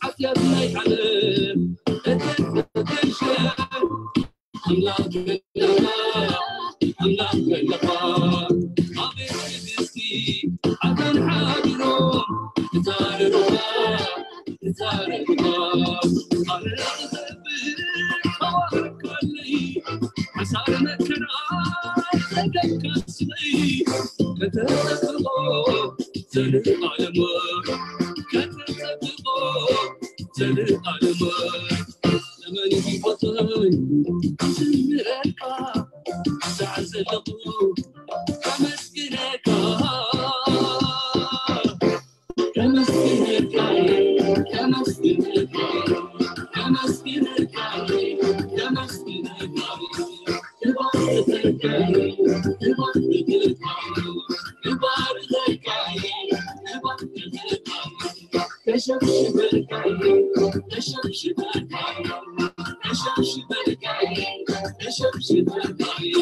ሓጢኣት ናይ ዓለም እተተሸ ኣምላኽ ገለኻ፣ ኣምላኽ ገለኻ። ኣቤት ትዕግስቲ፣ ኣዳን ሓቢሮም እታ ርሩኻ፣ እታ ርሩኻ። ኣነ ክኸብር ኣዋርካለይ፣ ሓሳር መከራ ዘገካስለይ፣ ከተጸብቖ ዘልኣለመ፣ ከተጸብቖ ዘልኣለመ። ዘመን ይቆጽር ክዝምረልካ፣ ሳዕ ዘለኹ ከመስግነካ። ከመስግነካ፣ ከመስግነካ፣ ከመስግነካ፣ ከመስግነካ። እባርኸካ፣ እባርኸካ፣ እባርኸካ፣ እባርኸካ። ተሸብሽበልካየ፣ ተሸብሽበልካየ፣ ተሸብሽበልካየ፣ ተሸብሽበልካየ።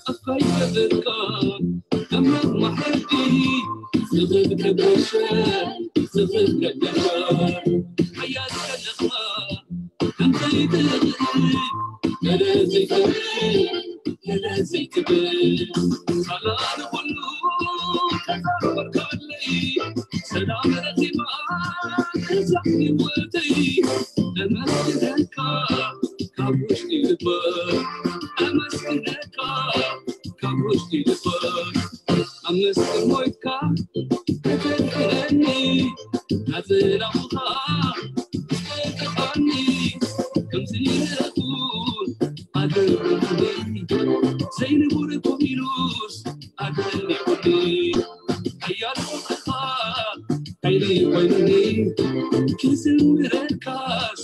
ኣፋይ ገበርካ ኣምላኽ ማሕረዲ፣ ዝኽብ ከበሸ፣ ዝኽብ ከበሸ። ሓያል ከለኻ ከምዘይትኽእል፣ ገለ ዘይትብል፣ ገለ ዘይትብል። ሳላ ንኹሉ ተዛወርካለይ፣ ሰላም ረኺባ እዛ ህይወተይ። ኣመስግነካ ካብ ውሽጢ ልበይ፣ ኣመስግነካ ካብ ውሽጢ ልበይ። ኣብ መስቀል ሞይትካ ከተድሕነኒ፣ ናጽላኹኻ ዝተጠቕዓኒ፣ ከምዚ ንኹን ኣገርመኒ፣ ዘይንቡር ኮሚሉስ ኣደኒቑኒ። ሓያል ፍቕርኻ ሓይሊ ኮይኑኒ፣ ክዝምረልካስ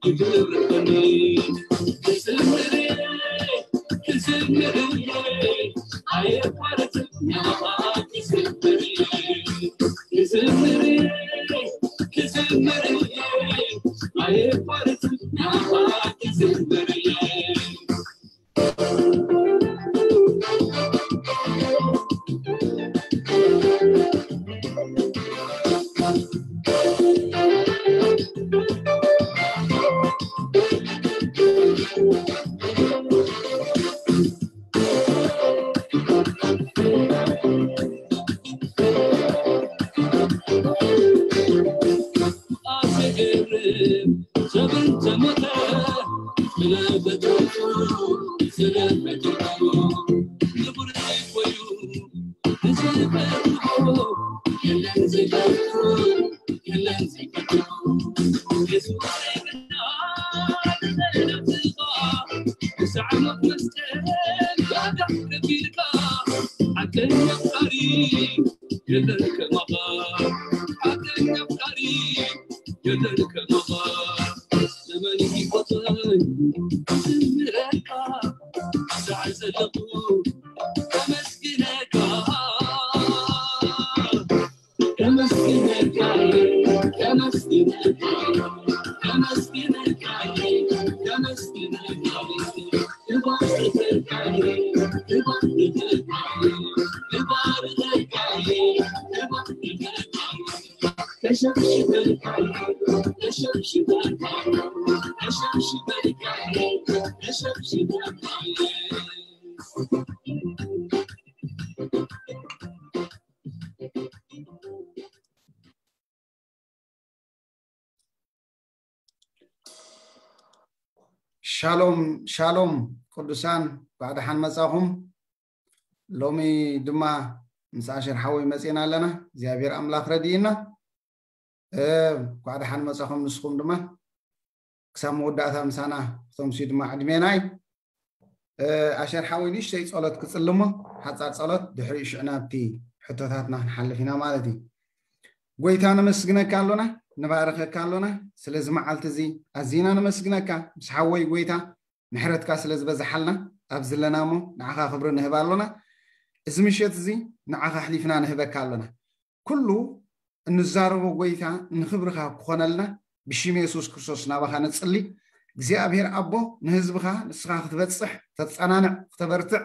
ይድርኸኒ። ክዝምር፣ ክዝምር፣ ኣየቋርጽ ናባኻ ክዝምር። ክዝምር፣ ክዝምር፣ ኣየቋርጽ ናባኻ ክዝምር። ኣዘገርም ሰብ እንተሞተ፣ ብለበትቱ ስለበትቱ ንቡር ኮይኑ ንዝፈርሆ የለን ዘይፈርሆ፣ የለን ዘይፈርሆ። የሱስ ግና ንዘለኣለም ክሳዕ ሞት መስቀል ዋጋ ከፊልካ፣ ሓቀኛ ኣፍቃሪ የለን ከማኻ፣ ሓቀኛ ኣፍቃሪ የለን ከማኻ። ዘመን ይቆጽር ክዝምረልካ፣ ሳዕ ዘለኹ ከመስግነካ። ከመስግነካ፣ ከመስግነካ፣ ከመስግነካ፣ ከመስግነካ። እባርኸካ፣ እባርኸካ፣ እባርኸካ፣ እባርኸካ። ተሸብሽበልካ፣ ተሸብሽበልካ፣ ተሸብሽበልካ፣ ተሸብሽበልካ። ሻሎም ሻሎም ቅዱሳን፣ እንኳዕ ደሓን መጻኹም። ሎሚ ድማ ምስ ኣሸር ሓወይ መጺና ኣለና። እግዚኣብሔር ኣምላኽ ረድኢና። እ፣ እንኳዕ ደሓን መጻኹም። ንስኹም ድማ ክሳብ መወዳእታ ምሳና ክተምስዩ ድማ ዕድሜናይ። እ፣ ኣሸር ሓወይ ንእሽተይ ጸሎት ክጽልሞ፣ ሓጻር ጸሎት፣ ድሕሪኡ ሽዕና ኣብቲ ሕቶታትና ክንሓልፍ ኢና ማለት እዩ። ጎይታ ነመስግነካ ኣሎና፣ ንባረኸካ ኣሎና። ስለዚ መዓልቲ እዚ ኣዚና ነመስግነካ ምስ ሓወይ ጎይታ፣ ምሕረትካ ስለ ዝበዝሓልና ኣብዚ ኣለና እሞ ንዓኻ ክብሪ ንህብ ኣሎና። እዚ ምሸት እዚ ንዓኻ ኣሕሊፍና ንህበካ ኣሎና። ኩሉ እንዛረቦ ጎይታ ንኽብርኻ ክኾነልና ብሽም የሱስ ክርስቶስ ናባኻ ንጽሊ። እግዚኣብሔር ኣቦ ንህዝብኻ ንስኻ ክትበጽሕ፣ ተጸናንዕ፣ ክተበርትዕ፣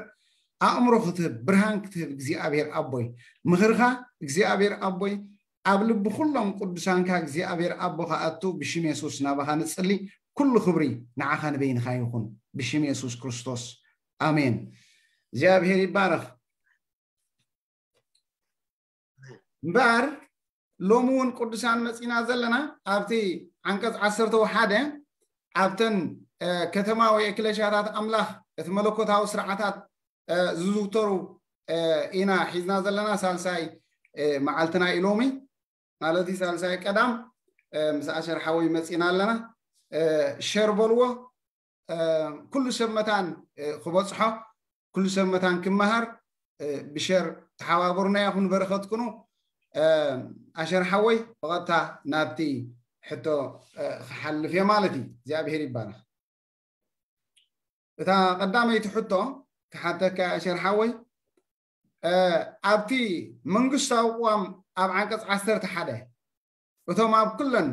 ኣእምሮ ክትህብ፣ ብርሃን ክትህብ እግዚኣብሔር ኣቦይ፣ ምኽርኻ እግዚኣብሔር ኣቦይ ኣብ ልቢ ኩሎም ቅዱሳንካ እግዚኣብሔር ኣቦ ክኣቱ ብሽም የሱስ ናባኻ ንጽሊ። ኩሉ ክብሪ ንዓኻ ንበይንኻ ይኹን ብሽም የሱስ ክርስቶስ ኣሜን። እግዚኣብሔር ይባረኽ። እምበኣር ሎሚ እውን ቅዱሳን መጺና ዘለና ኣብቲ ዓንቀጽ ዓሰርተ ሓደ ኣብተን ከተማዊ ኤክለሽያታት ኣምላኽ እቲ መለኮታዊ ስርዓታት ዝዝውተሩ ኢና ሒዝና ዘለና ሳልሳይ መዓልትና እዩ ሎሚ። ማለት እዩ ሳልሳይ ቀዳም ምስ ኣሸር ሓወይ መጺና ኣለና። ሸር በልዎ። ኩሉ ሰብ መታን ክበጽሖ፣ ኩሉ ሰብ መታን ክመሃር ብሸር ተሓባበሩና ኢኹም በረኸትኩኑ። ኣሸር ሓወይ ብቐጥታ ናብቲ ሕቶ ክሓልፍ እየ ማለት እዩ። እግዚኣብሔር ይባረኽ። እታ ቀዳመይቲ ሕቶ ክሓተካ ኣሸር ሓወይ፣ ኣብቲ መንግስታዊ ቅዋም ኣብ ዓንቀጽ ዓሰርተ ሓደ እቶም ኣብ ኩለን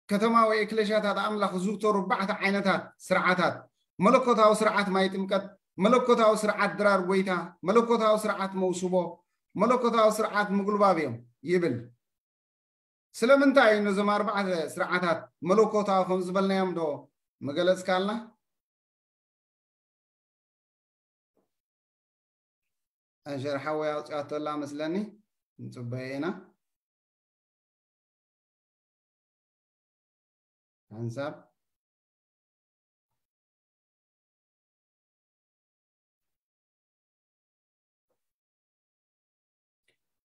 ከተማዊ ኤክለሽያታት ኣምላኽ ዝዝውተሩ ኣርባዕተ ዓይነታት ስርዓታት፣ መለኮታዊ ስርዓት ማይ ጥምቀት፣ መለኮታዊ ስርዓት ድራር ጎይታ፣ መለኮታዊ ስርዓት መውስቦ፣ መለኮታዊ ስርዓት ምጉልባብ እዮም ይብል። ስለምንታይ እዩ ነዞም ኣርባዕተ ስርዓታት መለኮታዊ ከም ዝበልናዮም ዶ መገለጽካልና? ኣሸር ሓወይ ኣውፅኣቶ ኣላ መስለኒ። ንፅበዮ ኢና። ሓንሳብ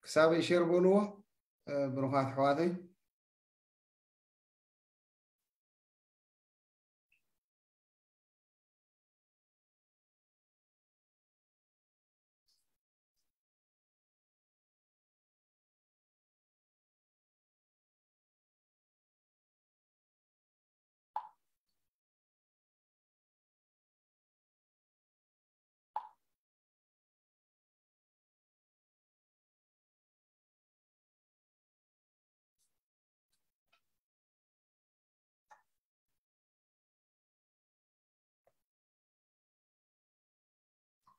ክሳብ ሸር በልዎ። ብሩኻት ኣሕዋተይ።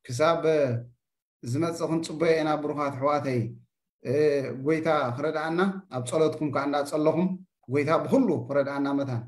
ክሳብ ዝመጽእ ክንጽበዮ ኢና ብሩኻት ኣሕዋተይ። ጎይታ ክረድኣና ኣብ ጸሎትኩም ከኣ እንዳጸለኹም ጎይታ ብኹሉ ክረድኣና መታን።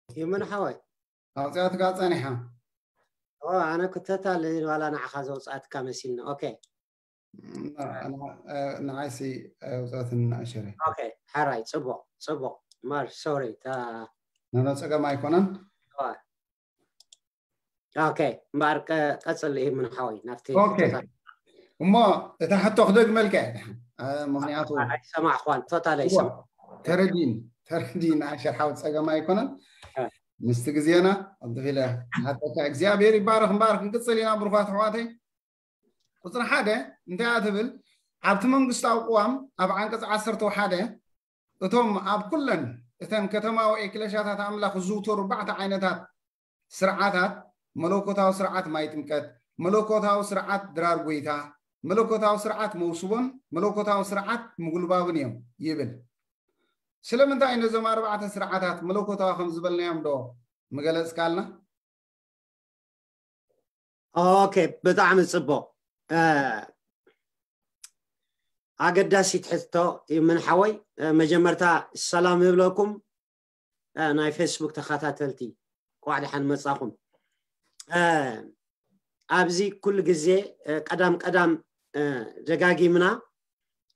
ይመን ሓወይ። ኣውፅኣትካ ጸኒሓ። ኣነ ክተታለ ዋላ ንዓኻ ዘውፅኣትካ መሲልና። ኦኬ። ንዓይሲ ኣውፅኣትን ኣሸረ። ኦኬ፣ ሓራይ፣ ጽቡቕ፣ ጽቡቕ። ማር፣ ሶሪ፣ ታ- ኖ፣ ኖ፣ ጸገም ኣይኮነን። ኦኬ፣ እምበኣር ቀጽል እዩ ምን ሓወይ ናብቲ ኦኬ። እሞ እታ ሕቶ ክደግመልካ እየ። ምኽንያቱ ኣይሰማዕኳን፣ ቶታል ኣይሰማዕ። ተረዲን፣ ተረዲን ኣሸር ሓው ጸገም ኣይኮነን። ምስቲ ግዜና ኣንተፊለ ሓተካ እግዚኣብሔር ይባረክ። እምበኣር ክንቅጽል ኢና ብሩኻት ኣሕዋተይ። ቁጽሪ ሓደ እንታይ እያ ትብል? ኣብቲ መንግስታዊ ቅዋም ኣብ ዓንቀጽ ዓሰርተ ሓደ እቶም ኣብ ኩለን እተን ከተማዊ ኤክለሽያታት ኣምላኽ ዝዝውተሩ ኣርባዕተ ዓይነታት ስርዓታት፣ መለኮታዊ ስርዓት ማይ ጥምቀት፣ መለኮታዊ ስርዓት ድራር ጎይታ፣ መለኮታዊ ስርዓት መውስቦን መለኮታዊ ስርዓት ምጉልባብን እዮም ይብል። ስለምንታይ ነዞም ኣርባዕተ ስርዓታት መለኮታዊ ከም ዝበልናዮም ዶ ምገለጽካልና? ኦኬ፣ ብጣዕሚ ጽቡቕ። ኣገዳሲት ሕቶ ይምን ሓወይ። መጀመርታ ሰላም ይብለኩም። ናይ ፌስቡክ ተኸታተልቲ፣ ኳዕ ደሓን መጻኹም። ኣብዚ ኩሉ ግዜ ቀዳም ቀዳም ደጋጊምና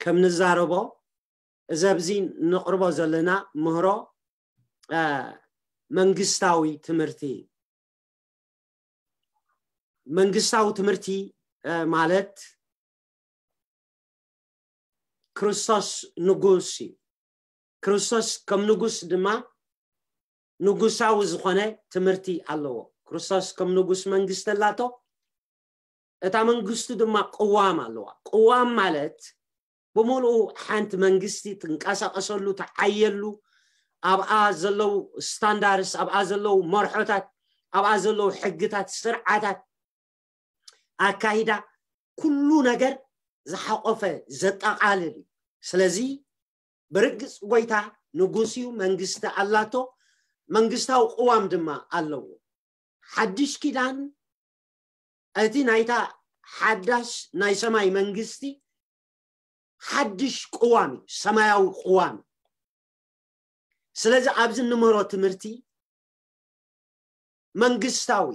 ከም ንዛረቦ፣ እዚ ኣብዚ ንቕርቦ ዘለና ምህሮ መንግስታዊ ትምህርቲ እዩ። መንግስታዊ ትምህርቲ ማለት ክርስቶስ ንጉስ እዩ። ክርስቶስ ከም ንጉስ ድማ ንጉሳዊ ዝኾነ ትምህርቲ ኣለዎ። ክርስቶስ ከም ንጉስ መንግስቲ ኣላቶ። እታ መንግስቱ ድማ ቅዋም ኣለዋ። ቅዋም ማለት ብምሉኡ ሓንቲ መንግስቲ ትንቀሳቀሰሉ፣ ትዓየሉ፣ ኣብኣ ዘለዉ ስታንዳርስ፣ ኣብኣ ዘለዉ መርሖታት፣ ኣብኣ ዘለዉ ሕግታት፣ ስርዓታት፣ ኣካይዳ፣ ኩሉ ነገር ዝሓቆፈ፣ ዘጠቃልል እዩ። ስለዚ ብርግጽ ጎይታ ንጉስ እዩ፣ መንግስቲ ኣላቶ፣ መንግስታዊ ቅዋም ድማ ኣለዎ። ሓድሽ ኪዳን እቲ ናይታ ሓዳሽ ናይ ሰማይ መንግስቲ ሓድሽ ቅዋም እዩ፣ ሰማያዊ ቅዋም። ስለዚ ኣብዚ እንምህሮ ትምህርቲ መንግስታዊ፣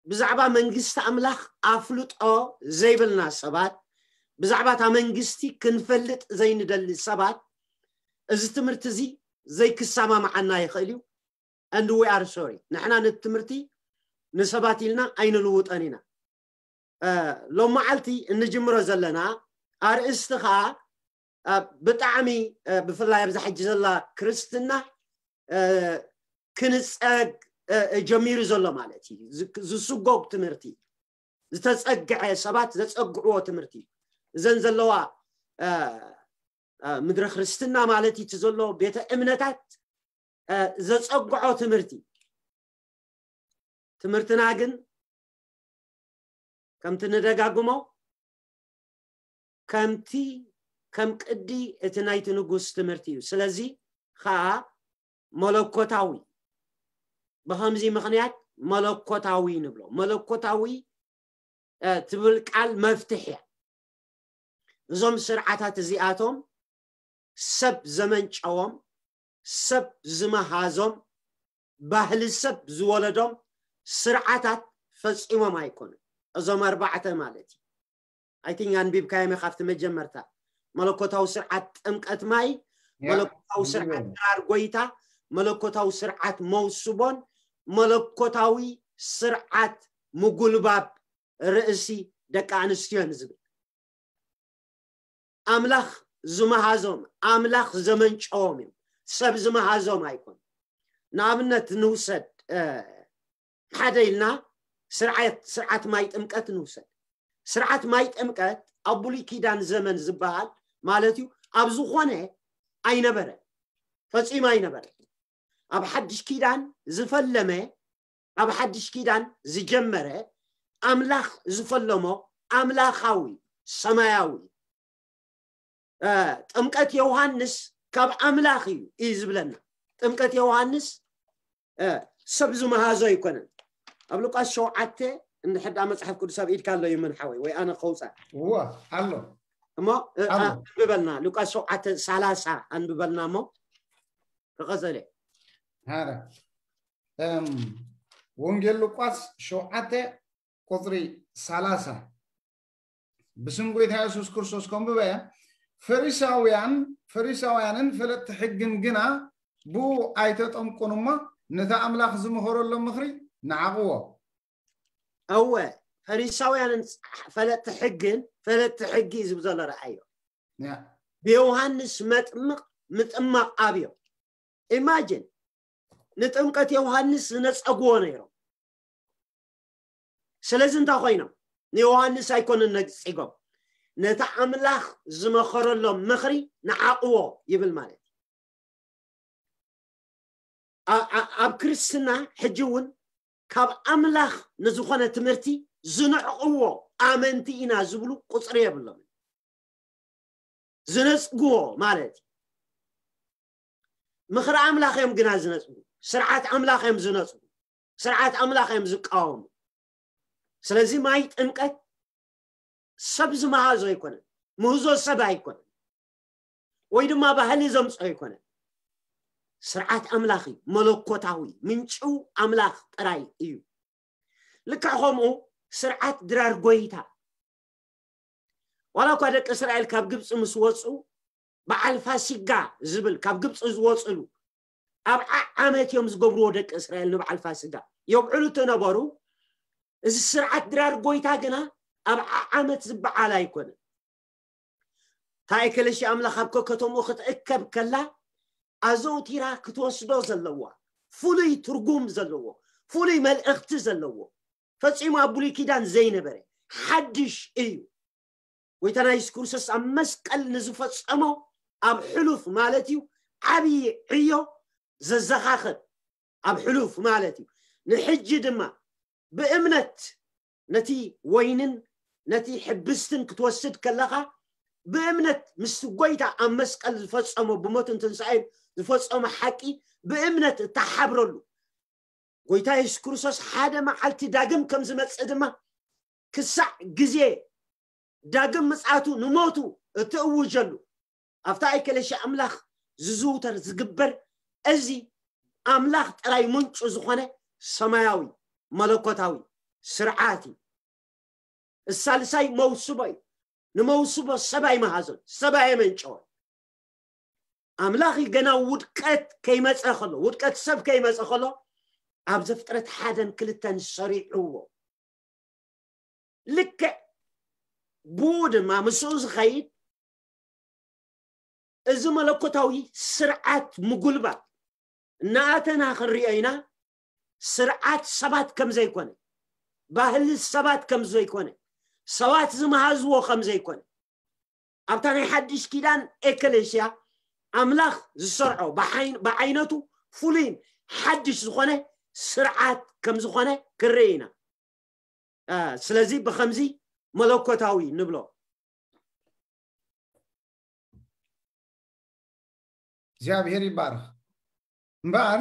ብዛዕባ መንግስቲ ኣምላኽ ኣፍልጦ ዘይብልና ሰባት፣ ብዛዕባ እታ መንግስቲ ክንፈልጥ ዘይንደሊ ሰባት፣ እዚ ትምህርቲ እዚ ዘይክሰማማዓና ይኽእል እዩ። And we are sorry። ንሕና ነቲ ትምህርቲ ንሰባት ኢልና ኣይንልውጠን ኢና። ሎም መዓልቲ እንጅምሮ ዘለና ኣርእስቲ ከዓ ብጣዕሚ፣ ብፍላይ ኣብዛ ሕጂ ዘላ ክርስትና፣ ክንፀግ ጀሚሩ ዘሎ ማለት እዩ። ዝስጎግ ትምህርቲ፣ ዝተፀግዐ፣ ሰባት ዘፀግዕዎ ትምህርቲ፣ እዘን ዘለዋ ምድረ ክርስትና ማለት እዩ፣ እቲ ዘሎ ቤተ እምነታት ዘፀግዖ ትምህርቲ። ትምህርትና ግን ከምቲ ንደጋግሞ፣ ከምቲ፣ ከም ቅዲ እቲ ናይቲ ንጉስ ትምህርቲ እዩ። ስለዚ ከዓ መለኮታዊ፣ ብኸምዚ ምኽንያት መለኮታዊ ንብሎ። መለኮታዊ ትብል ቃል መፍትሕ እያ። እዞም ስርዓታት እዚኣቶም ሰብ ዘመንጨዎም፣ ሰብ ዝመሃዞም፣ ባህሊ ሰብ ዝወለዶም ስርዓታት ፈጺሞም ኣይኮኑን። እዞም ኣርባዕተ ማለት እዩ። I think ኣንቢብካዮም ኢኻ ኣብቲ መጀመርታ። መለኮታዊ ስርዓት ጥምቀት ማይ፣ መለኮታዊ ስርዓት ድራር ጎይታ፣ መለኮታዊ ስርዓት መውስቦን መለኮታዊ ስርዓት ምጉልባብ ርእሲ ደቂ ኣንስትዮን ዝብል። ኣምላኽ ዝመሃዞም፣ ኣምላኽ ዘመንጨዎም እዮም። ሰብ ዝመሃዞም ኣይኮን። ንኣብነት ንውሰድ፣ ሓደ ኢልና ስርዓት፣ ስርዓት ማይ ጥምቀት ንውሰድ። ስርዓት ማይ ጥምቀት ኣብ ብሉይ ኪዳን ዘመን ዝበሃል ማለት እዩ፣ ኣብ ዝኾነ ኣይነበረን፣ ፈጺሙ ኣይነበረን። ኣብ ሓድሽ ኪዳን ዝፈለመ፣ ኣብ ሓድሽ ኪዳን ዝጀመረ፣ ኣምላኽ ዝፈለሞ ኣምላኻዊ ሰማያዊ ጥምቀት ዮሃንስ ካብ ኣምላኽ እዩ እዩ ዝብለና። ጥምቀት ዮሃንስ ሰብ ዝመሃዞ ኣይኮነን። ኣብ ሉቃስ ሸውዓተ እንድሕር ደኣ መጽሓፍ ቅዱስ ኣብ ኢድካ ኣሎ ይመን ሓወይ፣ ወይ ኣነ ከውጻ እዋ ኣሎ እሞ። ኣንብበልና፣ ሉቃስ ሸውዓተ ሰላሳ ኣንብበልና እሞ ክቐጸለ። ሃረ ወንጌል ሉቃስ ሸውዓተ ቁጽሪ ሰላሳ። ብስም ጎይታ የሱስ ክርስቶስ ከንብበ። ፈሪሳውያን ፈሪሳውያንን ፈለጥቲ ሕግን ግና ብኡ ኣይተጠምቁን እሞ ነቲ ኣምላኽ ዝመኸረሎም ምኽሪ ንዓቕዎ። እወ፣ ፈሪሳውያንን ፈለጥቲ ሕግን፣ ፈለጥቲ ሕጊ እዩ ዝብል ዘሎ። ረኣዮ። ብዮሃንስ መጥምቕ ምጥማቕ ኣብዮም። ኢማጅን፣ ንጥምቀት ዮሃንስ ዝነጸግዎ ነይሮም። ስለዚ እንታይ ኮይኖም? ንዮሃንስ ኣይኮኑን ነጺጎም፣ ነቲ ኣምላኽ ዝመኸረሎም ምኽሪ ንዓቕዎ ይብል ማለት እዩ። ኣብ ክርስትና ሕጂ እውን ካብ ኣምላኽ ንዝኾነ ትምህርቲ ዝንዕቕዎ ኣመንቲ ኢና ዝብሉ ቁፅሪ የብሎም። ዝነፅግዎ ማለት እዩ። ምኽሪ ኣምላኽ እዮም ግና ዝነፅጉ፣ ስርዓት ኣምላኽ እዮም ዝነፅጉ፣ ስርዓት ኣምላኽ እዮም ዝቃወሙ። ስለዚ ማይ ጥምቀት ሰብ ዝመሃዞ ኣይኮነን፣ ምህዞ ሰብ ኣይኮነን፣ ወይ ድማ ባህሊ ዘምፅኦ ኣይኮነን። ስርዓት ኣምላኽ እዩ፣ መለኮታዊ ምንጭው ኣምላኽ ጥራይ እዩ። ልክዕ ከምኡ ስርዓት ድራር ጎይታ፣ ዋላ እኳ ደቂ እስራኤል ካብ ግብፂ ምስ ወፁ፣ በዓል ፋሲጋ ዝብል ካብ ግብፂ ዝወፅሉ ኣብ ዓ- ዓመት እዮም ዝገብርዎ። ደቂ እስራኤል ንበዓል ፋሲጋ የብዕሉ ተነበሩ። እዚ ስርዓት ድራር ጎይታ ግና ኣብ ዓ- ዓመት ዝበዓል ኣይኮነን። እታ ኤከለሲ ኣምላኽ ኣብ ከከተምኡ ክትእከብ ከላ ኣዘውቲራ ክትወስዶ ዘለዋ ፍሉይ ትርጉም ዘለዎ ፍሉይ መልእኽቲ ዘለዎ ፈጺሙ ኣብ ብሉይ ኪዳን ዘይነበረ ሓድሽ እዩ። ጎይታና የሱስ ክርስቶስ ኣብ መስቀል ንዝፈጸሞ ኣብ ሕሉፍ ማለት እዩ ዓብዪ ዕዮ ዘዘኻኽር ኣብ ሕሉፍ ማለት እዩ። ንሕጂ ድማ ብእምነት ነቲ ወይንን ነቲ ሕብስትን ክትወስድ ከለኻ ብእምነት ምስቲ ጎይታ ኣብ መስቀል ዝፈጸሞ ብሞትን ትንሳኤን ዝፈጸሞ ሓቂ ብእምነት እተሓብረሉ ጎይታ የሱስ ክርስቶስ ሓደ መዓልቲ ዳግም ከም ዝመጽእ ድማ ክሳዕ ግዜ ዳግም ምጽኣቱ ንሞቱ እትእውጀሉ ኣብታ ኤከለሲ ኣምላኽ ዝዝውተር ዝግበር እዚ ኣምላኽ ጥራይ ምንጩ ዝኾነ ሰማያዊ መለኮታዊ ስርዓት እዩ። እሳልሳይ መውስቦ እዩ። ንመውስቦ ሰብ ኣይመሃዞን፣ ሰብ ኣየመንጨወን። ኣምላኽ እዩ ገና ውድቀት ከይመፀ ከሎ ውድቀት ሰብ ከይመፀ ከሎ ኣብ ዘፍጥረት ሓደን ክልተን ሰሪዕዎ። ልክዕ ብኡ ድማ ምስኡ ዝኸይድ እዚ መለኮታዊ ስርዓት ምጉልባብ እናኣተና ክንሪኦ ኢና። ስርዓት ሰባት ከም ዘይኮነ፣ ባህሊ ሰባት ከም ዘይኮነ፣ ሰባት ዝመሃዝዎ ከም ዘይኮነ ኣብታ ናይ ሓድሽ ኪዳን ኤከሌስያ ኣምላኽ ዝሰርዖ ብዓይነቱ ፍሉይን ሓድሽ ዝኾነ ስርዓት ከም ዝኾነ ክንርኢ ኢና። ስለዚ ብኸምዚ መለኮታዊ ንብሎ። እግዚኣብሔር ይባርኽ። እምበኣር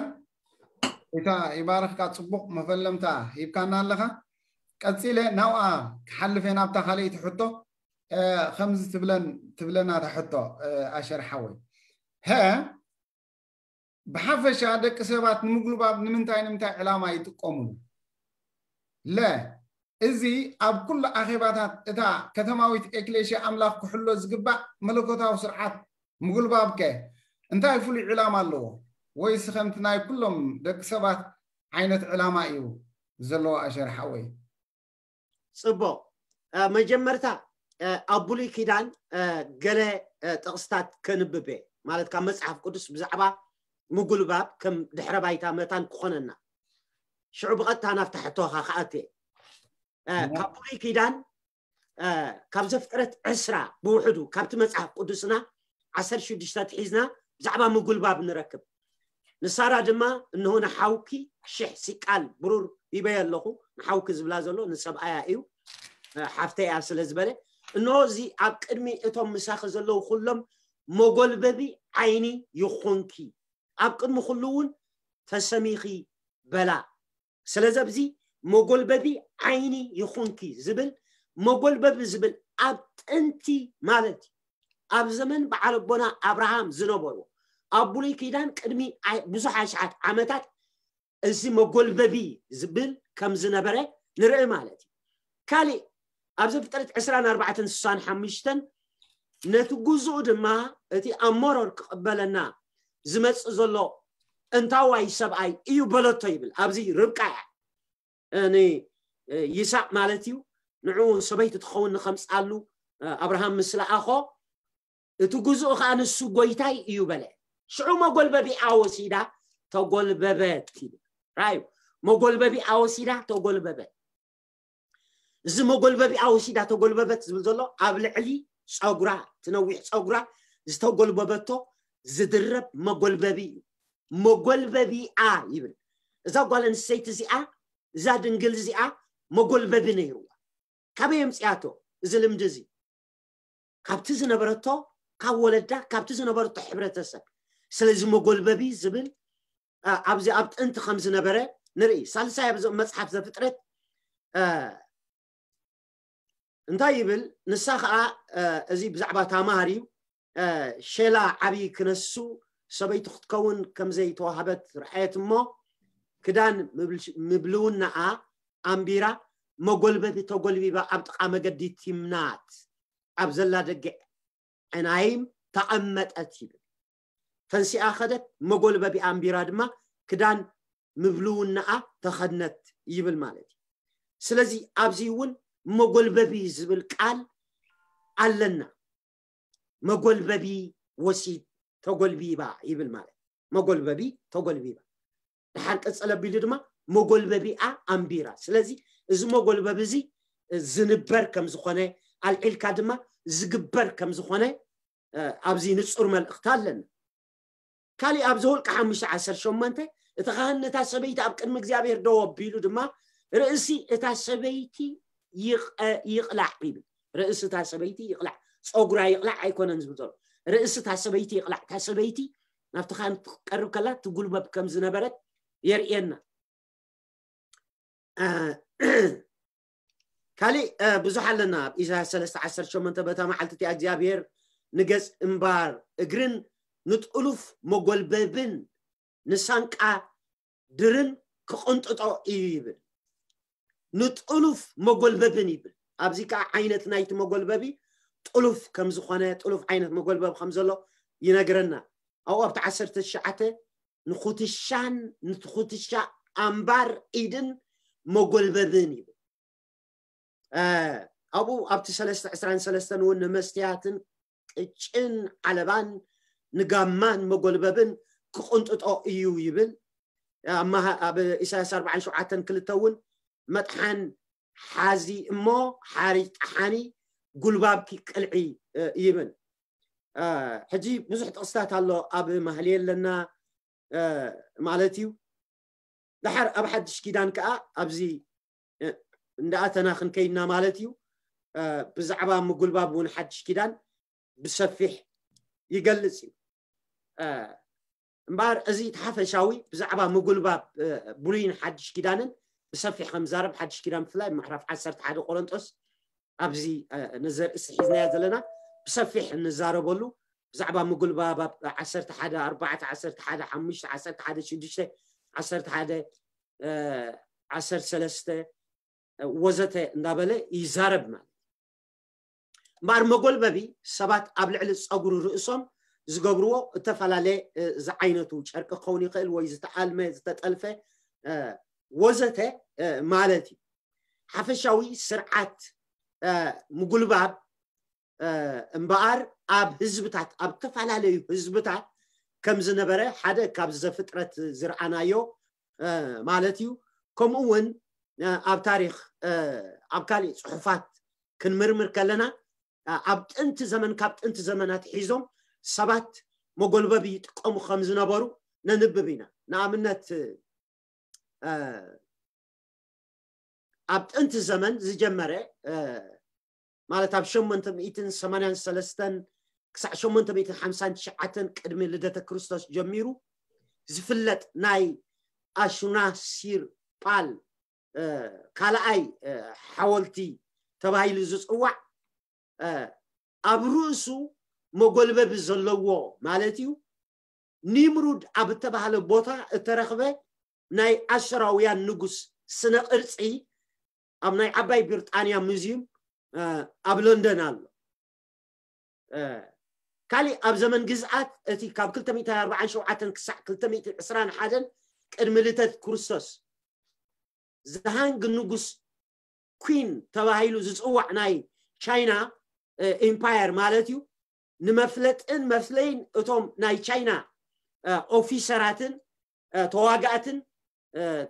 ጌታ ይባርኽካ፣ ፅቡቕ መፈለምታ ሂብካና ኣለኻ። ቀፂለ ናብኣ ክሓልፍ እየ ናብታ ካልኣይቲ ሕቶ። ከምዚ ትብለን ትብለና እታ ሕቶ ኣሸር ሓወይ፣ ሀ ብሓፈሻ ደቂ ሰባት ንምጉልባብ ንምንታይ ንምንታይ ዕላማ ይጥቀሙሉ? ለ እዚ ኣብ ኩሉ ኣኼባታት እታ ከተማዊት ኤክሌሽያ ኣምላኽ ክሕሎ ዝግባእ መለኮታዊ ስርዓት ምጉልባብ ከ እንታይ ፍሉይ ዕላማ ኣለዎ? ወይስ ከምቲ ናይ ኩሎም ደቂ ሰባት ዓይነት ዕላማ እዩ ዘለዎ? ኣሸር ሓወይ። ፅቡቕ። መጀመርታ ኣብ ብሉይ ኪዳን ገለ ጥቕስታት ከንብብ እየ፣ ማለት ካብ መፅሓፍ ቅዱስ ብዛዕባ ምጉልባብ ከም ድሕረ ባይታ መታን ክኾነና። ሽዑ ብቐጥታ ናብታ ሕቶኻ ክኣቱ እየ። ካብ ብሉይ ኪዳን ካብ ዘፍጥረት ዕስራ ብውሕዱ ካብቲ መፅሓፍ ቅዱስና ዓሰርተ ሽዱሽተ ትሒዝና ብዛዕባ ምጉልባብ ንረክብ። ንሳራ ድማ እንሆ ንሓውኪ ሽሕ ሲቃል ብሩር ሂበየ ኣለኹ። ንሓውኪ ዝብላ ዘሎ ንሰብኣያ እዩ፣ ሓፍተይ እያ ስለ ዝበለ፣ እንሆ እዚ ኣብ ቅድሚ እቶም ምሳኺ ዘለዉ ኩሎም መጎልበቢ ዓይኒ ይኹንኪ፣ ኣብ ቅድሚ ኩሉ እውን ተሰሚኺ በላ። ስለዚ ኣብዚ መጎልበቢ ዓይኒ ይኹንኪ ዝብል መጎልበቢ ዝብል ኣብ ጥንቲ ማለት እዩ ኣብ ዘመን በዓል ኣቦና ኣብርሃም ዝነበሩ ኣብ ብሉይ ኪዳን ቅድሚ ብዙሕ ኣሽሓት ዓመታት እዚ መጎልበቢ ዝብል ከም ዝነበረ ንርኢ ማለት እዩ። ካሊእ ኣብ ዘፍጥረት ዕስራን ኣርባዕተን ስሳን ሓሙሽተን ነቲ ግዝኡ ድማ እቲ ኣብ መሮር ክቕበለና ዝመፅእ ዘሎ ጥንታዋይ ሰብኣይ እዩ በለቶ ይብል። ኣብዚ ርብቃ እያ ንይስሐቅ ማለት እዩ። ንዑ ሰበይቲ ትኸውን ንኸምፅኣሉ ኣብርሃም ምስ ለኣኾ እቲ ግዝኡ ከዓ ንሱ ጎይታይ እዩ በለ። ሽዑ መጎልበቢኣ ወሲዳ ተጎልበበት ይብል። ራዩ መጎልበቢኣ ወሲዳ ተጎልበበት። እዚ መጎልበቢኣ ወሲዳ ተጎልበበት ዝብል ዘሎ ኣብ ልዕሊ ፀጉራ፣ ትነዊሕ ፀጉራ ዝተጎልበበቶ ዝድረብ መጎልበቢ እዩ። መጎልበቢኣ ይብል። እዛ ጓል ኣንስተይቲ እዚኣ፣ እዛ ድንግል እዚኣ መጎልበቢ ነይርዋ። ካበይ የምፅኣቶ? እዚ ልምዲ እዚ ካብቲ ዝነበረቶ፣ ካብ ወለዳ፣ ካብቲ ዝነበረቶ ሕብረተሰብ። ስለዚ መጎልበቢ ዝብል ኣብዚ ኣብ ጥንቲ ከም ዝነበረ ንርኢ። ሳልሳይ ኣብዚ መፅሓፍ ዘፍጥረት እንታይ ይብል? ንሳ ከዓ እዚ ብዛዕባ ታማር እዩ። ሸላ ዓብዪ ክነሱ ሰበይቲ ክትከውን ከም ዘይተዋህበት ረኣየት እሞ፣ ክዳን ምብልውናኣ ኣንቢራ፣ መጎልበቢ ተጎልቢባ ኣብ ጥቓ መገዲ ቲምናት ኣብ ዘላ ደገ ዕናይም ተቐመጠት ይብል። ተንሲኣ ከደት፣ መጎልበቢ ኣንቢራ ድማ ክዳን ምብልውናኣ ተኸድነት ይብል ማለት እዩ። ስለዚ ኣብዚ እውን መጎልበቢ ዝብል ቃል ኣለና። መጎልበቢ ወሲድ፣ ተጎልቢባ ይብል ማለት፣ መጎልበቢ ተጎልቢባ። ድሓር ቀጸለ ኣቢሉ ድማ መጎልበቢኣ ኣንቢራ። ስለዚ እዚ መጎልበቢ እዚ ዝንበር ከም ዝኾነ፣ ኣልዒልካ ድማ ዝግበር ከም ዝኾነ ኣብዚ ንጹር መልእኽቲ ኣለና። ካሊእ ኣብ ዘውልቂ ሓሙሽተ ዓሰርተ ሸሞንተ፣ እቲ ካህን ነታ ሰበይቲ ኣብ ቅድሚ እግዚኣብሔር ደው ኣቢሉ ድማ፣ ርእሲ እታ ሰበይቲ ይቕላዕ ይብል። ርእሲ እታ ሰበይቲ ይቕላዕ፣ ጸጉራ ይቕላዕ ኣይኮነን ዝብል ዘሎ። ርእሲ እታ ሰበይቲ ይቕላዕ። እታ ሰበይቲ ናብቲ ካህን ክትቀርብ ከላ ትጉልበብ ከም ዝነበረት የርእየና። ካሊእ ብዙሕ ኣለና። ኣብ ኢሳያስ ሰለስተ ዓሰርተ ሸሞንተ፣ በታ መዓልቲ እቲኣ እግዚኣብሔር ንገጽ እምባር እግርን ንጥሉፍ መጎልበብን ንሳንቃ ድርን ክቕንጥጦ እዩ ይብል። ንጥሉፍ መጎልበብን ይብል። ኣብዚ ከዓ ዓይነት ናይቲ መጎልበቢ ጥሉፍ ከም ዝኾነ፣ ጥሉፍ ዓይነት መጎልበብ ከም ዘሎ ይነግረና። ኣብኡ ኣብቲ ዓሰርተ ትሽዓተ ንኹትሻን ንትኹትሻ ኣምባር ኢድን መጎልበብን ይብል። ኣብኡ ኣብቲ ሰለስተ ዕስራን ሰለስተን እውን ንመስትያትን ቅጭን ዓለባን ንጋማን መጎልበብን ክቕንጥጦ እዩ ይብል። ኣብ ኢሳያስ ኣርባዓን ሸውዓተን ክልተ እውን መጥሓን ሓዚ እሞ ሓሪጅ ጠሓኒ ጉልባብኪ ቅልዒ ይብል። ሕጂ ብዙሕ ጥቕስታት ኣሎ ኣብ ማህሌ ኣለና ማለት እዩ። ድሓር ኣብ ሓድሽ ኪዳን ከዓ ኣብዚ እንዳኣተና ክንከይድና ማለት እዩ። ብዛዕባ ምጉልባብ እውን ሓድሽ ኪዳን ብሰፊሕ ይገልጽ እዩ። እምበኣር እዚ እቲ ሓፈሻዊ ብዛዕባ ምጉልባብ ብሉይን ሓድሽ ኪዳንን ብሰፊሕ ከም ዛረብ ሓድሽ ኪዳን ብፍላይ ምዕራፍ ዓሰርተ ሓደ ቆሮንጦስ ኣብዚ ነዘርእስቲ ሒዝናዮ ዘለና ብሰፊሕ እንዛረበሉ ብዛዕባ ምጉልባብ ኣብ ዓሰርተ ሓደ ኣርባዕተ ዓሰርተ ሓደ ሓሙሽተ ዓሰርተ ሓደ ሽዱሽተ ዓሰርተ ሓደ ዓሰርተ ሰለስተ ወዘተ እንዳበለ ይዛረብ ማለት። እምበኣር መጎልበቢ ሰባት ኣብ ልዕሊ ፀጉሪ ርእሶም ዝገብርዎ እተፈላለየ ዝዓይነቱ ጨርቂ ክኸውን ይኽእል ወይ ዝተኣልመ ዝተጠልፈ ወዘተ ማለት እዩ። ሓፈሻዊ ስርዓት ምጉልባብ እምበኣር ኣብ ህዝብታት ኣብ ዝተፈላለዩ ህዝብታት ከም ዝነበረ ሓደ ካብ ዘፍጥረት ዝረኣናዮ ማለት እዩ። ከምኡ እውን ኣብ ታሪኽ ኣብ ካሊእ ፅሑፋት ክንምርምር ከለና ኣብ ጥንቲ ዘመን ካብ ጥንቲ ዘመናት ሒዞም ሰባት መጎልበቢ ይጥቀሙ ከም ዝነበሩ ነንብብ ኢና። ንኣብነት ኣብ ጥንቲ ዘመን ዝጀመረ ማለት ኣብ ሸሞንተ ሚእትን ሰማንያን ሰለስተን ክሳዕ ሸሞንተ ሚእትን ሓምሳን ትሽዓተን ቅድሚ ልደተ ክርስቶስ ጀሚሩ ዝፍለጥ ናይ ኣሹናሲር ፓል ካልኣይ ሓወልቲ ተባሂሉ ዝፅዋዕ ኣብ ርእሱ መጎልበቢ ዘለዎ ማለት እዩ። ኒምሩድ ኣብ እተባህለ ቦታ እተረኽበ ናይ ኣሸራውያን ንጉስ ስነ ቅርፂ ኣብ ናይ ዓባይ ብሪጣንያ ሙዚየም ኣብ ሎንደን ኣሎ። ካሊእ ኣብ ዘመን ግዝኣት እቲ ካብ ክልተ ሚእቲ ኣርባዓን ሸውዓተን ክሳዕ ክልተ ሚእቲ ዕስራን ሓደን ቅድሚ ልደት ክርስቶስ ዘሃንግ ንጉስ ኩን ተባሂሉ ዝፅዋዕ ናይ ቻይና ኢምፓየር ማለት እዩ። ንመፍለጥን መፍለይን እቶም ናይ ቻይና ኦፊሰራትን ተዋጋእትን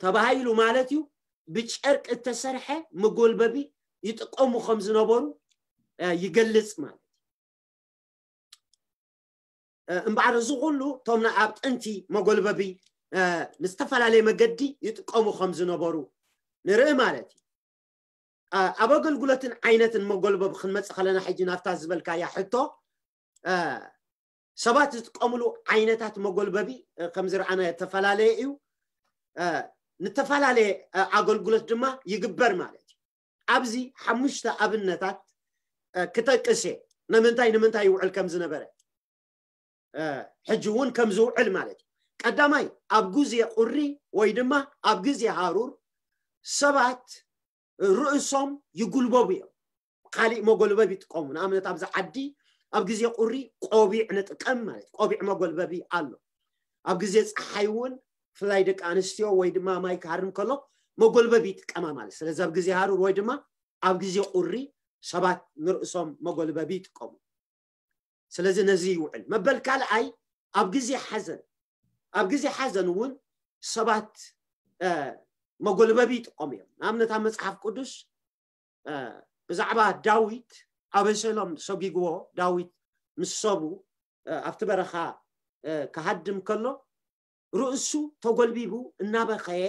ተባሂሉ ማለት እዩ ብጨርቂ እተሰርሐ መጎልበቢ ይጥቀሙ ከም ዝነበሩ ይገልጽ ማለት። እምበኣር እዚ ኩሉ እቶም ኣብ ጥንቲ መጎልበቢ ብዝተፈላለየ መገዲ ይጥቀሙ ከም ዝነበሩ ንርኢ ማለት እዩ። ኣብ ኣገልግሎትን ዓይነትን መጎልበቢ ክንመጽእ ከለና ሕጂ ናብታ ዝበልካያ ሕቶ ሰባት ዝጥቀምሉ ዓይነታት መጎልበቢ ከምዚ ረኣና ዝተፈላለየ እዩ። ንተፈላለየ ኣገልግሎት ድማ ይግበር ማለት እዩ። ኣብዚ ሓሙሽተ ኣብነታት ክጠቅስ እየ፣ ንምንታይ ንምንታይ ይውዕል ከም ዝነበረ ሕጂ እውን ከም ዝውዕል ማለት እዩ። ቀዳማይ ኣብ ግዜ ቁሪ ወይ ድማ ኣብ ግዜ ሃሩር ሰባት ርእሶም ይጉልበቡ እዮም። ካሊእ መጎልበብ ይጥቀሙ። ንኣብነት ኣብዚ ዓዲ ኣብ ግዜ ቁሪ ቆቢዕ ንጥቀም ማለት እዩ። ቆቢዕ መጎልበቢ ኣሎ። ኣብ ግዜ ፀሓይ እውን ብፍላይ ደቂ ኣንስትዮ ወይ ድማ ማይ ክሃርም ከሎ መጎልበቢ ይጥቀማ ማለት። ስለዚ ኣብ ግዜ ሃሩር ወይ ድማ ኣብ ግዜ ቁሪ ሰባት ንርእሶም መጎልበቢ ይጥቀሙ። ስለዚ ነዚ ይውዕል። መበል ካልኣይ ኣብ ግዜ ሓዘን፣ ኣብ ግዜ ሓዘን እውን ሰባት መጎልበቢ ይጥቀሙ እዮም። ንኣብነት ኣብ መፅሓፍ ቅዱስ ብዛዕባ ዳዊት ኣበሰሎም ሰጒግዎ ዳዊት ምስ ሰቡ ኣብቲ በረኻ ክሃድም ከሎ ርእሱ ተጎልቢቡ እናበኸየ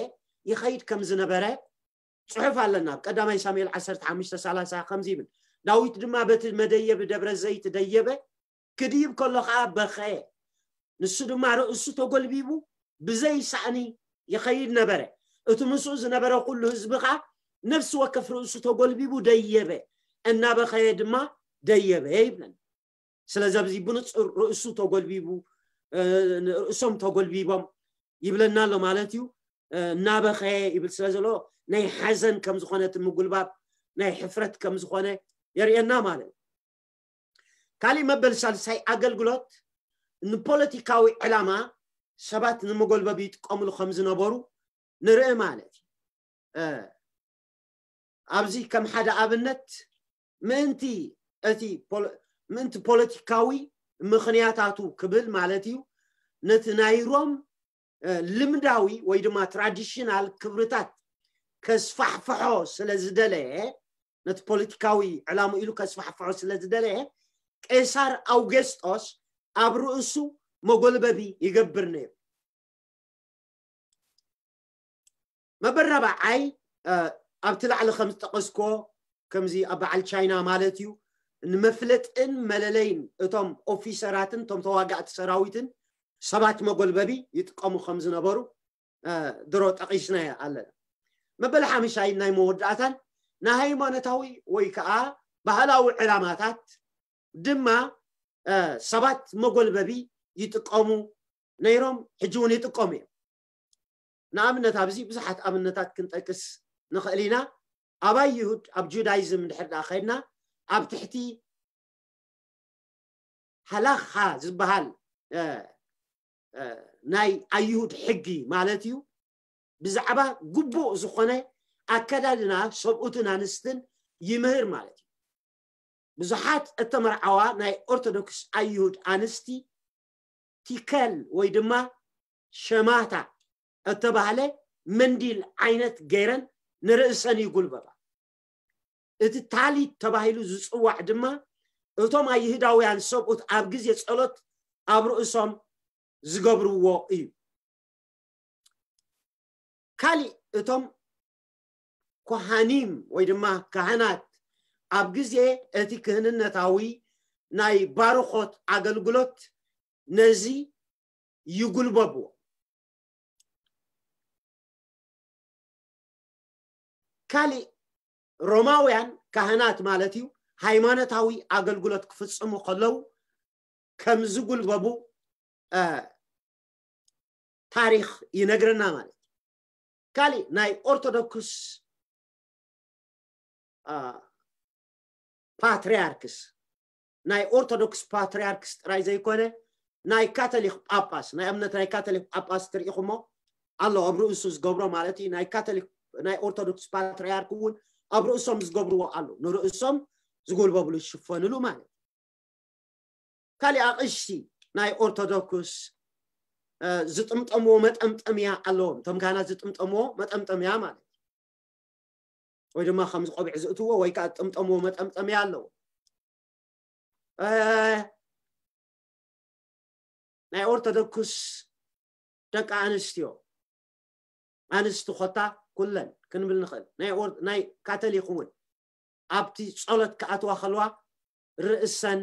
ይኸይድ ከም ዝነበረ ፅሑፍ ኣለና። ኣብ ቀዳማይ ሳሙኤል ዓሰርተ ሓሙሽተ ሰላሳ ከምዚ ይብል፣ ዳዊት ድማ በቲ መደየቢ ደብረ ዘይት ደየበ፣ ክድይብ ከሎ ከዓ በኸየ። ንሱ ድማ ርእሱ ተጎልቢቡ ብዘይ ሳእኒ ይኸይድ ነበረ። እቲ ምስኡ ዝነበረ ኩሉ ህዝቢ ከዓ ነፍሲ ወከፍ ርእሱ ተጎልቢቡ ደየበ፣ እናበኸየ ድማ ደየበ ይብለና። ስለዚ ኣብዚ ብንፁር ርእሱ ተጎልቢቡ ርእሶም ተጎልቢቦም ይብለና ኣሎ ማለት እዩ። እናበኸየ ይብል ስለ ዘሎ ናይ ሓዘን ከም ዝኾነ እቲ ምጉልባብ ናይ ሕፍረት ከም ዝኾነ የርእየና ማለት እዩ። ካሊእ መበል ሳልሳይ ኣገልግሎት ንፖለቲካዊ ዕላማ ሰባት ንመጎልበቢ ይጥቀምሉ ከም ዝነበሩ ንርኢ ማለት እዩ። ኣብዚ ከም ሓደ ኣብነት ምእንቲ እቲ ምእንቲ ፖለቲካዊ ምኽንያታቱ ክብል ማለት እዩ ነቲ ናይ ሮም ልምዳዊ ወይ ድማ ትራዲሽናል ክብርታት ከስፋሕፍሖ ስለ ዝደለየ ነቲ ፖለቲካዊ ዕላሙ ኢሉ ከስፋሕፍሖ ስለ ዝደለየ ቄሳር ኣውገስጦስ ኣብ ርእሱ መጎልበቢ ይገብር ነይሩ። መበል ራብዓይ ኣብቲ ላዕሊ ከም ዝጠቐስኮ ከምዚ ኣብ በዓል ቻይና ማለት እዩ ንመፍለጥን መለለይን እቶም ኦፊሰራትን እቶም ተዋጋእቲ ሰራዊትን ሰባት መጎልበቢ ይጥቀሙ ከም ዝነበሩ ድሮ ጠቒስናዮ ኣለና። መበል ሓምሻይ ናይ መወዳእታን ንሃይማኖታዊ ወይ ከዓ ባህላዊ ዕላማታት ድማ ሰባት መጎልበቢ ይጥቀሙ ነይሮም፣ ሕጂ እውን ይጥቀሙ እዮም። ንኣብነት ኣብዚ ብዙሓት ኣብነታት ክንጠቅስ ንኽእል ኢና። ኣብ ኣይሁድ ኣብ ጁዳይዝም እንድሕር ደኣ ከድና ኣብ ትሕቲ ሃላኻ ዝበሃል ናይ ኣይሁድ ሕጊ ማለት እዩ ብዛዕባ ግቡእ ዝኾነ ኣከዳድና ሰብኡትን ኣንስትን ይምህር ማለት እዩ። ብዙሓት እተመርዓዋ ናይ ኦርቶዶክስ ኣይሁድ ኣንስቲ ቲከል ወይ ድማ ሸማታ እተባህለ መንዲል ዓይነት ገይረን ንርእሰን ይጉልበባ። እቲ ታሊት ተባሂሉ ዝጽዋዕ ድማ እቶም ኣይሁዳውያን ሰብኡት ኣብ ግዜ ጸሎት ኣብ ርእሶም ዝገብርዎ እዩ። ካሊእ እቶም ኮሃኒም ወይ ድማ ካህናት ኣብ ግዜ እቲ ክህንነታዊ ናይ ባርኾት ኣገልግሎት ነዚ ይጉልበብዎ። ካሊእ ሮማውያን ካህናት ማለት እዩ ሃይማኖታዊ ኣገልግሎት ክፍጽሙ ከለዉ ከም ዝጉልበቡ ታሪኽ ይነግረና ማለት እዩ። ካሊእ ናይ ኦርቶዶክስ ፓትሪያርክስ ናይ ኦርቶዶክስ ፓትሪያርክስ ጥራይ ዘይኮነ ናይ ካቶሊክ ጳጳስ ናይ እምነት ናይ ካቶሊክ ጳጳስ ትርኢኹሞ ኣሎ ኣብ ርእሱ ዝገብሮ ማለት እዩ። ናይ ካቶሊክ ናይ ኦርቶዶክስ ፓትሪያርክ እውን ኣብ ርእሶም ዝገብርዎ ኣሎ ንርእሶም ዝጎልበብሉ ዝሽፈንሉ ማለት እዩ። ካሊእ ኣቕሽቲ ናይ ኦርቶዶክስ ዝጥምጠምዎ መጠምጠምያ ኣለዎም። እቶም ካህናት ዝጥምጠምዎ መጠምጠምያ ማለት እዩ። ወይ ድማ ከምዚ ቆቢዕ ዝእትዎ ወይ ከዓ ዝጥምጠምዎ መጠምጠምያ ኣለዎ። ናይ ኦርቶዶክስ ደቂ ኣንስትዮ ኣንስቲ ኮታ ኩለን ክንብል ንኽእል ናይ ካቶሊክ እውን ኣብቲ ጸሎት ክኣትዋ ከለዋ ርእሰን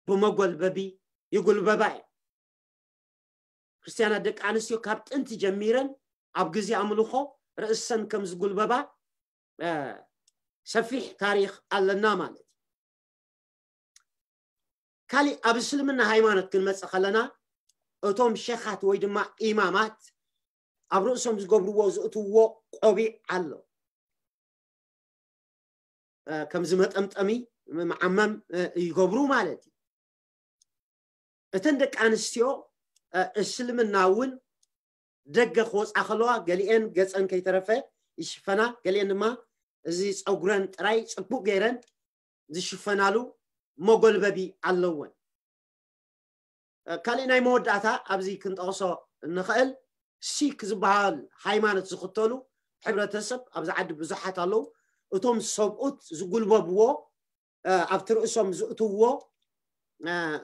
ብመጎልበቢ ይጉልበባ እየን። ክርስትያናት ደቂ ኣንስትዮ ካብ ጥንቲ ጀሚረን ኣብ ግዜ ኣምልኾ ርእሰን ከም ዝጉልበባ ሰፊሕ ታሪኽ ኣለና ማለት እዩ። ካሊእ ኣብ እስልምና ሃይማኖት ክንመጽእ ከለና እቶም ሸኻት ወይ ድማ ኢማማት ኣብ ርእሶም ዝገብርዎ ዝእትዎ ቆቢዕ ኣሎ። ከምዚ መጠምጠሚ መዓመም ይገብሩ ማለት እዩ። እተን ደቂ ኣንስትዮ እስልምና እውን ደገ ክወፃ ከለዋ ገሊአን ገፀን ከይተረፈ ይሽፈና፣ ገሊአን ድማ እዚ ፀጉረን ጥራይ ፅቡቅ ገይረን ዝሽፈናሉ መጎልበቢ ኣለወን። ካልእ ናይ መወዳእታ ኣብዚ ክንጠቕሶ እንኽእል ሲክ ዝበሃል ሃይማኖት ዝኽተሉ ሕብረተሰብ ኣብዚ ዓዲ ብዙሓት ኣለዉ። እቶም ሰብኡት ዝጉልበብዎ ኣብቲ ርእሶም ዝእትውዎ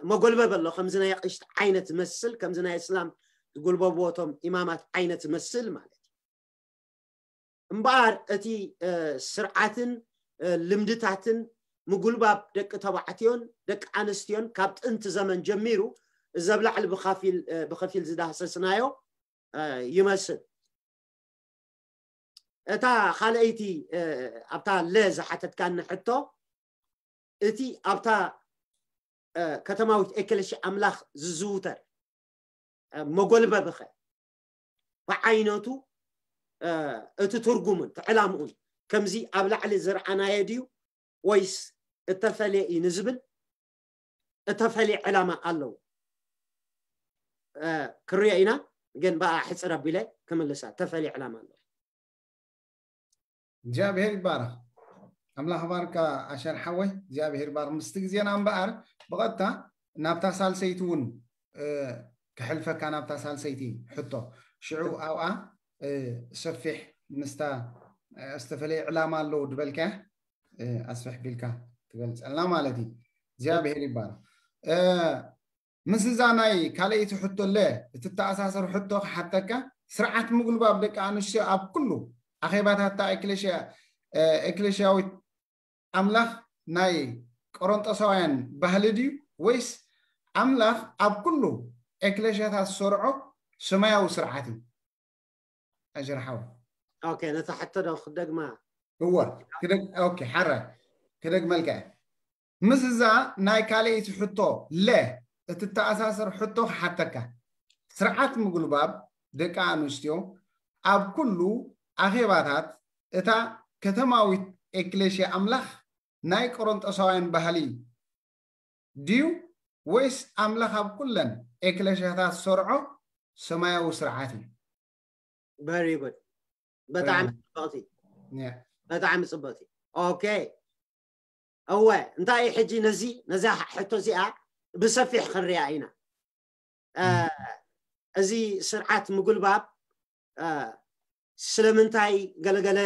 መጎልበብ ኣሎ፣ ከምዚ ናይ ኣቕሽቲ ዓይነት ዝመስል፣ ከምዚ ናይ እስላም ዝጉልበብዎ እቶም ኢማማት ዓይነት ዝመስል ማለት እዩ። እምበኣር እቲ ስርዓትን ልምድታትን ምጉልባብ ደቂ ተባዕትዮን ደቂ ኣንስትዮን ካብ ጥንቲ ዘመን ጀሚሩ እዚ ኣብ ላዕሊ ብኸፊል ዝዳህሰስናዮ ይመስል። እታ ካልኣይቲ ኣብታ ለ ዝሓተትካኒ ሕቶ፣ እቲ ኣብታ ከተማዊት ኤክለሽያ ኣምላኽ ዝዝውተር መጎልበብኸ ብዓይነቱ እቲ ትርጉሙን እቲ ዕላምኡን ከምዚ ኣብ ላዕሊ ዝረኣናዮ ድዩ ወይስ እተፈለየ እዩ ንዝብል እተፈለየ ዕላማ ኣለዎ? ክንሪኦ ኢና፣ ግን ብኣ ሕፅር ኣቢለ ክምልሳ እተፈለየ ዕላማ ኣለዎ። እግዚኣብሔር ይባረኽ። ኣምላኽ ባርካ ኣሸር ሓወይ፣ እግዚኣብሔር ይባርኽ። ምስቲ ግዜና እምበኣር ብቐጥታ ናብታ ሳልሰይቲ እውን ክሕልፈካ፣ ናብታ ሳልሰይቲ ሕቶ። ሽዑ ኣብኣ ሰፊሕ ምስታ ዝተፈለየ ዕላማ ኣለዎ ዝበልካያ ኣስፍሕ ቢልካ ትገልፀልና ማለት እዩ። እግዚኣብሔር ይባረኽ። ምስ እዛ ናይ ካልኣይቲ ሕቶ ለ እትተኣሳሰር ሕቶ ክሓተካ፣ ስርዓት ምጉልባብ ደቂ ኣንስትዮ ኣብ ኩሉ ኣኼባታታ ኤክሌሽያዊት ኣምላኽ ናይ ቆሮንጦሳውያን ባህሊ ድዩ ወይስ ኣምላኽ ኣብ ኩሉ ኤክሌሽያታት ዝሰርዖ ሰማያዊ ስርዓት እዩ? ኣጀርሓው ኦኬ፣ ነታ ሕቶ ዶ ክደግማ? እወ፣ ክደግ ኦኬ፣ ሓረ ክደግመልካ እየ። ምስ እዛ ናይ ካልኣይቲ ሕቶ ለ እትተኣሳሰር ሕቶ ክሓተካ፣ ስርዓት ምጉልባብ ደቂ ኣንስትዮ ኣብ ኩሉ ኣኼባታት እታ ከተማዊት ኤክሌሽያ ኣምላኽ ናይ ቆሮንጦሳውያን ባህሊ ድዩ ወይስ ኣምላኽ ኣብ ኩለን ኤክሌሽያታት ዝሰርዖ ሰማያዊ ስርዓት እዩ? Very good። ብጣዕሚ ፅብቕቲ፣ ብጣዕሚ ፅብቕቲ። ኦኬ፣ እወ፣ እንታይ እዩ ሕጂ ነዚ ነዛ ሕቶ እዚኣ ብሰፊሕ ክንሪኣ ኢና። እዚ ስርዓት ምጉልባብ ስለምንታይ ገለገለ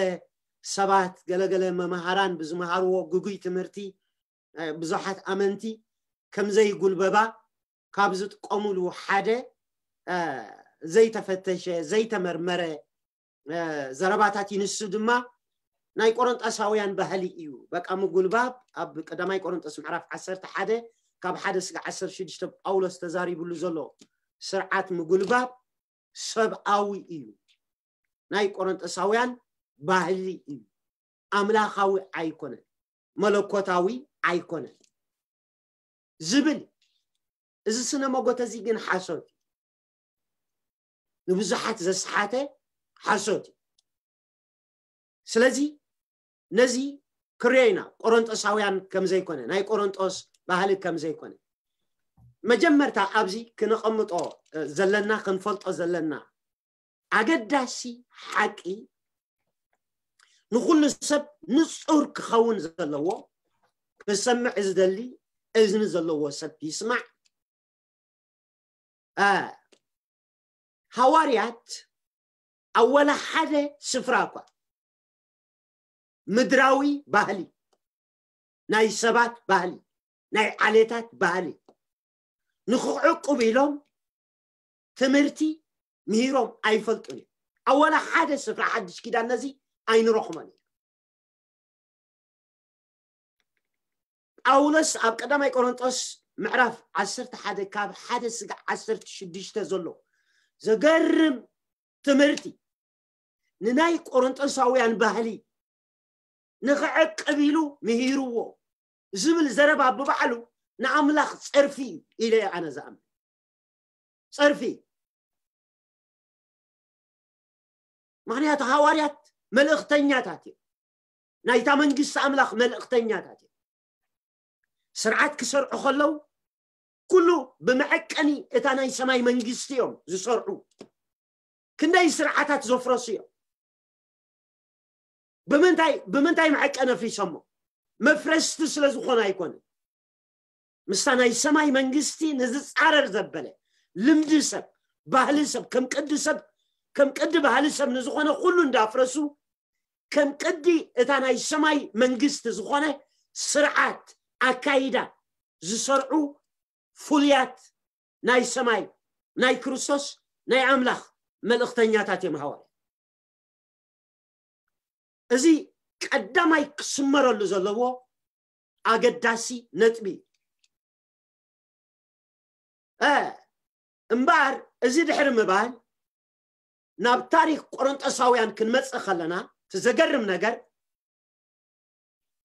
ሰባት ገለገለ መምሃራን ብዝመሃርዎ ግጉይ ትምህርቲ ብዙሓት ኣመንቲ ከምዘይጉልበባ ካብ ዝጥቀሙሉ ሓደ ዘይተፈተሸ ዘይተመርመረ ዘረባታት እዩ። ንሱ ድማ ናይ ቆሮንጦሳውያን ባህሊ እዩ። በቃ ምጉልባብ ኣብ ቀዳማይ ቆሮንጦስ ምዕራፍ ዓሰርተ ሓደ ካብ ሓደ ስጋ ዓሰርተ ሽዱሽተ ጳውሎስ ተዛሪብሉ ዘሎ ስርዓት ምጉልባብ ሰብኣዊ እዩ። ናይ ቆሮንጦሳውያን ባህሊ እዩ። ኣምላኻዊ ኣይኮነን፣ መለኮታዊ ኣይኮነን ዝብል እዚ ስነ መጎተ እዚ ግን ሓሶት እዩ። ንብዙሓት ዘስሓተ ሓሶት እዩ። ስለዚ ነዚ ክሪኦ ኢና ቆሮንጦሳውያን ከም ዘይኮነ፣ ናይ ቆሮንጦስ ባህሊ ከም ዘይኮነ። መጀመርታ ኣብዚ ክነቐምጦ ዘለና ክንፈልጦ ዘለና ኣገዳሲ ሓቂ ንኹሉ ሰብ ንጹር ክኸውን ዘለዎ ክሰምዕ ዝደሊ እዝኒ ዘለዎ ሰብ ይስማዕ። ሃዋርያት ኣብ ወላ ሓደ ስፍራ እኳ ምድራዊ ባህሊ፣ ናይ ሰባት ባህሊ፣ ናይ ዓሌታት ባህሊ ንክዕቁብ ኢሎም ትምህርቲ ምሂሮም ኣይፈልጡን እዮም። ኣብ ወላ ሓደ ስፍራ ሓድሽ ኪዳን ነዚ ኣይንረኽቦን ኢና። ጳውሎስ ኣብ ቀዳማይ ቆሮንጦስ ምዕራፍ ዓሰርተ ሓደ ካብ ሓደ ስጋዕ ዓሰርተ ሽዱሽተ ዘሎ ዘገርም ትምህርቲ ንናይ ቆሮንጦሳውያን ባህሊ ንኽዕቅብ ኢሉ ምሂርዎ ዝብል ዘረባ ብባዕሉ ንኣምላኽ ጸርፊ እዩ ኢለ እየ ኣነ ዝኣምን። ጸርፊ እዩ። ምኽንያቱ ሃዋርያት መልእኽተኛታት እዮም። ናይታ መንግስቲ ኣምላኽ መልእኽተኛታት እዮም። ስርዓት ክሰርዑ ከለዉ ኩሉ ብመዐቀኒ እታ ናይ ሰማይ መንግስቲ እዮም ዝሰርዑ። ክንደይ ስርዓታት ዘፍረሱ እዮም። ብምንታይ ብምንታይ መዐቀኒ ኣፍሪሶሞ? መፍረስቲ ስለ ዝኾነ ኣይኮነን። ምስታ ናይ ሰማይ መንግስቲ ንዝጻረር ዘበለ ልምዲ ሰብ፣ ባህሊ ሰብ፣ ከም ቅዲ ሰብ፣ ከም ቅዲ ባህሊ ሰብ ንዝኾነ ኩሉ እንዳፍረሱ ከም ቅዲ እታ ናይ ሰማይ መንግስቲ ዝኾነ ስርዓት ኣካይዳ ዝሰርዑ ፍሉያት ናይ ሰማይ ናይ ክርስቶስ ናይ ኣምላኽ መልእኽተኛታት እዮም ሃዋርያ። እዚ ቀዳማይ ክስመረሉ ዘለዎ ኣገዳሲ ነጥቢ እዩ። እ፣ እምበኣር እዚ ድሕሪ ምባል ናብ ታሪኽ ቆሮንጦሳውያን ክንመጽእ ከለና እቲ ዘገርም ነገር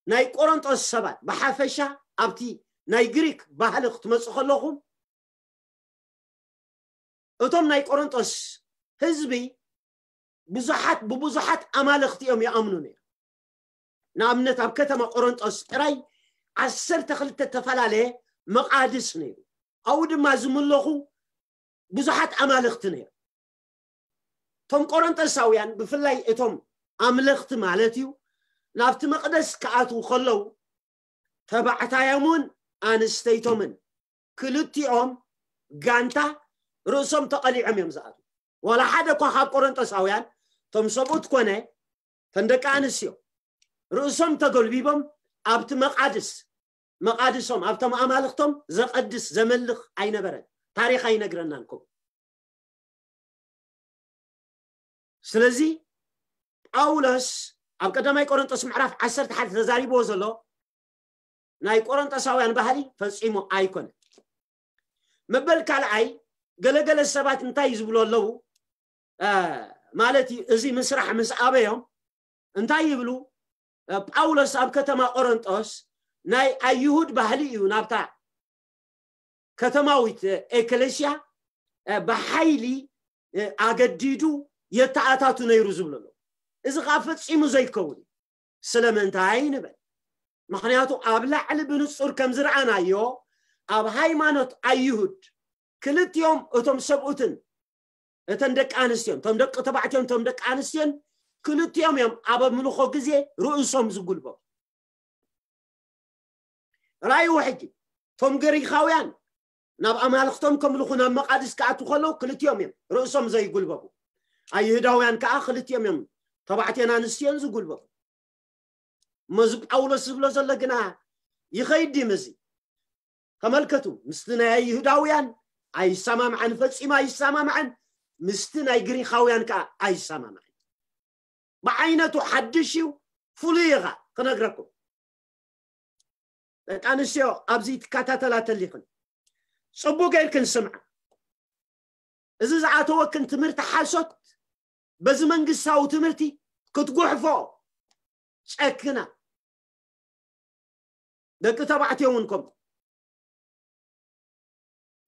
ናይ ቆሮንጦስ ሰባት ብሓፈሻ ኣብቲ ናይ ግሪክ ባህሊ ክትመጹ ከለኹም እቶም ናይ ቆሮንጦስ ህዝቢ ብዙሓት ብብዙሓት ኣማልኽቲ እዮም ይኣምኑ ነይሩ። ንኣብነት ኣብ ከተማ ቆሮንጦስ ጥራይ ዓሰርተ ክልተ ዝተፈላለየ መቓድስ ነይሩ። ኣብኡ ድማ ዝምለኹ ብዙሓት ኣማልኽቲ ነይሩ። እቶም ቆሮንጦሳውያን ብፍላይ እቶም ኣምለኽቲ ማለት እዩ ናብቲ መቕደስ ክኣትዉ ከለዉ ተባዕታዮምን ኣንስተይቶምን ክልቲኦም ጋንታ ርእሶም ተቐሊዖም እዮም ዝኣትዉ። ዋላ ሓደ እኳ ካብ ቆሮንጦሳውያን እቶም ሰብኡት ኮነ እተን ደቂ ኣንስትዮ ርእሶም ተጎልቢቦም ኣብቲ መቓድስ መቓድሶም ኣብቶም ኣማልኽቶም ዘቐድስ ዘመልኽ ኣይነበረን። ታሪኽ ኣይነግረናን ከምኡ። ስለዚ ጳውሎስ ኣብ ቀዳማይ ቆሮንጦስ ምዕራፍ ዓሰርተ ሓደ ተዛሪብዎ ዘሎ ናይ ቆሮንጦሳውያን ባህሊ ፈጺሙ ኣይኮነን። መበል ካልኣይ ገለገለ ሰባት እንታይ ዝብሉ ኣለዉ? እ፣ ማለት እዩ፣ እዚ ምስራሕ ምስ ኣበዮም እንታይ ይብሉ? እ፣ ጳውሎስ ኣብ ከተማ ቆሮንጦስ ናይ ኣይሁድ ባህሊ እዩ ናብታ ከተማዊት ኤክሌስያ ብሓይሊ ኣገዲዱ የተኣታቱ ነይሩ ዝብሉ ኣለዉ። እዚ ከዓ ፈፂሙ ዘይከውን እዩ። ስለምንታይ ንበል? ምክንያቱ ኣብ ላዕሊ ብንፁር ከም ዝረኣናዮ ኣብ ሃይማኖት ኣይሁድ ክልቲኦም እቶም ሰብኡትን እተን ደቂ ኣንስትዮን እቶም ደቂ ተባዕትዮን እቶም ደቂ ኣንስትዮን ክልቲኦም እዮም ኣብ ኣምልኾ ግዜ ርእሶም ዝጉልበቡ። ራእይዎ ሕጂ እቶም ግሪኻውያን ናብ ኣማልኽቶም ከምልኹ ናብ መቓድስ ክኣቱ ከለዉ ክልቲኦም እዮም ርእሶም ዘይጉልበቡ። ኣይሁዳውያን ከዓ ክልቲኦም እዮም ተባዕትዮን ኣንስትዮን ዝጉልበቡ። እሞ እዚ ጳውሎስ ዝብሎ ዘሎ ግና ይኸይድ ድም እዚ? ተመልከቱ፣ ምስቲ ናይ ኣይሁዳውያን ኣይሰማምዐን፣ ፈጺሙ ኣይሰማምዐን፣ ምስቲ ናይ ግሪኻውያን ከዓ ኣይሰማምዐን። ብዓይነቱ ሓድሽ እዩ፣ ፍሉይ ኢኻ ክነግረኩም። ደቂ ኣንስትዮ ኣብዚ ትከታተላ ተሊኽን ፅቡቅ ጌርክን ስምዓ። እዚ ዝኣተወክን ትምህርቲ ሓሶት በዚ መንግስታዊ ትምህርቲ ክትጉሕፎ ጨክና። ደቂ ተባዕትዮ እውን ከምኡ።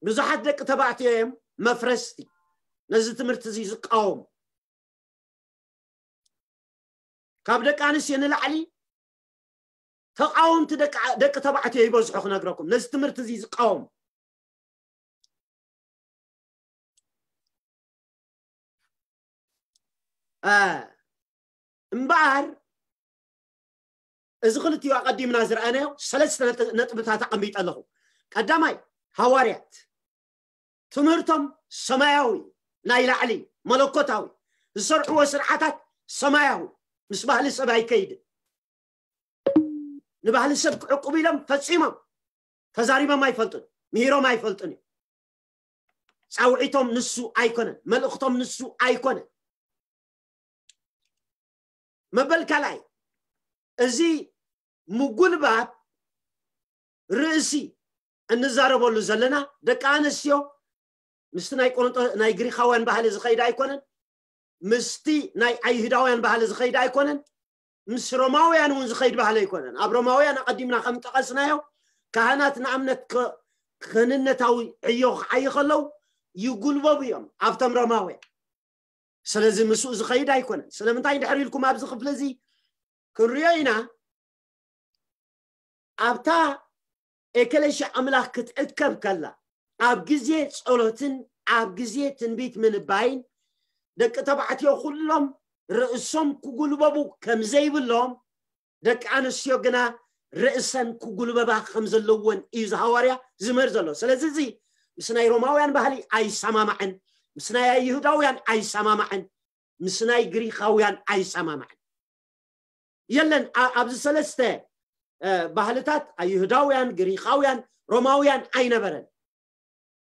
ብዙሓት ደቂ ተባዕትዮ እዮም መፍረስቲ ነዚ ትምህርቲ እዚ ዝቃወሙ። ካብ ደቂ ኣንስትዮ ንላዕሊ ተቃወምቲ ደቂ ደቂ ተባዕትዮ ይበዝሑ ክነግረኩም ነዚ ትምህርቲ እዚ ዝቃወሙ። እ፣ እምበኣር እዚ ክልቲኡ ኣቐዲምና ዝረኣናዮ ሰለስተ ነጥ- ነጥብታት ኣቐሚጠ ኣለኹ። ቀዳማይ፣ ሃዋርያት ትምህርቶም ሰማያዊ፣ ናይ ላዕሊ፣ መለኮታዊ፣ ዝሰርዕዎ ስርዓታት ሰማያዊ፣ ምስ ባህሊ ሰብ ኣይከይድን። ንባህሊ ሰብ ክዕቁብ ኢሎም ፈጺሞም ተዛሪቦም ኣይፈልጡን፣ ምሂሮም ኣይፈልጡን እዮም። ፃውዒቶም ንሱ ኣይኮነን፣ መልእኽቶም ንሱ ኣይኮነን። መበል ካልኣይ፣ እዚ ምጉልባብ ርእሲ እንዛረበሉ ዘለና ደቂ ኣንስትዮ ምስቲ ናይ ቆሮንጦ ናይ ግሪኻውያን ባህሊ ዝኸይድ ኣይኮነን፣ ምስቲ ናይ ኣይሁዳውያን ባህሊ ዝኸይድ ኣይኮነን፣ ምስ ሮማውያን እውን ዝኸይድ ባህሊ ኣይኮነን። ኣብ ሮማውያን ኣቐዲምና ከም ጠቐስናዮ ካህናት ንኣብነት ክህንነታዊ ዕዮ ክዓዩ ከለዉ ይጉልበቡ እዮም ኣብቶም ሮማውያን። ስለዚ ምስኡ ዝኸይድ ኣይኮነን። ስለምንታይ ድሕሪ ኢልኩም ኣብዚ ክፍሊ እዚ ክንሪኦ ኢና። ኣብታ ኤከለሻ ኣምላኽ ክትእከብ ከላ ኣብ ግዜ ጸሎትን ኣብ ግዜ ትንቢት ምንባይን ደቂ ተባዕትዮ ኩሎም ርእሶም ክጉልበቡ ከም ዘይብሎም ደቂ ኣንስትዮ ግና ርእሰን ክጉልበባ ከም ዘለወን እዩ ዝሃዋርያ ዝምህር ዘሎ። ስለዚ እዚ ምስ ናይ ሮማውያን ባህሊ ኣይሰማማዕን፣ ምስ ናይ ኣይሁዳውያን ኣይሰማማዕን፣ ምስ ናይ ግሪኻውያን ኣይሰማማዕን። የለን ኣብዚ ሰለስተ ባህልታት ኣይሁዳውያን፣ ግሪኻውያን፣ ሮማውያን ኣይነበረን።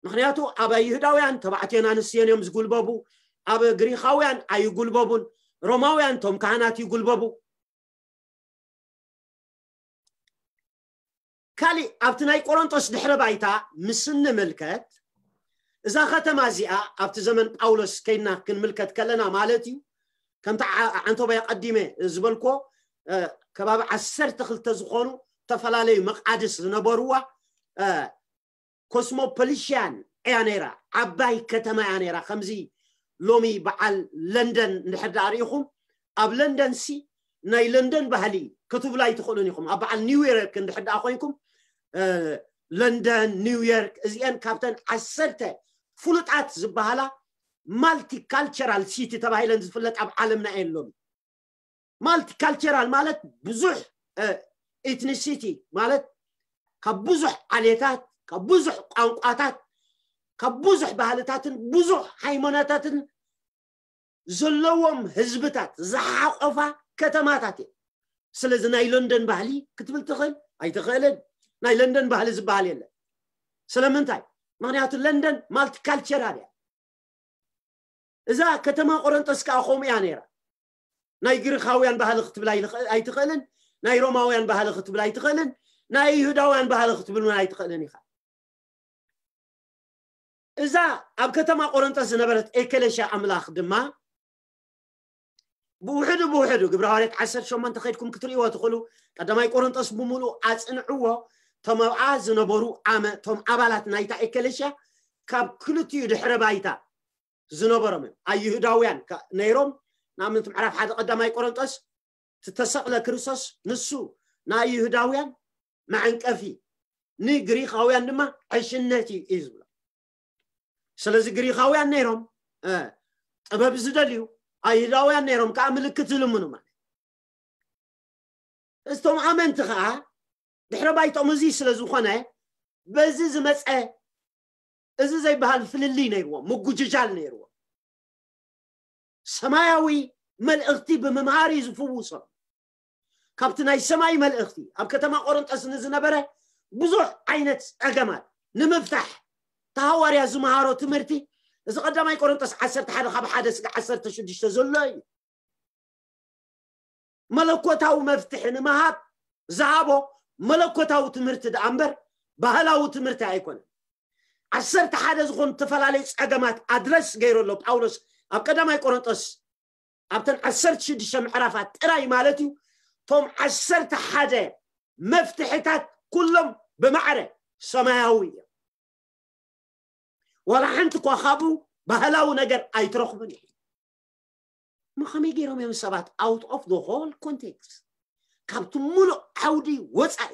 ምክንያቱ ኣብ ኣይሁዳውያን ተባዕትዮን ኣንስትዮን እዮም ዝጉልበቡ፣ ኣብ ግሪኻውያን ኣይጉልበቡን። ሮማውያን ቶም ካህናት ይጉልበቡ። ካሊእ ኣብቲ ናይ ቆሮንጦስ ድሕረ ባይታ ምስ እንምልከት እዛ ከተማ እዚኣ ኣብቲ ዘመን ጳውሎስ ከይድና ክንምልከት ከለና ማለት እዩ። ከምቲ ዓንቶባይ ቀዲመ ዝበልኮ ከባቢ ዓሰርተ ክልተ ዝኾኑ ዝተፈላለዩ መቃድስ ዝነበርዋ ኮስሞፖሊሽያን እያ ነይራ። ዓባይ ከተማ እያ ነይራ። ከምዚ ሎሚ በዓል ለንደን እንድሕር ደኣ ርኢኹም ኣብ ለንደን ሲ ናይ ለንደን ባህሊ ክትብሉ ኣይትኽእሉን ኢኹም። ኣብ በዓል ኒውዮርክ እንድሕር ደኣ ኮይንኩም ለንደን፣ ኒውዮርክ እዚአን ካብተን ዓሰርተ ፍሉጣት ዝበሃላ ማልቲካልቸራል ሲቲ ተባሂለን ዝፍለጥ ኣብ ዓለምና እየን ሎሚ። ማልቲካልቸራል ማለት ብዙሕ ኤትኒሲቲ ማለት ካብ ብዙሕ ዓሌታት፣ ካብ ብዙሕ ቋንቋታት፣ ካብ ብዙሕ ባህልታትን ብዙሕ ሃይማኖታትን ዘለዎም ህዝብታት ዝሓቆፋ ከተማታት እየ። ስለዚ ናይ ለንደን ባህሊ ክትብል ትኽእል ኣይትኽእልን። ናይ ለንደን ባህሊ ዝበሃል የለን። ስለምንታይ? ምክንያቱ ለንደን ማልቲካልቸራል እያ። እዛ ከተማ ቆረንጦስ ከዓ ከምኡ እያ ነይራ። ናይ ግሪኻውያን ባህሊ ክትብል ኣይትኽእልን፣ ናይ ሮማውያን ባህሊ ክትብል ኣይትኽእልን፣ ናይ ይሁዳውያን ባህሊ ክትብል እውን ኣይትኽእልን ኢኻ። እዛ ኣብ ከተማ ቆረንጦስ ዝነበረት ኤከለሻ ኣምላኽ ድማ ብውሕዱ ብውሕዱ ግብረ ሃዋርያት ዓሰርተ ሸሞንተ ከይድኩም ክትርእይዎ ትኽእሉ። ቀዳማይ ቆረንጦስ ብምሉእ ኣጽንዕዎ። እቶም ኣብኣ ዝነበሩ ኣመ እቶም ኣባላት ናይታ ኤከለሻ ካብ ክልቲኡ ድሕረ ባይታ ዝነበሮም እዮም። ኣይሁዳውያን ነይሮም። ንኣብነት ምዕራፍ ሓደ ቀዳማይ ቆረንጦስ ዝተሰቕለ ክርስቶስ ንሱ ንኣይሁዳውያን መዐንቀፊ ንግሪኻውያን ድማ ዕሽነት እዩ እዩ ዝብሎ። ስለዚ ግሪኻውያን ነይሮም ጥበብ ዝደልዩ፣ ኣይሁዳውያን ነይሮም ከዓ ምልክት ዝልምኑ ማለት። እቶም ኣመንቲ ከዓ ድሕረ ባይቶም እዚ ስለ ዝኾነ በዚ ዝመፀ እዚ ዘይበሃል ፍልልይ ነይርዎም፣ ምጉጅጃል ነይርዎም። ሰማያዊ መልእኽቲ ብምምሃር እዩ ዝፍውሶም። ካብቲ ናይ ሰማይ መልእኽቲ ኣብ ከተማ ቆረንጦስ ንዝነበረ ብዙሕ ዓይነት ጸገማት ንምፍታሕ ተሃዋርያ ዝመሃሮ ትምህርቲ እዚ ቀዳማይ ቆረንጦስ ዓሰርተ ሓደ ካብ ሓደ ስጋ ዓሰርተ ሽዱሽተ ዘሎ እዩ። መለኮታዊ መፍትሒ ንምሃብ ዝሃቦ መለኮታዊ ትምህርቲ ደኣ እምበር ባህላዊ ትምህርቲ ኣይኮነን። ዓሰርተ ሓደ ዝኾኑ ዝተፈላለዩ ጸገማት ኣድረስ ገይሩ ኣሎ ጳውሎስ ኣብ ቀዳማይ ቆሮንጦስ ኣብተን ዓሰርተ ሽዱሽተ ምዕራፋት ጥራይ ማለት እዩ። እቶም ዓሰርተ ሓደ መፍትሕታት ኩሎም ብማዕረ ሰማያዊ እዮም። ዋላ ሓንቲ እኳ ካብኡ ባህላዊ ነገር ኣይትረኽቡን እዩ። እሞ ከመይ ገይሮም እዮም ሰባት out of the whole context ካብቲ ሙሉእ ዓውዲ ወፃኢ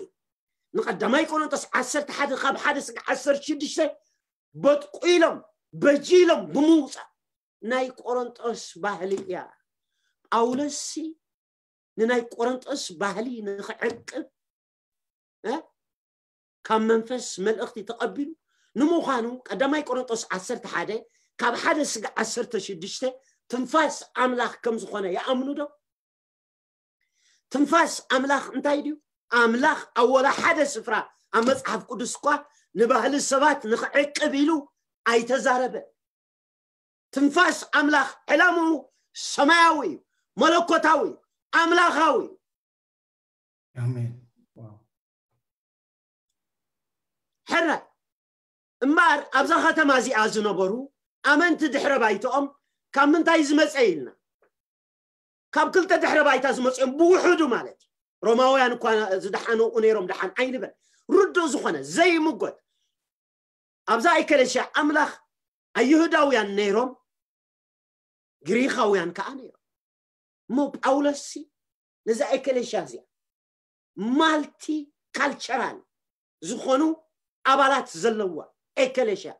ንቀዳማይ ቆሮንጦስ ዓሰርተ ሓደ ካብ ሓደ ስጋ ዓሰርተ ሽዱሽተ በጥቁ ኢሎም በጂሎም ብምውፃእ ናይ ቆሮንጦስ ባህሊ እያ። ጳውሎስ ንናይ ቆሮንጦስ ባህሊ ንክዕቅብ ካብ መንፈስ መልእኽቲ ተቐቢሉ ንምዃኑ ቀዳማይ ቆሮንጦስ ዓሰርተ ሓደ ካብ ሓደ ስጋ ዓሰርተ ሽዱሽተ ትንፋስ ኣምላኽ ከም ዝኾነ ይኣምኑ ዶ? ትንፋስ ኣምላኽ እንታይ ድዩ? ኣምላኽ ኣብ ወላ ሓደ ስፍራ ኣብ መጽሓፍ ቅዱስ እኳ ንባህሊ ሰባት ንኽዕቅብ ኢሉ ኣይተዛረበ። ትንፋስ ኣምላኽ ዕላምኡ ሰማያዊ እዩ፣ መለኮታዊ እዩ፣ ኣምላኻዊ እዩ። ኣሜን። ሕራይ። እምበኣር ኣብዛ ከተማ እዚኣ ዝነበሩ ኣመንቲ ድሕረ ባይትኦም ካብ ምንታይ ዝመጸ ኢልና፣ ካብ ክልተ ድሕረ ባይታ ዝመጽኦም ብውሕዱ ማለት እዩ። ሮማውያን እኳ ዝደሓኑ ነይሮም፣ ደሓን ኣይንበል፣ ርዱእ ዝኾነ ዘይምጎት ኣብዛ ኤከለስያ ኣምላኽ ኣይሁዳውያን ነይሮም፣ ግሪኻውያን ከዓ ነይሮም። እሞ ጳውሎስ ነዛ ኤከለስያ እዚኣ ማልቲ ካልቸራል ዝኾኑ ኣባላት ዘለዋ ኤከለስያ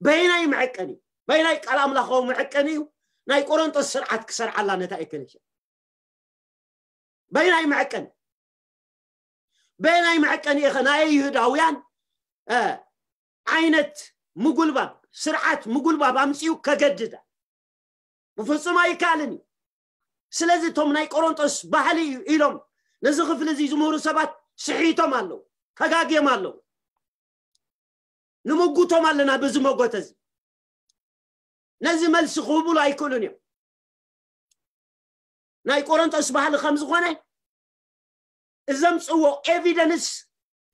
በይናይ መዐቀኒ፣ በይናይ ቃል ኣምላኻዊ መዐቀኒ እዩ ናይ ቆሮንጦስ ስርዓት ክሰርዓላ ነታ ኤከለስያ። በይናይ መዐቀኒ፣ በይናይ መዐቀኒ ኢኸ ናይ ይሁዳውያን ዓይነት ምጉልባብ፣ ስርዓት ምጉልባብ ኣምፅኡ ከገድዳ? ብፍፁም ኣይከኣልን እዩ። ስለዚ እቶም ናይ ቆሮንጦስ ባህሊ እዩ ኢሎም ነዚ ክፍሊ እዚ ዝምህሩ ሰባት ስሒቶም ኣለዉ፣ ተጋግዮም ኣለዉ። ንምጉቶም ኣለና ብዚ መጎተ እዚ። ነዚ መልሲ ክህቡሉ ኣይክእሉን እዮም። ናይ ቆሮንጦስ ባህሊ ከም ዝኾነ እዘምፅዎ ኤቪደንስ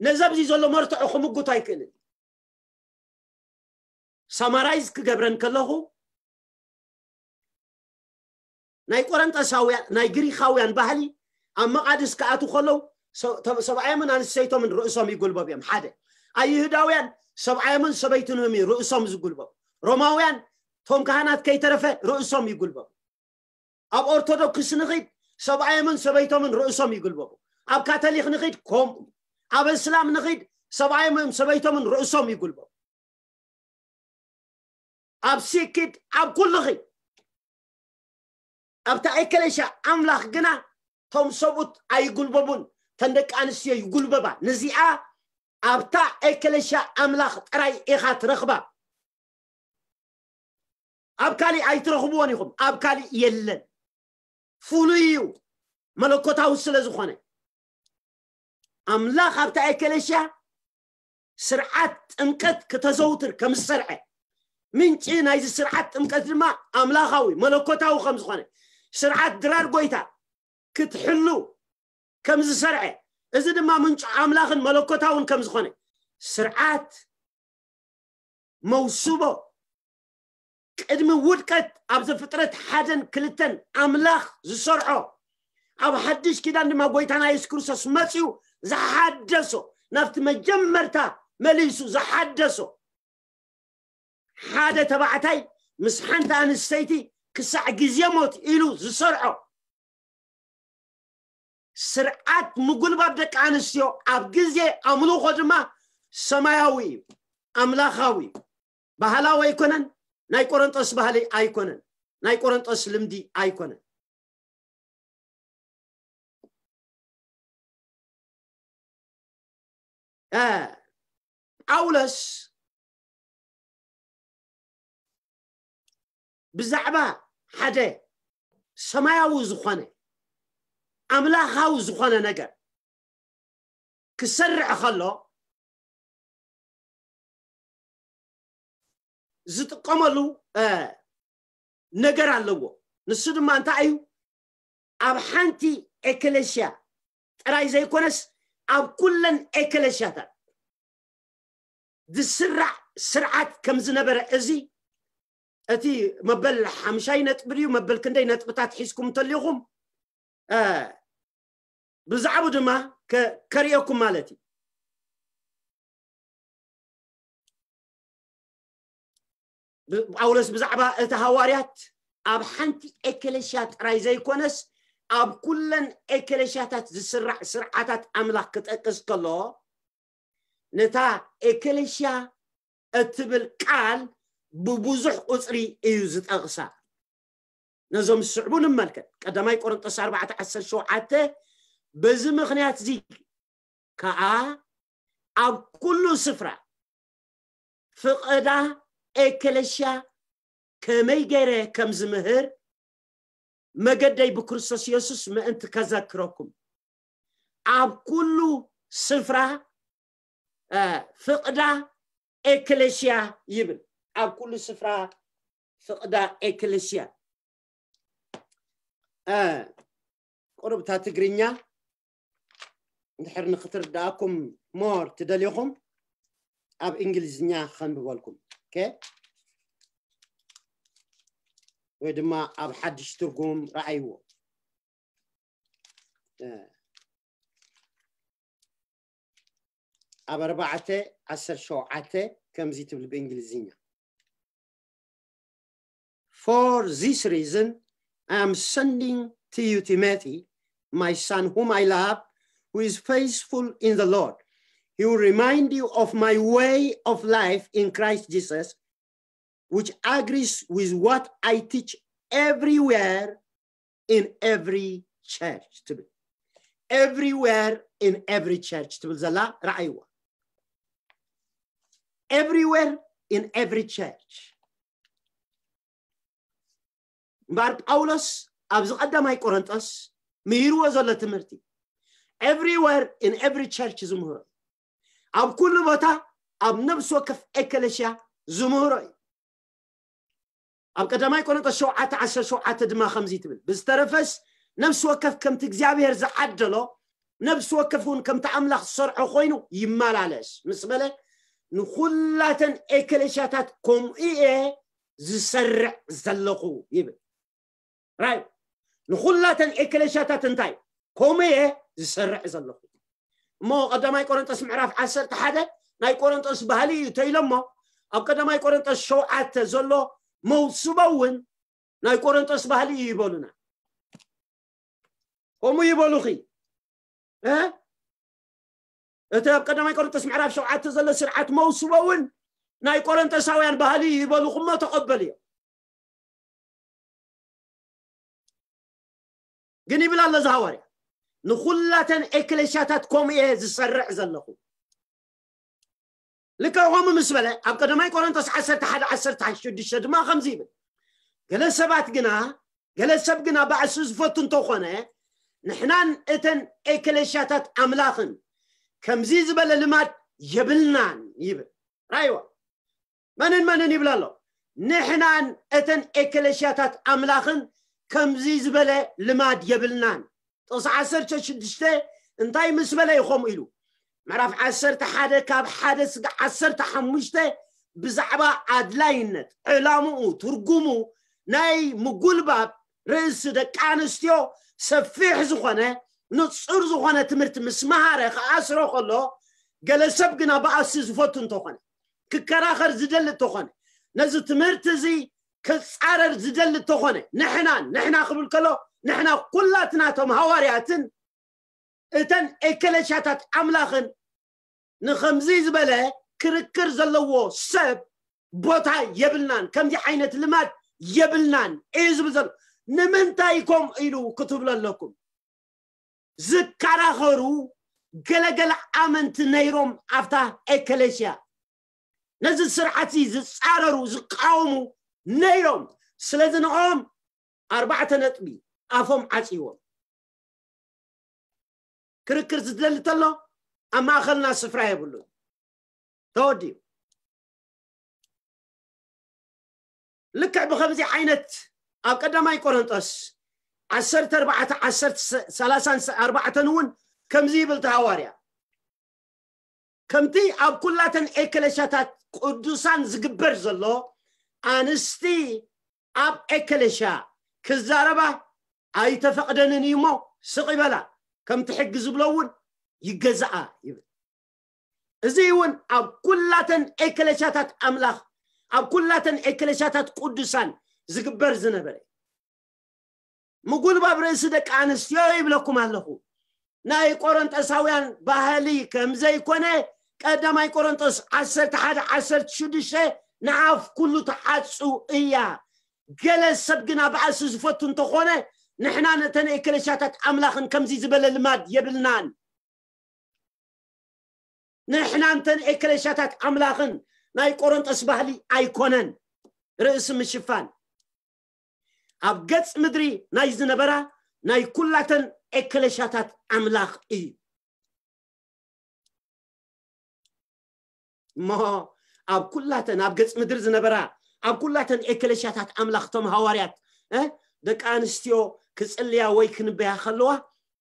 ነዚ ኣብዚ ዘሎ መርትዖ ክምጉቶ ኣይክእልን። ሳማራይዝ ክገብረን ከለኹ ናይ ቆረንጠሳውያን ናይ ግሪኻውያን ባህሊ ኣብ መቓድስ ክኣቱ ከለዉ ሰብኣዮምን ኣንስተይቶምን ርእሶም ይጉልበቡ እዮም። ሓደ ኣይሁዳውያን ሰብኣዮምን ሰበይትንህም እዩ ርእሶም ዝጉልበቡ። ሮማውያን ቶም ካህናት ከይተረፈ ርእሶም ይጉልበቡ። ኣብ ኦርቶዶክስ ንኺድ ሰብኣዮምን ሰበይቶምን ርእሶም ይጉልበቡ። ኣብ ካቶሊክ ንኺድ ከምኡ። ኣብ እስላም ንኺድ ሰብኣዮምን ሰበይቶምን ርእሶም ይጉልበቡ። ኣብ ሲኪድ ኣብ ኩሉ ኺድ ኣብታ ኤከለሻ ኣምላኽ ግና ቶም ሰብኡት ኣይጉልበቡን፣ ተን ደቂ ኣንስትዮ ይጉልበባ። ንዚኣ ኣብታ ኤከለሻ ኣምላኽ ጥራይ ኢኻ ትረኽባ። ኣብ ካሊእ ኣይትረኽብዎን ኢኹም። ኣብ ካሊእ የለን። ፍሉይ እዩ፣ መለኮታዊ ስለ ዝኾነ። ኣምላኽ ኣብታ ኤከለሻ ስርዓት ጥምቀት ክተዘውትር ከም ዝሰርዐ፣ ምንጪ ናይዚ ስርዓት ጥምቀት ድማ ኣምላኻዊ መለኮታዊ ከም ዝኾነ፣ ስርዓት ድራር ጎይታ ክትሕሉ ከም ዝሰርዐ፣ እዚ ድማ ምንጩ ኣምላኽን መለኮታውን ከም ዝኾነ፣ ስርዓት መውስቦ ቅድሚ ውድቀት ኣብ ዘፍጥረት ሓደን ክልተን ኣምላኽ ዝሰርዖ፣ ኣብ ሓድሽ ኪዳን ድማ ጎይታና የሱስ ክርስቶስ መጺኡ ዝሓደሶ፣ ናብቲ መጀመርታ መሊሱ ዝሓደሶ፣ ሓደ ተባዕታይ ምስ ሓንቲ ኣንስተይቲ ክሳዕ ግዜ ሞት ኢሉ ዝሰርዖ ስርዓት ምጉልባብ ደቂ ኣንስትዮ ኣብ ግዜ ኣምልኾ ድማ ሰማያዊ እዩ፣ ኣምላኻዊ እዩ። ባህላዊ ኣይኮነን፣ ናይ ቆረንጦስ ባህሊ ኣይኮነን፣ ናይ ቆረንጦስ ልምዲ ኣይኮነን። እ፣ ጳውሎስ ብዛዕባ ሓደ ሰማያዊ ዝኾነ ኣምላኻዊ ዝኾነ ነገር ክሰርዕ ከሎ ዝጥቀመሉ፣ እ፣ ነገር ኣለዎ። ንሱ ድማ እንታይ እዩ? ኣብ ሓንቲ ኤክለሽያ ጥራይ ዘይኮነስ ኣብ ኩለን ኤክለሽያታት ዝስራዕ ስርዓት ከም ዝነበረ፣ እዚ እቲ መበል ሓምሻይ ነጥቢ ድዩ መበል ክንደይ ነጥብታት ሒዝኩም እንተሊኹም፣ እ፣ ብዛዕቡ ድማ ከ-፣ ከርእየኩም ማለት እዩ። ብ-፣ ጳውሎስ ብዛዕባ እቲ ሃዋርያት ኣብ ሓንቲ ኤክለሽያ ጥራይ ዘይኮነስ ኣብ ኩለን ኤክለሽያታት ዝስራዕ ስርዓታት ኣምላኽ ክጠቅስ ከሎ፣ ነታ ኤክለሽያ እትብል ቃል ብብዙሕ ቁጽሪ እዩ ዝጠቕሳ። ነዞም ዝስዕቡ ንመልከት። ቀዳማይ ቆሮንጦስ ኣርባዕተ ዓሰርተ ሸውዓተ፣ በዚ ምኽንያት እዚ ከኣ ኣብ ኩሉ ስፍራ ፍቐዳ ኤክለሽያ ከመይ ገይረ ከም ዝምህር መገደይ ብክርስቶስ የሱስ ምእንቲ ከዘክረኩም። ኣብ ኩሉ ስፍራ፣ እ፣ ፍቕዳ ኤክለሽያ ይብል። ኣብ ኩሉ ስፍራ ፍቕዳ ኤክለሽያ። እ፣ ቁሩብታ ትግርኛ እንድሕር ንክትርድኣኩም ሞር ትደልዩኹም፣ ኣብ እንግሊዝኛ ከንብበልኩም። ኦኬ? ወይ ድማ ኣብ ሓድሽ ትርጉም ረኣይዎ። እ፣ ኣብ ኣርባዕተ ዓሰርተ ሸውዓተ ከምዚ ትብል ብእንግሊዝኛ። For this reason, I am sending to you Timothy, my son whom I love, who is faithful in the Lord. He will remind you of my way of life in Christ Jesus, which agrees with what I teach everywhere in every church. ትብል። Everywhere in every church ትብል ዘላ ረኣይዋ። Everywhere in every church። እምበኣር ጳውሎስ ኣብዚ ቀዳማይ ቆሮንጦስ ምሂርዎ ዘሎ ትምህርቲ everywhere in every church ዝምህሮ እዩ። ኣብ ኩሉ ቦታ፣ ኣብ ነፍሲ ወከፍ ኤክለሽያ ዝምህሮ እዩ። ኣብ ቀዳማይ ቆሮንጦስ ሸውዓተ ዓሰርተ ሸውዓተ ድማ ከምዚ ትብል፣ ብዝተረፈስ ነፍሲ ወከፍ ከምቲ እግዚኣብሔር ዝዓደሎ፣ ነፍሲ ወከፍ እውን ከምቲ ኣምላኽ ዝሰርዖ ኮይኑ ይመላለስ ምስ በለ፣ ንኹላተን ኤክለሽያታት ከምኡ እየ ዝሰርዕ ዘለኹ ይብል። ራይ ንኹላተን ኤክለሽያታት እንታይ ከምኡ እየ ዝሰርዕ ዘለኹ። እሞ ቀዳማይ ቆሮንጦስ ምዕራፍ ዓሰርተ ሓደ ናይ ቆሮንጦስ ባህሊ እዩ ተኢሎሞ፣ ኣብ ቀዳማይ ቆሮንጦስ ሸውዓተ ዘሎ መውስቦ እውን ናይ ቆሮንጦስ ባህሊ እዩ ይበሉና። ከምኡ ይበሉኺ እ እቲ ኣብ ቀዳማይ ቆሮንጦስ ምዕራፍ ሸውዓተ ዘሎ ስርዓት መውስቦ እውን ናይ ቆሮንጦሳውያን ባህሊ እዩ ይበሉኹሞ ተቐበልዮ። ግን ይብል ኣሎ እዚ ሃዋርያ፣ ንኹላተን ኤክለሽያታት ከምኡ እየ ዝሰርዕ ዘለኹ። ልክዕ ከምኡ ምስ በለ ኣብ ቀዳማይ ቆሮንቶስ ዓሰርተ ሓደ ዓሰርተ ሽዱሽተ ድማ ከምዚ ይብል፣ ገለ ሰባት ግና ገለ ሰብ ግና ባእሲ ዝፈቱ እንተኾነ፣ ንሕናን እተን ኤክለሽያታት ኣምላኽን ከምዚ ዝበለ ልማድ የብልናን ይብል። ራይዋ መንን መንን ይብል ኣሎ? ንሕናን እተን ኤክለሽያታት ኣምላኽን ከምዚ ዝበለ ልማድ የብልናን። ጥቕሲ ዓሰርተ ሽዱሽተ እንታይ ምስ በለ እዩ ከምኡ ኢሉ? ምዕራፍ ዓሰርተ ሓደ ካብ ሓደ ስጋዕ ዓሰርተ ሓሙሽተ ብዛዕባ ኣድላይነት፣ ዕላምኡ፣ ትርጉሙ ናይ ምጉልባብ ርእሲ ደቂ ኣንስትዮ ሰፊሕ ዝኾነ ንጹር ዝኾነ ትምህርቲ ምስ መሃረ ክኣስሮ ከሎ፣ ገለ ሰብ ግና ብኣሲ ዝፈቱ እንተኾነ፣ ክከራኸር ዝደሊ እንተኾነ፣ ነዚ ትምህርቲ እዚ ክጻረር ዝደሊ እንተኾነ፣ ንሕናን፣ ንሕና ክብል ከሎ ንሕና ኩላትና እቶም ሃዋርያትን እተን ኤክለሽያታት ኣምላኽን ንኸምዚ ዝበለ ክርክር ዘለዎ ሰብ ቦታ የብልናን፣ ከምዚ ዓይነት ልማድ የብልናን እዩ ዝብል ዘሎ። ንምንታይ ከምኡ ኢሉ ክትብሉ ኣለኩም? ዝከራኸሩ ገለገለ ኣመንቲ ነይሮም ኣብታ ኤክለሽያ፣ ነዚ ስርዓት እዚ ዝጻረሩ ዝቃወሙ ነይሮም። ስለዚ ንኦም ኣርባዕተ ነጥቢ ኣፎም ዓጽይዎም። ክርክር ዝደሊ ተሎ ኣብ ማእኸልና ስፍራ የብሉን። ተወዲኡ። ልክዕ ብኸምዚ ዓይነት ኣብ ቀዳማይ ቆሮንጦስ ዓሰርተ ኣርባዕተ ዓሰርተ ሰላሳን ኣርባዕተን እውን ከምዚ ይብል እቲ ሃዋርያ፣ ከምቲ ኣብ ኩላተን ኤክለሽያታት ቅዱሳን ዝግበር ዘሎ፣ ኣንስቲ ኣብ ኤክለሽያ ክዛረባ ኣይተፈቕደንን እዩ እሞ ስቕ ይበላ፣ ከምቲ ሕጊ ዝብሎ እውን ይገዛኣ ይብል። እዚ እውን ኣብ ኩላተን ኤክለሽያታት ኣምላኽ፣ ኣብ ኩላተን ኤክለሽያታት ቅዱሳን ዝግበር ዝነበረ ምጉልባብ ርእሲ ደቂ ኣንስትዮ ይብለኩም ኣለኹ። ናይ ቆሮንጦሳውያን ባህሊ ከም ዘይኮነ ቀዳማይ ቆሮንጦስ ዓሰርተ ሓደ ዓሰርተ ሽዱሽተ ንኣፍ ኩሉ ትዓጹ እያ። ገለ ሰብ ግና ባእሲ ዝፈቱ እንተኾነ፣ ንሕና ነተን ኤክለሽያታት ኣምላኽን ከምዚ ዝበለ ልማድ የብልናን። ንሕና እንተን ኤክለሽያታት ኣምላኽን ናይ ቆሮንጦስ ባህሊ ኣይኮነን። ርእሲ ምሽፋን ኣብ ገጽ ምድሪ ናይ ዝነበራ ናይ ኩላተን ኤክለሽያታት ኣምላኽ እዩ። እሞ ኣብ ኩላተን ኣብ ገጽ ምድሪ ዝነበራ ኣብ ኩላተን ኤክለሽያታት ኣምላኽ እቶም ሃዋርያት እ ደቂ ኣንስትዮ ክጽልያ ወይ ክንበያ ከለዋ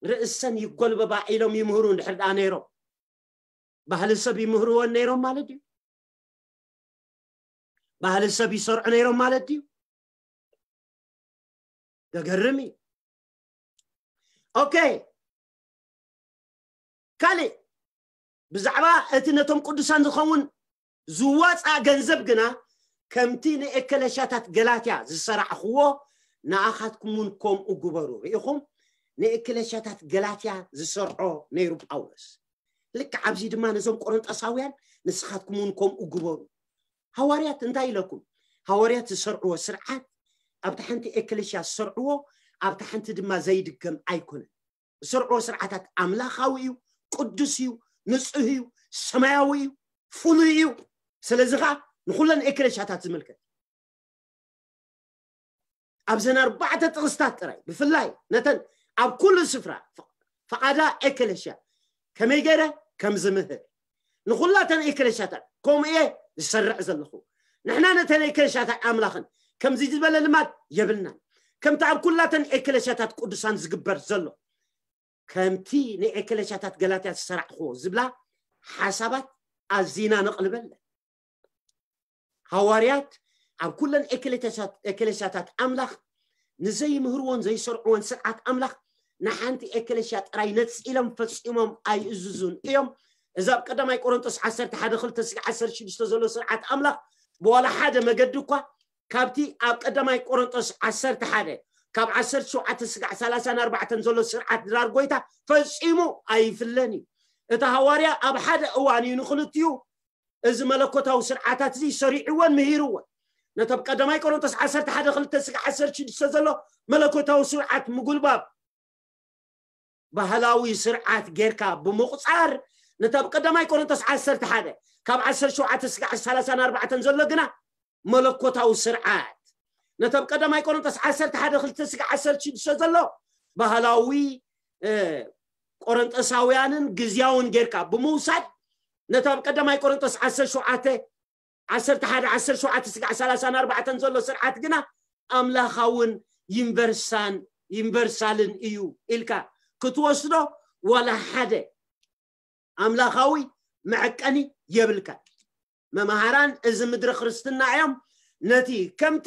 ርእሰን ይጎልበባ ኢሎም ይምህሩ እንድሕር ደኣ ነይሮም፣ ባህሊ ሰብ ይምህርወን ነይሮም ማለት እዩ። ባህሊ ሰብ ይሰርዑ ነይሮም ማለት ድዩ? ዘገርም እዩ። ኦኬ፣ ካልእ ብዛዕባ እቲ ነቶም ቅዱሳን ዝኸውን ዝዋፃ ገንዘብ ግና፣ ከምቲ ንኤከለሻታት ገላትያ ዝሰራዕኽዎ ንኣኻትኩም እውን ከምኡ ግበሩ። ርኢኹም፣ ንኤከለሻታት ገላትያ ዝሰርዖ ነይሩ ጳውሎስ። ልክዕ ኣብዚ ድማ ነዞም ቆሮንጦሳውያን ንስኻትኩም እውን ከምኡ ግበሩ። ሃዋርያት እንታይ ኢለኩም? ሃዋርያት ዝሰርዕዎ ስርዓት ኣብታ ሓንቲ ኤክለሽያ ዝሰርዕዎ ኣብታ ሓንቲ ድማ ዘይድገም ኣይኮነን። ዝሰርዕዎ ስርዓታት ኣምላኻዊ እዩ፣ ቅዱስ እዩ፣ ንጹህ እዩ፣ ሰማያዊ እዩ፣ ፍሉይ እዩ። ስለዚ ኸዓ ንኹለን ኤክለሽያታት ዝምልከት ኣብዘን ኣርባዕተ ጥቕስታት ጥራይ ብፍላይ ነተን ኣብ ኩሉ ስፍራ ፈቓዳ ኤክለሽያ ከመይ ገይረ ከም ዝምህር ንኹላተን ኤክለሽያታት ከምኡ እየ ዝሰርዕ ዘለኹ። ንሕና ነተን ኤክለሽያታት ኣምላኽን ከምዚ ዝበለ ልማድ የብልናን። ከምቲ ኣብ ኩላተን ኤክለሽያታት ቅዱሳን ዝግበር ዘሎ፣ ከምቲ ንኤክለሽያታት ገላትያ ዝሰራዕኽዎ ዝብላ ሓሳባት ኣዚና ነቕልበለን። ሃዋርያት ኣብ ኩለን ኤክሌሲያታት ኣምላኽ ንዘይምህርዎን ዘይሰርዕዎን ስርዓት ኣምላኽ ንሓንቲ ኤክሌሲያ ጥራይ ነጺሎም ፈጺሞም ኣይእዝዙን እዮም። እዚ ኣብ ቀዳማይ ቆሮንጦስ ዓሰርተ ሓደ ክልተ ስጋዕ ዓሰርተ ሽዱሽተ ዘሎ ስርዓት ኣምላኽ ብዋላ ሓደ መገዲ እኳ ካብቲ ኣብ ቀዳማይ ቆሮንጦስ ዓሰርተ ሓደ ካብ ዓሰርተ ሸውዓተ ስጋዕ ሰላሳን ኣርባዕተን ዘሎ ስርዓት ድራር ጎይታ ፈጺሙ ኣይፍለን እዩ። እቲ ሃዋርያ ኣብ ሓደ እዋን እዩ ንኽልቲኡ እዚ መለኮታዊ ስርዓታት እዚ ሰሪዕዎን ምሂርዎን። ነቶም ቀዳማይ ቆሮንቶስ ዓሰርተ ሓደ ክልተ ስጋዕ ዓሰርተ ሽዱሽተ ዘሎ መለኮታዊ ስርዓት ምጉልባብ ባህላዊ ስርዓት ጌርካ ብምቑጻር፣ ነታ ኣብ ቀዳማይ ቆሮንቶስ ዓሰርተ ሓደ ካብ ዓሰርተ ሸውዓተ ስጋዕ ሰላሳን ኣርባዕተን ዘሎ ግና መለኮታዊ ስርዓት፣ ነታ ኣብ ቀዳማይ ቆሮንቶስ ዓሰርተ ሓደ ክልተ ስጋዕ ዓሰርተ ሽዱሽተ ዘሎ ባህላዊ ቆሮንጦሳውያንን ግዝያውን ጌርካ ብምውሳድ፣ ነታ ኣብ ቀዳማይ ቆሮንቶስ ዓሰርተ ሸውዓተ ዓሰርተ ሓደ ዓሰርተ ሸውዓተ ስጋዕ ሰላሳን ኣርባዕተን ዘሎ ስርዓት ግና ኣምላኻውን ዩኒቨርሳን ዩኒቨርሳልን እዩ ኢልካ ክትወስዶ ዋላ ሓደ ኣምላኻዊ መዐቀኒ የብልካ። መምሃራን እዚ ምድሪ ክርስትና እዮም። ነቲ ከምቲ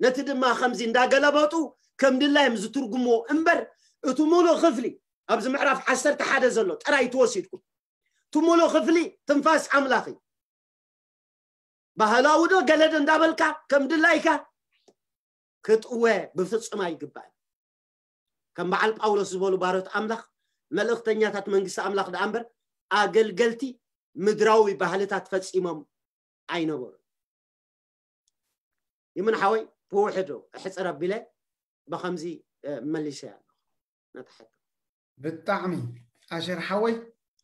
ነቲ ድማ ከምዚ እንዳገለበጡ ከም ድላዮም ዝትርጉምዎ እምበር፣ እቲ ሙሉእ ክፍሊ ኣብዚ ምዕራፍ ዓሰርተ ሓደ ዘሎ ጥራይ ትወሲድኩም፣ እቲ ሙሉእ ክፍሊ ትንፋስ ኣምላኽ እዩ። ባህላዊ ዶ ገለ ዶ እንዳበልካ ከም ድላይካ ክጥወ ብፍጹም ኣይግባእን። ከም በዓል ጳውሎስ ዝበሉ ባሮት ኣምላኽ፣ መልእኽተኛታት መንግስቲ ኣምላኽ ደኣ እምበር ኣገልገልቲ ምድራዊ ባህልታት ፈጺሞም ኣይነበሩን። ይምን ሓወይ፣ ብውሕዱ እሕጽር ኣቢለ ብኸምዚ መሊሰ ኣለኹ ነታ ሕቶ። ብጣዕሚ ኣሸር ሓወይ፣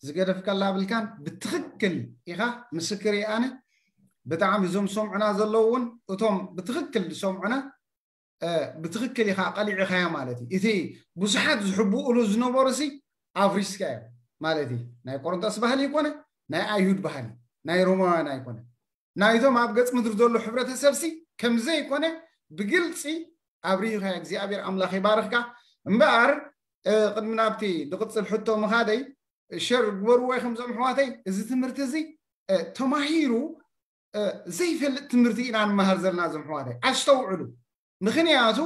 ዝገደፍከላ ብልካን፣ ብትኽክል ኢኻ። ምስክር እየ ኣነ። ብጣዕሚ እዞም ዝሰምዑና ዘለዉ እውን፣ እቶም ብትኽክል ዝሰምዑና፣ ብትኽክል ኢኻ፣ ቀሊዕኻያ ማለት እዩ። እቲ ብዙሓት ዝሕብኡሉ ዝነበሩ ሲ ኣፍሪስካ እዮም ማለት እዩ። ናይ ቆሮንቶስ ባህሊ ይኮነ፣ ናይ ኣይሁድ ባህሊ፣ ናይ ሮማውያን ኣይኮነ። ናይቶም ኣብ ገጽ ምድሪ ዘሎ ሕብረተሰብ ሲ ከም ዘይኮነ ብግልጺ ኣብሪህኻ። እግዚኣብሔር ኣምላኽ ይባርኽካ። እምበኣር ቅድሚ ናብቲ ዝቕጽል ሕቶ ምኻደይ፣ ሸር ግበርዎ ኢኹም ዞም ኣሕዋተይ። እዚ ትምህርቲ እዚ ተማሂሩ ዘይፈልጥ ትምህርቲ ኢና ንመሃር ዘለና ዞም ኣሕዋተይ። ኣስተውዕሉ። ምኽንያቱ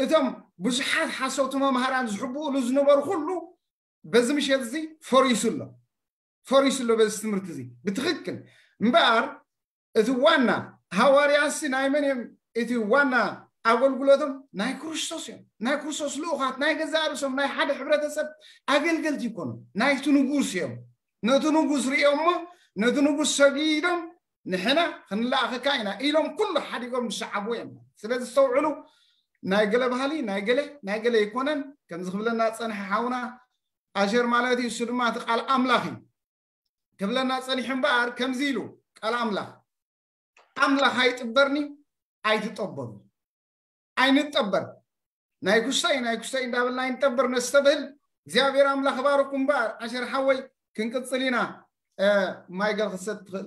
እቶም ብዙሓት ሓሰውቲ መምሃራን ዝሕብኡሉ ዝነበሩ ኩሉ በዚ ምሸት እዚ ፈሪሱ ኣሎ። ፈሪሱ ኣሎ በዚ ትምህርቲ እዚ ብትኽክል። እምበኣር እቲ ዋና ሃዋርያሲ ናይ መን እዮም? እቲ ዋና ኣገልግሎቶም ናይ ክርስቶስ እዮም። ናይ ክርስቶስ ልኡኻት፣ ናይ ገዛእ ርእሶም ናይ ሓደ ሕብረተሰብ ኣገልገልቲ ይኮኑ። ናይቲ ንጉስ እዮም። ነቲ ንጉስ ሪኦሞ፣ ነቲ ንጉስ ሰጊዶም፣ ንሕና ክንለኣኸካ ኢና ኢሎም ኩሉ ሓዲጎም ዝሰዓቡ እዮም። ስለዚ ዝተውዕሉ፣ ናይ ገለ ባህሊ ናይ ገለ ናይ ገለ ይኮነን። ከምዚ ክብለና ዝጸንሐ ሓውና ኣሸር ማለት እዩ። እሱ ድማ እቲ ቃል ኣምላኽ እዩ ክብለና ጸኒሑ እምበኣር ከምዚ ኢሉ ቃል ኣምላኽ፣ ኣምላኽ ኣይጥበርኒ ኣይትጠበሩ። ኣይንጠበር። ናይ ኩስተይ ናይ ኩስተይ እንዳበልና ኣይንጠበር ነስተብህል። እግዚኣብሔር ኣምላኽ ባርኩም እምበኣር ኣሸር ሓወይ ክንቅጽል ኢና። ማይገል ክሰት ትኽእል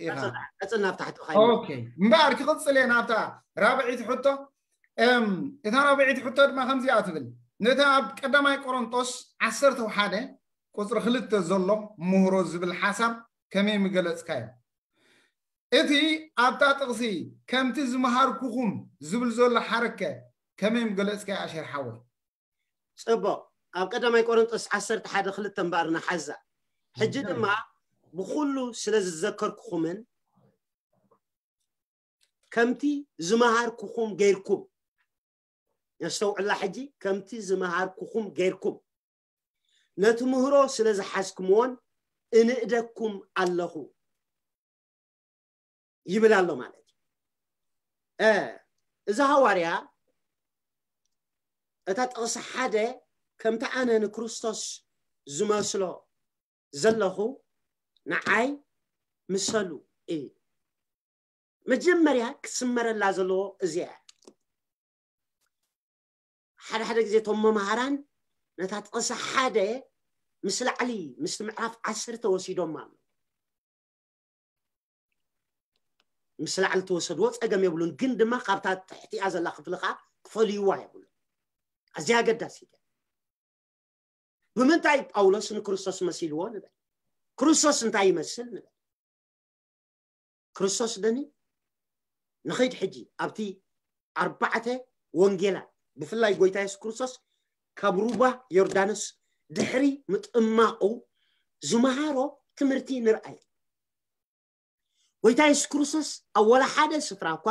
ኢኻ። ቀጽል ናብ ታሕቲ ኻይ ኦኬ። እምበኣር ክቕጽል እየ ናብታ ራብዒት ሕቶ። እታ ራብዒት ሕቶ ድማ ከምዚኣ ትብል። ነታ ኣብ ቀዳማይ ቆሮንጦስ ዓሰርተ ሓደ ቁጽሪ ክልተ ዘሎ ምህሮ ዝብል ሓሳብ ከመይ ምገለጽካዮ? እቲ ኣብታ ጥቕሲ ከምቲ ዝመሃርኩኹም ዝብል ዘሎ ሓረከ ከመይ ምገለጽካዮ ኣሸር ሓወይ? ጽቡቕ። ኣብ ቀዳማይ ቆሮንጦስ ዓሰርተ ሓደ ክልተ እምበኣር ንሓዛ። ሕጂ ድማ ብኹሉ ስለ ዝዘከርኩኹምን ከምቲ ዝመሃርኩኹም ገይርኩም፣ ነስተውዕላ ሕጂ፣ ከምቲ ዝመሃርኩኹም ገይርኩም ነቲ ምህሮ ስለ ዝሓዝኩምዎን እንእደኩም ኣለኹ ይብል ኣሎ ማለት እዩ። እዚ ሃዋርያ እታ ጥቕሲ ሓደ ከምቲ ኣነ ንክርስቶስ ዝመስሎ ዘለኹ ንዓይ ምሰሉ እዩ። መጀመርያ ክስመረላ ዘለዎ እዚኣ ሓደ ሓደ ግዜ እቶም መምሃራን ነታ ጥቕሲ ሓደ ምስ ላዕሊ ምስቲ ምዕራፍ ዓሰርተ ወሲዶም ኣሎ። ምስ ላዕሊ ተወሰድዎ ጸገም የብሉን፣ ግን ድማ ካብታ ትሕቲኣ ዘላ ክፍሊ ከዓ ክፈልይዋ የብሉ። ኣዝያ ኣገዳሲት እያ። ብምንታይ ጳውሎስ ንክርስቶስ መሲልዎ ንበል? ክርስቶስ እንታይ ይመስል ንበል? ክርስቶስ ደኒ ንኸይድ ሕጂ ኣብቲ ኣርባዕተ ወንጌላት ብፍላይ ጎይታ የሱስ ክርስቶስ ካብ ሩባ ዮርዳኖስ ድሕሪ ምጥማቑ ዝመሃሮ ትምህርቲ ንርኣይ። ጎይታ የሱስ ክርስቶስ ኣብ ወላ ሓደ ስፍራ እኳ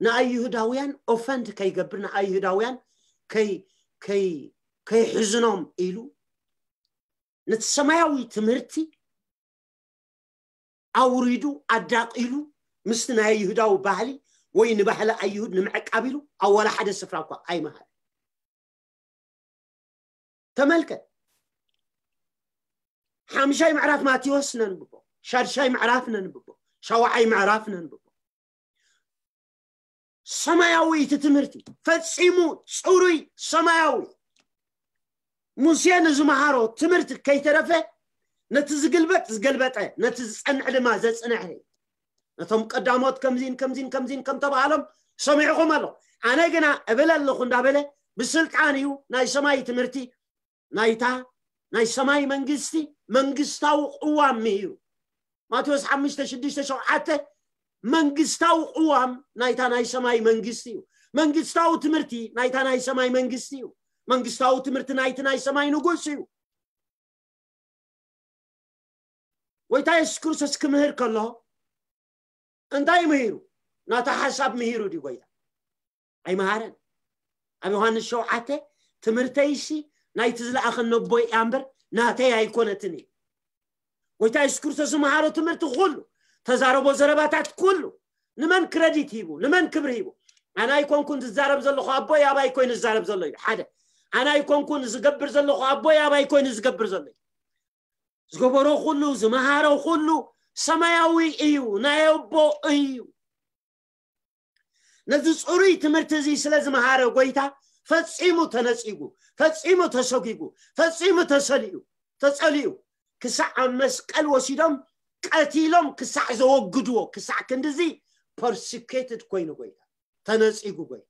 ንኣይሁዳውያን ኦፈንድ ከይገብር ንኣይሁዳውያን ከይሕዝኖም ኢሉ ነቲ ሰማያዊ ትምህርቲ ኣውሪዱ ኣዳቂሉ ምስቲ ናይ ኣይሁዳዊ ባህሊ ወይ ንባህሊ ኣይሁድ ንምዕቃብ ኢሉ ኣብ ዋላ ሓደ ስፍራ እኳ ኣይመሃረ። ተመልከት፣ ሓምሻይ ምዕራፍ ማቴዎስ ነንብቦ፣ ሻድሻይ ምዕራፍ ነንብቦ፣ ሻውዓይ ምዕራፍ ነንብቦ። ሰማያዊ እቲ ትምህርቲ ፈጺሙ ጽሩይ ሰማያዊ። ሙሴ ንዝመሃሮ ትምህርቲ ከይተረፈ ነቲ ዝግልበጥ ዝገልበጠ፣ ነቲ ዝጸንዕ ድማ ዘጽንዐ። ነቶም ቀዳሞት ከምዚን ከምዚን ከምዚን ከም ተባሃሎም ሰሚዕኹም ኣሎ። ኣነ ግና እብል ኣለኹ እንዳበለ ብስልጣን እዩ ናይ ሰማይ ትምህርቲ ናይታ ናይ ሰማይ መንግስቲ መንግስታዊ ቅዋም ምሂሩ። ማቴዎስ ሓሙሽተ ሽዱሽተ ሸውዓተ መንግስታዊ ቅዋም ናይታ ናይ ሰማይ መንግስቲ እዩ። መንግስታዊ ትምህርቲ ናይታ ናይ ሰማይ መንግስቲ እዩ። መንግስታዊ ትምህርቲ ናይቲ ናይ ሰማይ ንጉስ እዩ። ጎይታ የሱስ ክርስቶስ ክምህር ከሎ እንታይ ምሂሩ? ናታ ሓሳብ ምሂሩ ድዩ ጎይታ? ኣይመሃረን። ኣብ ዮሃንስ ሸውዓተ ትምህርተይሲ ናይቲ ዝለኣኸኒ ኣቦይ እያ እምበር ናተይ ኣይኮነትን እዩ። ጎይታ የሱስ ክርስቶስ ዝመሃሮ ትምህርቲ ኩሉ፣ ተዛረቦ ዘረባታት ኩሉ ንመን ክረዲት ሂቡ? ንመን ክብሪ ሂቡ? ኣነ ኣይኮንኩን ዝዛረብ ዘለኹ፣ ኣቦይ ኣባይ ኮይኑ ዝዛረብ ዘሎ እዩ። ሓደ ኣነ ኣይኮንኩን ዝገብር ዘለኹ፣ ኣቦይ ኣባይ ኮይኑ ዝገብር ዘሎ እዩ። ዝገበሮ ኩሉ ዝመሃሮ ኩሉ ሰማያዊ እዩ፣ ናይ ኣቦ እዩ። ነዚ ጽሩይ ትምህርቲ እዚ ስለ ዝመሃረ ጎይታ ፈጺሙ ተነጺጉ፣ ፈጺሙ ተሰጒጉ፣ ፈጺሙ ተሰሊኡ ተጸሊኡ ክሳዕ ኣብ መስቀል ወሲዶም ቀቲሎም ክሳዕ ዘወግድዎ ክሳዕ ክንድዚ ፐርሲኬትድ ኮይኑ ጎይታ ተነጺጉ። ጎይታ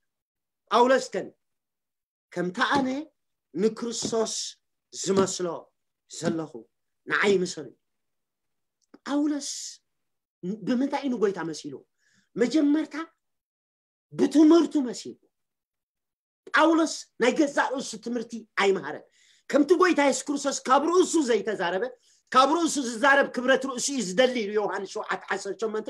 ጳውሎስ ከን ከምቲ ኣነ ንክርስቶስ ዝመስሎ ዘለኹ ንዓይ ምሰሉ። ጳውሎስ ብምንታይ እዩ ንጎይታ መሲሉ? መጀመርታ ብትምህርቱ መሲሉ። ጳውሎስ ናይ ገዛእ ርእሱ ትምህርቲ ኣይመሃረን። ከምቲ ጎይታ የሱስ ክርስቶስ ካብ ርእሱ ዘይተዛረበ፣ ካብ ርእሱ ዝዛረብ ክብረት ርእሱ እዩ ዝደሊ ኢሉ ዮሃንስ ሸውዓተ ዓሰርተ ሸሞንተ።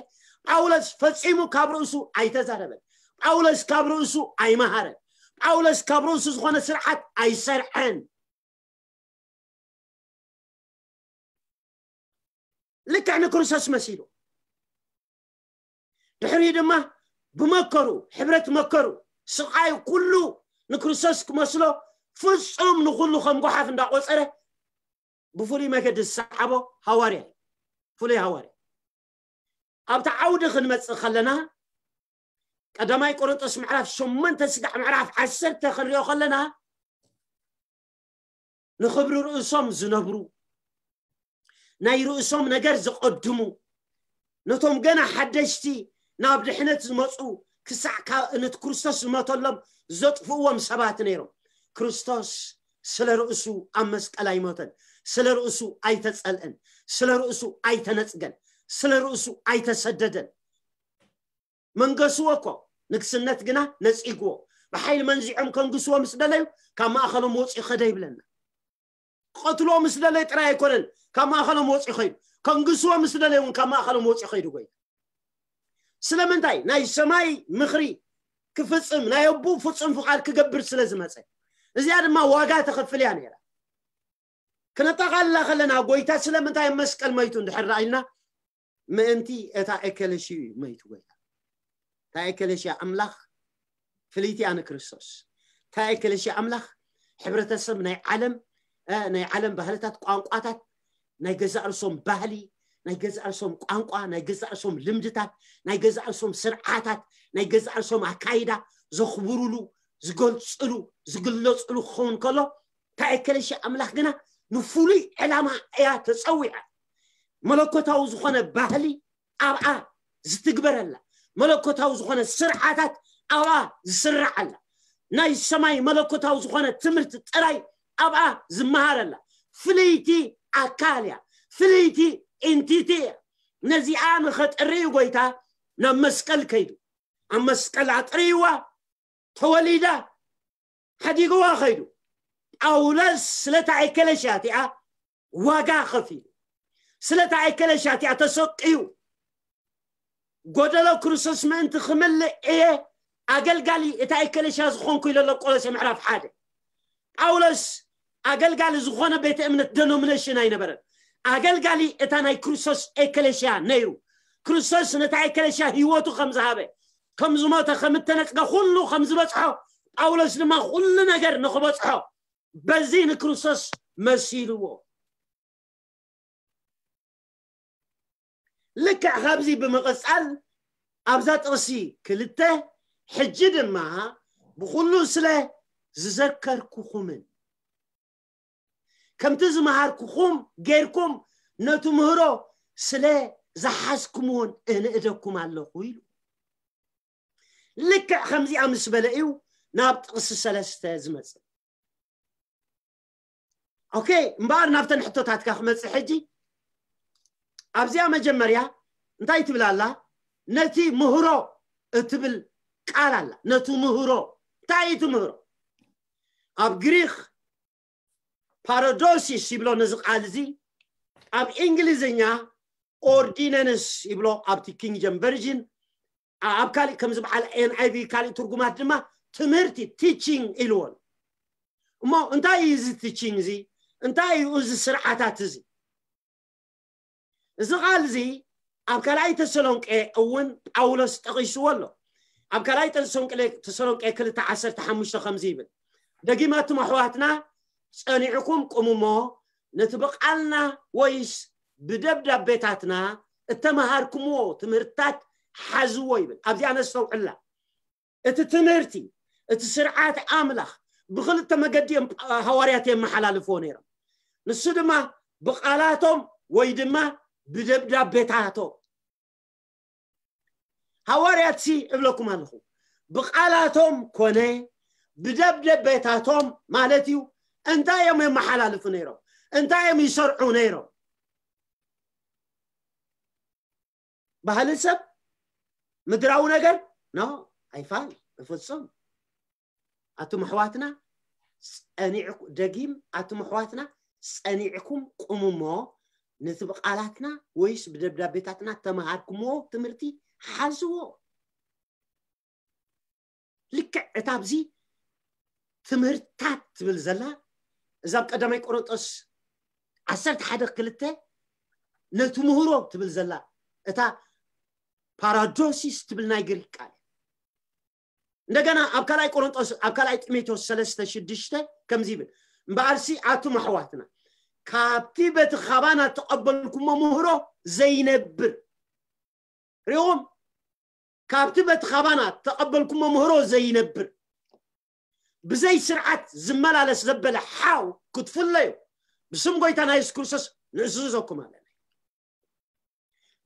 ጳውሎስ ፈጺሙ ካብ ርእሱ ኣይተዛረበን። ጳውሎስ ካብ ርእሱ ኣይመሃረን። ጳውሎስ ካብ ርእሱ ዝኾነ ስርዓት ኣይሰርዐን። ልክዕ ንክርስቶስ መሲሉ ድሕሪ ድማ ብመከሩ ሕብረት መከሩ ስቃይ ኩሉ ንክርስቶስ ክመስሎ ፍጹም ንኩሉ ከም ጓሓፍ እንዳቆጸረ ብፍሉይ መገዲ ዝሰዓቦ ሃዋርያ እዩ። ፍሉይ ሃዋርያ። ኣብቲ ዓውዲ ክንመጽእ ከለና ቀዳማይ ቆሮንጦስ ምዕራፍ ሸሞንተ ስጋዕ ምዕራፍ ዓሰርተ ክንሪኦ ከለና ንኽብሪ ርእሶም ዝነብሩ ናይ ርእሶም ነገር ዘቐድሙ ነቶም ገና ሓደሽቲ ናብ ድሕነት ዝመፁ ክሳዕ ነቲ ክርስቶስ ዝመተሎም ዘጥፍእዎም ሰባት ነይሮም። ክርስቶስ ስለ ርእሱ ኣብ መስቀል ኣይሞተን፣ ስለ ርእሱ ኣይተፀልአን፣ ስለ ርእሱ ኣይተነፅገን። ስለ ርእሱ ኣይተሰደደን። መንገስዎ እኮ፣ ንግስነት ግና ነጺግዎ። ብሓይሊ መንዚዖም ከንግስዎ ምስ ደለዩ፣ ካብ ማእኸሎም ወፂኡ ኸደ ይብለና። ክቐትልዎ ምስ ደለዩ ጥራይ ኣይኮነን ካብ ማእኸሎም ወፂኡ ኸይዱ፣ ከንግስዎ ምስ ደለዩ እውን ካብ ማእኸሎም ወፂኡ ኸይዱ። ጎይታ ስለምንታይ? ናይ ሰማይ ምኽሪ ክፍፅም፣ ናይ ኣቦኡ ፍፁም ፍቓድ ክገብር ስለ ዝመፀ። እዚኣ ድማ ዋጋ ተኸፍል እያ ነይራ። ክነጠቓልላ ከለና፣ ጎይታ ስለምንታይ ኣብ መስቀል መይቱ እንድሕር ኢልና፣ ምእንቲ እታ ኤከለሽዩ እዩ መይቱ ጎይታ። እታ ኤከለሽያ ኣምላኽ ፍልይቲ እያ ንክርስቶስ። እታ ኤከለሽያ ኣምላኽ ሕብረተሰብ ናይ ዓለም፣ እ፣ ናይ ዓለም ባህልታት፣ ቋንቋታት፣ ናይ ገዛእ ርእሶም ባህሊ፣ ናይ ገዛእ ርእሶም ቋንቋ፣ ናይ ገዛእ ርእሶም ልምድታት፣ ናይ ገዛእ ርእሶም ስርዓታት፣ ናይ ገዛእ ርእሶም ኣካይዳ ዘኽብሩሉ፣ ዝገልጽሉ፣ ዝግለጽሉ ክኸውን ከሎ፣ እታ ኤከለሽያ ኣምላኽ ግና ንፍሉይ ዕላማ እያ ተጸዊዓ። መለኮታዊ ዝኾነ ባህሊ ኣብኣ ዝትግበረላ፣ መለኮታዊ ዝኾነ ስርዓታት ኣብኣ ዝስርዓላ፣ ናይ ሰማይ መለኮታዊ ዝኾነ ትምህርቲ ጥራይ ኣብኣ ዝመሃረላ ፍልይቲ ኣካል እያ፣ ፍልይቲ ኢንቲቲ እያ። ነዚኣ ንኸጥሪ እዩ ጎይታ ናብ መስቀል ከይዱ። ኣብ መስቀል ኣጥርይዋ፣ ተወሊዳ፣ ሓዲግዋ ኸይዱ። ጳውሎስ ስለታ ኤከለሽያ እቲኣ ዋጋ ኸፊሉ፣ ስለታ ኤከለሽያ እቲኣ ተሰቅዩ፣ ጎደሎ ክርስቶስ ምእንቲ ክምልእ እየ ኣገልጋሊ እታ ኤከለሽያ ዝኾንኩ ኢሉ ኣሎ። ቆሎሴ ምዕራፍ ሓደ። ጳውሎስ ኣገልጋሊ ዝኾነ ቤተ እምነት፣ ደኖሚኔሽን ኣይነበረን። ኣገልጋሊ እታ ናይ ክርስቶስ ኤከለሽያ ነይሩ። ክርስቶስ ነታ ኤከለሽያ ህይወቱ ከም ዝሃበ፣ ከም ዝሞተ፣ ከም እተነጽገ፣ ኩሉ ከም ዝበጽሖ፣ ጳውሎስ ድማ ኩሉ ነገር ንኽበጽሖ በዚ ንክርስቶስ መሲልዎ። ልክዕ ካብዚ ብምቕጻል ኣብዛ ጥቕሲ ክልተ፣ ሕጂ ድማ ብኹሉ ስለ ዝዘከርኩኹምን ከምቲ ዝመሃርኩኹም ጌርኩም ነቲ ምህሮ ስለ ዝሓዝኩምዎን እንእደኩም ኣለኹ ኢሉ። ልክዕ ከምዚኣ ምስ በለ እዩ ናብ ጥቕሲ ሰለስተ ዝመጽእ። ኦኬ፣ እምበኣር ናብተን ሕቶታትካ ክመጽእ ሕጂ። ኣብዚኣ መጀመርያ እንታይ ትብል ኣላ? ነቲ ምህሮ እትብል ቃል ኣላ። ነቲ ምህሮ፣ እንታይ እዩ እቲ ምህሮ? ኣብ ግሪኽ ፓራዶሲስ ይብሎ ነዚ ቃል እዚ፣ ኣብ እንግሊዝኛ ኦርዲነንስ ይብሎ ኣብቲ ኪንግ ጀም ቨርዥን፣ ኣብ ካሊእ ከምዚ በዓል ኤን ኣይ ቪ ካሊእ ትርጉማት ድማ ትምህርቲ፣ ቲቺንግ ኢልዎን። እሞ እንታይ እዩ እዚ ቲቺንግ እዚ? እንታይ እዩ እዚ ስርዓታት እዚ? እዚ ቃል እዚ ኣብ ካልኣይ ተሰሎንቄ እውን ጳውሎስ ጠቒስዎ ኣሎ። ኣብ ካልኣይ ተሰሎንቄ፣ ተሰሎንቄ ክልተ ዓሰርተ ሓሙሽተ ከምዚ ይብል፣ ደጊማትም ኣሕዋትና ጸኒዕኩም ቁሙ እሞ ነቲ ብቓልና ወይስ ብደብዳቤታትና እተመሃርኩምዎ ትምህርትታት ሓዝዎ ይብል። ኣብዚኣ ነስተውዕላ። እቲ ትምህርቲ፣ እቲ ስርዓት ኣምላኽ ብኽልተ መገዲ እዮም ሃዋርያት የመሓላልፍዎ ነይሮም። ንሱ ድማ ብቓላቶም ወይ ድማ ብደብዳቤታቶም። ሃዋርያትሲ እብለኩም ኣለኹ፣ ብቓላቶም ኮነ ብደብዳቤታቶም ማለት እዩ፣ እንታይ እዮም የመሓላልፉ ነይሮም? እንታይ እዮም ይሰርዑ ነይሮም? ባህሊ ሰብ፣ ምድራዊ ነገር፣ ኖ፣ ኣይፋል፣ ብፍጹም። ኣቱም ኣሕዋትና ጸኒዕኩ-፣ ደጊም፣ ኣቱም ኣሕዋትና ጸኒዕኩም ቁሙ እሞ ነቲ ብቓላትና ወይስ ብደብዳቤታትና ተመሃርኩምዎ ትምህርቲ ሓዝዎ። ልክዕ እታ ኣብዚ ትምህርታት ትብል ዘላ፣ እዛ ኣብ ቀዳማይ ቆሮንጦስ ዓሰርተ ሓደ ክልተ ነቲ ምህሮ ትብል ዘላ፣ እታ ፓራዶሲስ ትብል ናይ ግሪክ ቃል። እንደገና ኣብ ካልኣይ ቆሮንጦስ፣ ኣብ ካልኣይ ጢሞቴዎስ ሰለስተ ሽዱሽተ ከምዚ ይብል፣ እምበኣርሲ ኣቱም ኣሕዋትና፣ ካብቲ በቲ ኻባና እተቐበልኩሞ ምህሮ ዘይነብር፣ ሪኹም፣ ካብቲ በቲ ኻባና እተቐበልኩሞ ምህሮ ዘይነብር፣ ብዘይ ስርዓት ዝመላለስ ዘበለ ሓው ክትፍለዩ ብስም ጎይታና የሱስ ክርስቶስ ንእዝዘኩም ኣለና።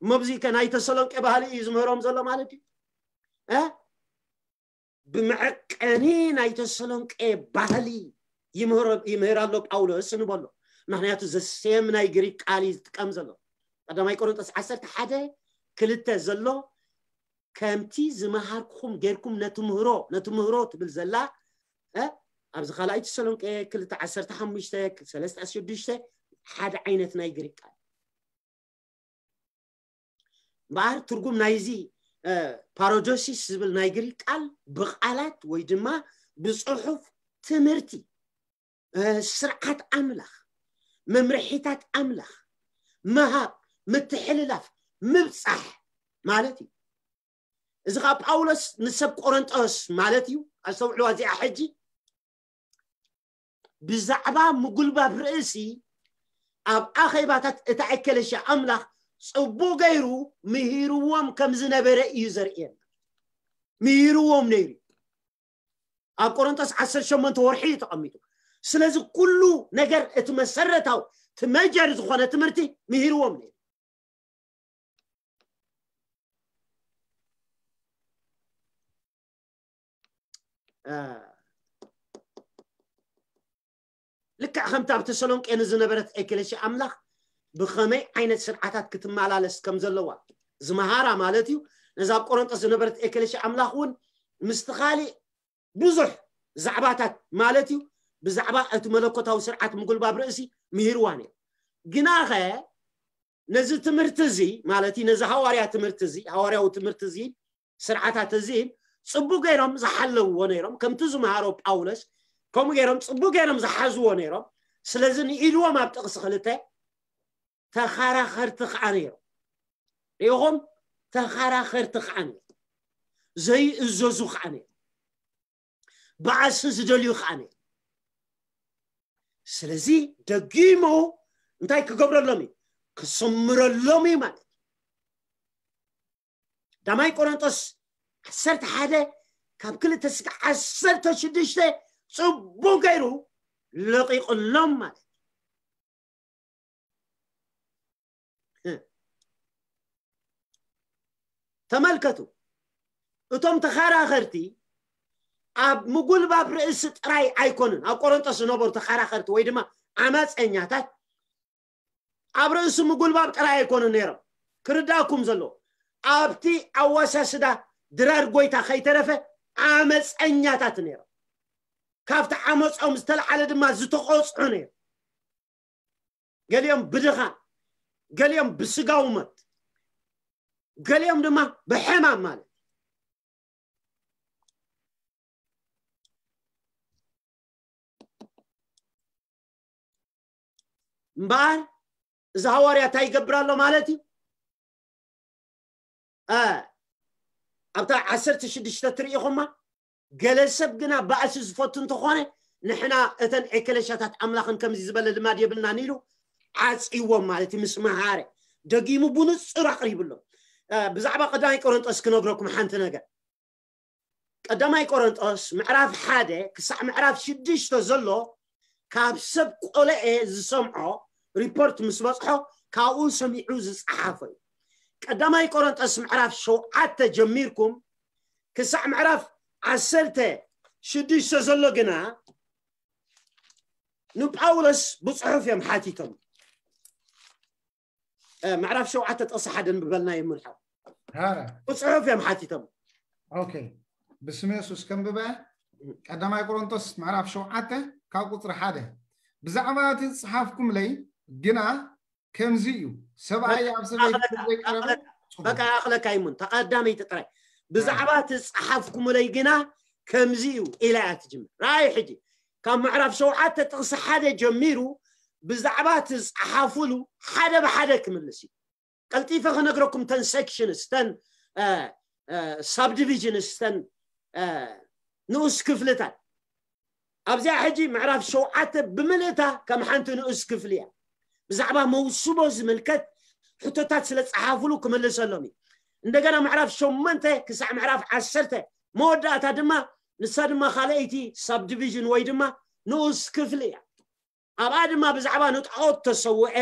እሞ ኣብዚ ከ ናይ ተሰሎንቄ ባህሊ እዩ ዝምህሮም ዘሎ ማለት እዩ? እ? ብመዐቀኒ ናይ ተሰሎንቄ ባህሊ ይምህሮ-፣ ይምህር ኣሎ ጳውሎስ ንበሎ። ምኽንያቱ ዘሴም ናይ ግሪክ ቃል እዩ ዝጥቀም ዘሎ። ቀዳማይ ቆሮንጦስ ዓሰርተ ሓደ ክልተ ዘሎ ከምቲ ዝመሃርኩኹም ጌርኩም ነትምህሮ ነትምህሮ ትብል ዘላ ኣብዚ ካልኣይ ተሰሎንቄ ክልተ ዓሰርተ ሓሙሽተ ክልተ ሰለስተ ሽዱሽተ ሓደ ዓይነት ናይ ግሪክ ቃል እምበኣር ትርጉም ናይዚ ፓሮዶሲስ ዝብል ናይ ግሪክ ቃል ብቃላት ወይ ድማ ብፅሑፍ ትምህርቲ ስርዓት ኣምላኽ መምርሒታት ኣምላኽ ምሃብ ምትሕልላፍ ምብፃሕ ማለት እዩ። እዚ ከዓ ጳውሎስ ንሰብ ቆረንጦስ ማለት እዩ። ኣስተውዕልዋ እዚኣ ሕጂ ብዛዕባ ምጉልባብ ርእሲ ኣብ ኣኼባታት እታ ኤከለሽያ ኣምላኽ ጽቡቕ ገይሩ ምሂርዎም ከም ዝነበረ እዩ ዘርእየና። ምሂርዎም ነይሩ። ኣብ ቆሮንቶስ ዓሰርተ ሸሞንተ ወርሒ እዩ ተቐሚጡ። ስለዚ ኩሉ ነገር እቲ መሰረታዊ እቲ መጀር ዝኾነ ትምህርቲ ምሂርዎም ነይሩ። ልክዕ ከምቲ ኣብ ተሰሎንቄ ንዝነበረት ኤክሌሽያ ኣምላኽ ብኸመይ ዓይነት ስርዓታት ክትመላለስ ከም ዘለዋ ዝመሃራ ማለት እዩ። ነዛ ኣብ ቆሮንጦስ ዝነበረት ኤክሌሽያ ኣምላኽ እውን ምስቲ ካሊእ ብዙሕ ዛዕባታት ማለት እዩ ብዛዕባ እቲ መለኮታዊ ስርዓት ምጉልባብ ርእሲ ምሂርዋ ነይሩ። ግናኸ ነዚ ትምህርቲ እዚ ማለት እዩ ነዚ ሃዋርያ ትምህርቲ እዚ ሃዋርያዊ ትምህርቲ እዚ ስርዓታት እዚ ጽቡቅ ገይሮም ዝሓለውዎ ነይሮም ከምቲ ዝመሃሮ ጳውሎስ ከምኡ ገይሮም ጽቡቅ ገይሮም ዝሓዝዎ ነይሮም። ስለዚ ንኢድዎም ኣብ ጥቕሲ ክልተ ተኸራኸርቲ ከዓ ነይሮም። ሪኢኹም ተኸራኸርቲ ከዓ ነይሮም። ዘይእዘዙ ከዓ ነይሮም። ባእሲ ዝደልዩ ከዓ ነይሮም። ስለዚ ደጊሙ እንታይ ክገብረሎም እዩ? ክስምረሎም እዩ ማለት እዩ። ዳማይ ቆሮንጦስ ዓሰርተ ሓደ ካብ ክልተ ስጋ ዓሰርተ ሽዱሽተ ጽቡቅ ገይሩ ለቂቕሎም ማለት እዩ። ተመልከቱ፣ እቶም ተኸራኸርቲ ኣብ ምጉልባብ ርእሲ ጥራይ ኣይኮኑን። ኣብ ቆሮንጦስ ዝነበሩ ተኸራኸርቲ ወይ ድማ ዓመፀኛታት ኣብ ርእሲ ምጉልባብ ጥራይ ኣይኮኑን ነይሮም። ክርዳእኩም ዘለዎ ኣብቲ ኣዋሳስዳ ድራር ጎይታ ከይተረፈ ዓመፀኛታት ነይሮም። ካብቲ ዓመፆም ዝተልዓለ ድማ ዝተቆፅዑ ነይሮም። ገሊኦም ብድኻ፣ ገሊኦም ብስጋዊ ሞት፣ ገሊኦም ድማ ብሕማም ማለት እምበኣር እዚ ሃዋርያ እንታይ ይገብር ኣሎ ማለት እዩ? ኣብታ ዓሰርተ ሽዱሽተ ትርኢኹማ ገለ ሰብ ግና ባእሲ ዝፈቱ እንተኾነ ንሕና እተን ኤክሌሽያታት ኣምላኽን ከምዚ ዝበለ ልማድ የብልናን ኢሉ ዓፅይዎም ማለት እዩ። ምስ መሃረ ደጊሙ ብንፁር ኣቕሪብሎም። ብዛዕባ ቀዳማይ ቆሮንጦስ ክነግረኩም ሓንቲ ነገር። ቀዳማይ ቆሮንጦስ ምዕራፍ ሓደ ክሳዕ ምዕራፍ ሽዱሽተ ዘሎ ካብ ሰብ ቆለኤ ዝሰምዖ ሪፖርት ምስ በፅሖ ካብኡ ሰሚዑ ዝፀሓፎ እዩ። ቀዳማይ ቆሮንጦስ ምዕራፍ ሸውዓተ ጀሚርኩም ክሳዕ ምዕራፍ ዓሰርተ ሽዱሽተ ዘሎ ግና ንጳውሎስ ብፅሑፍ እዮም ሓቲቶም። ምዕራፍ ሸውዓተ ጥቕሲ ሓደ ንብበልና ይምልሓው። ብፅሑፍ እዮም ሓቲቶም። ኦኬ፣ ብስም የሱስ ከንብበ። ቀዳማይ ቆሮንቶስ ምዕራፍ ሸውዓተ ካብ ቁፅሪ ሓደ፣ ብዛዕባ እቲ ዝፀሓፍኩምለይ ግና ከምዚ እዩ፣ ሰብኣይ ኣብ ሰበይቲ ዘይቀረበ። በቃ ኣኽለካ ይሙን ተቐዳመይቲ ጥራይ። ብዛዕባ እቲ ዝፀሓፍኩምለይ ግና ከምዚ እዩ ኢላ እያ ትጅምር። ራእይ ሕጂ ካብ ምዕራፍ ሸውዓተ ጥቕሲ ሓደ ጀሚሩ ብዛዕባ እቲ ዝፀሓፉሉ ሓደ ብሓደ ክምልስ እዩ። ቀልጢፈ ክነግረኩም ተን ሴክሽንስ ተን ሳብዲቪዥንስ ተን ንኡስ ክፍልታት ኣብዚኣ ሕጂ ምዕራፍ ሸውዓተ ብምልእታ ከም ሓንቲ ንኡስ ክፍሊ እያ። ብዛዕባ መውስቦ ዝምልከት ሕቶታት ስለ ዝፀሓፉሉ ክምልሰሎም እዩ። እንደገና ምዕራፍ ሸሞንተ ክሳዕ ምዕራፍ ዓሰርተ መወዳእታ ድማ ንሳ ድማ ካልኣይቲ ሳብዲቪዥን ወይ ድማ ንኡስ ክፍሊ እያ። ኣብኣ ድማ ብዛዕባ ንጣዖት ተሰውዐ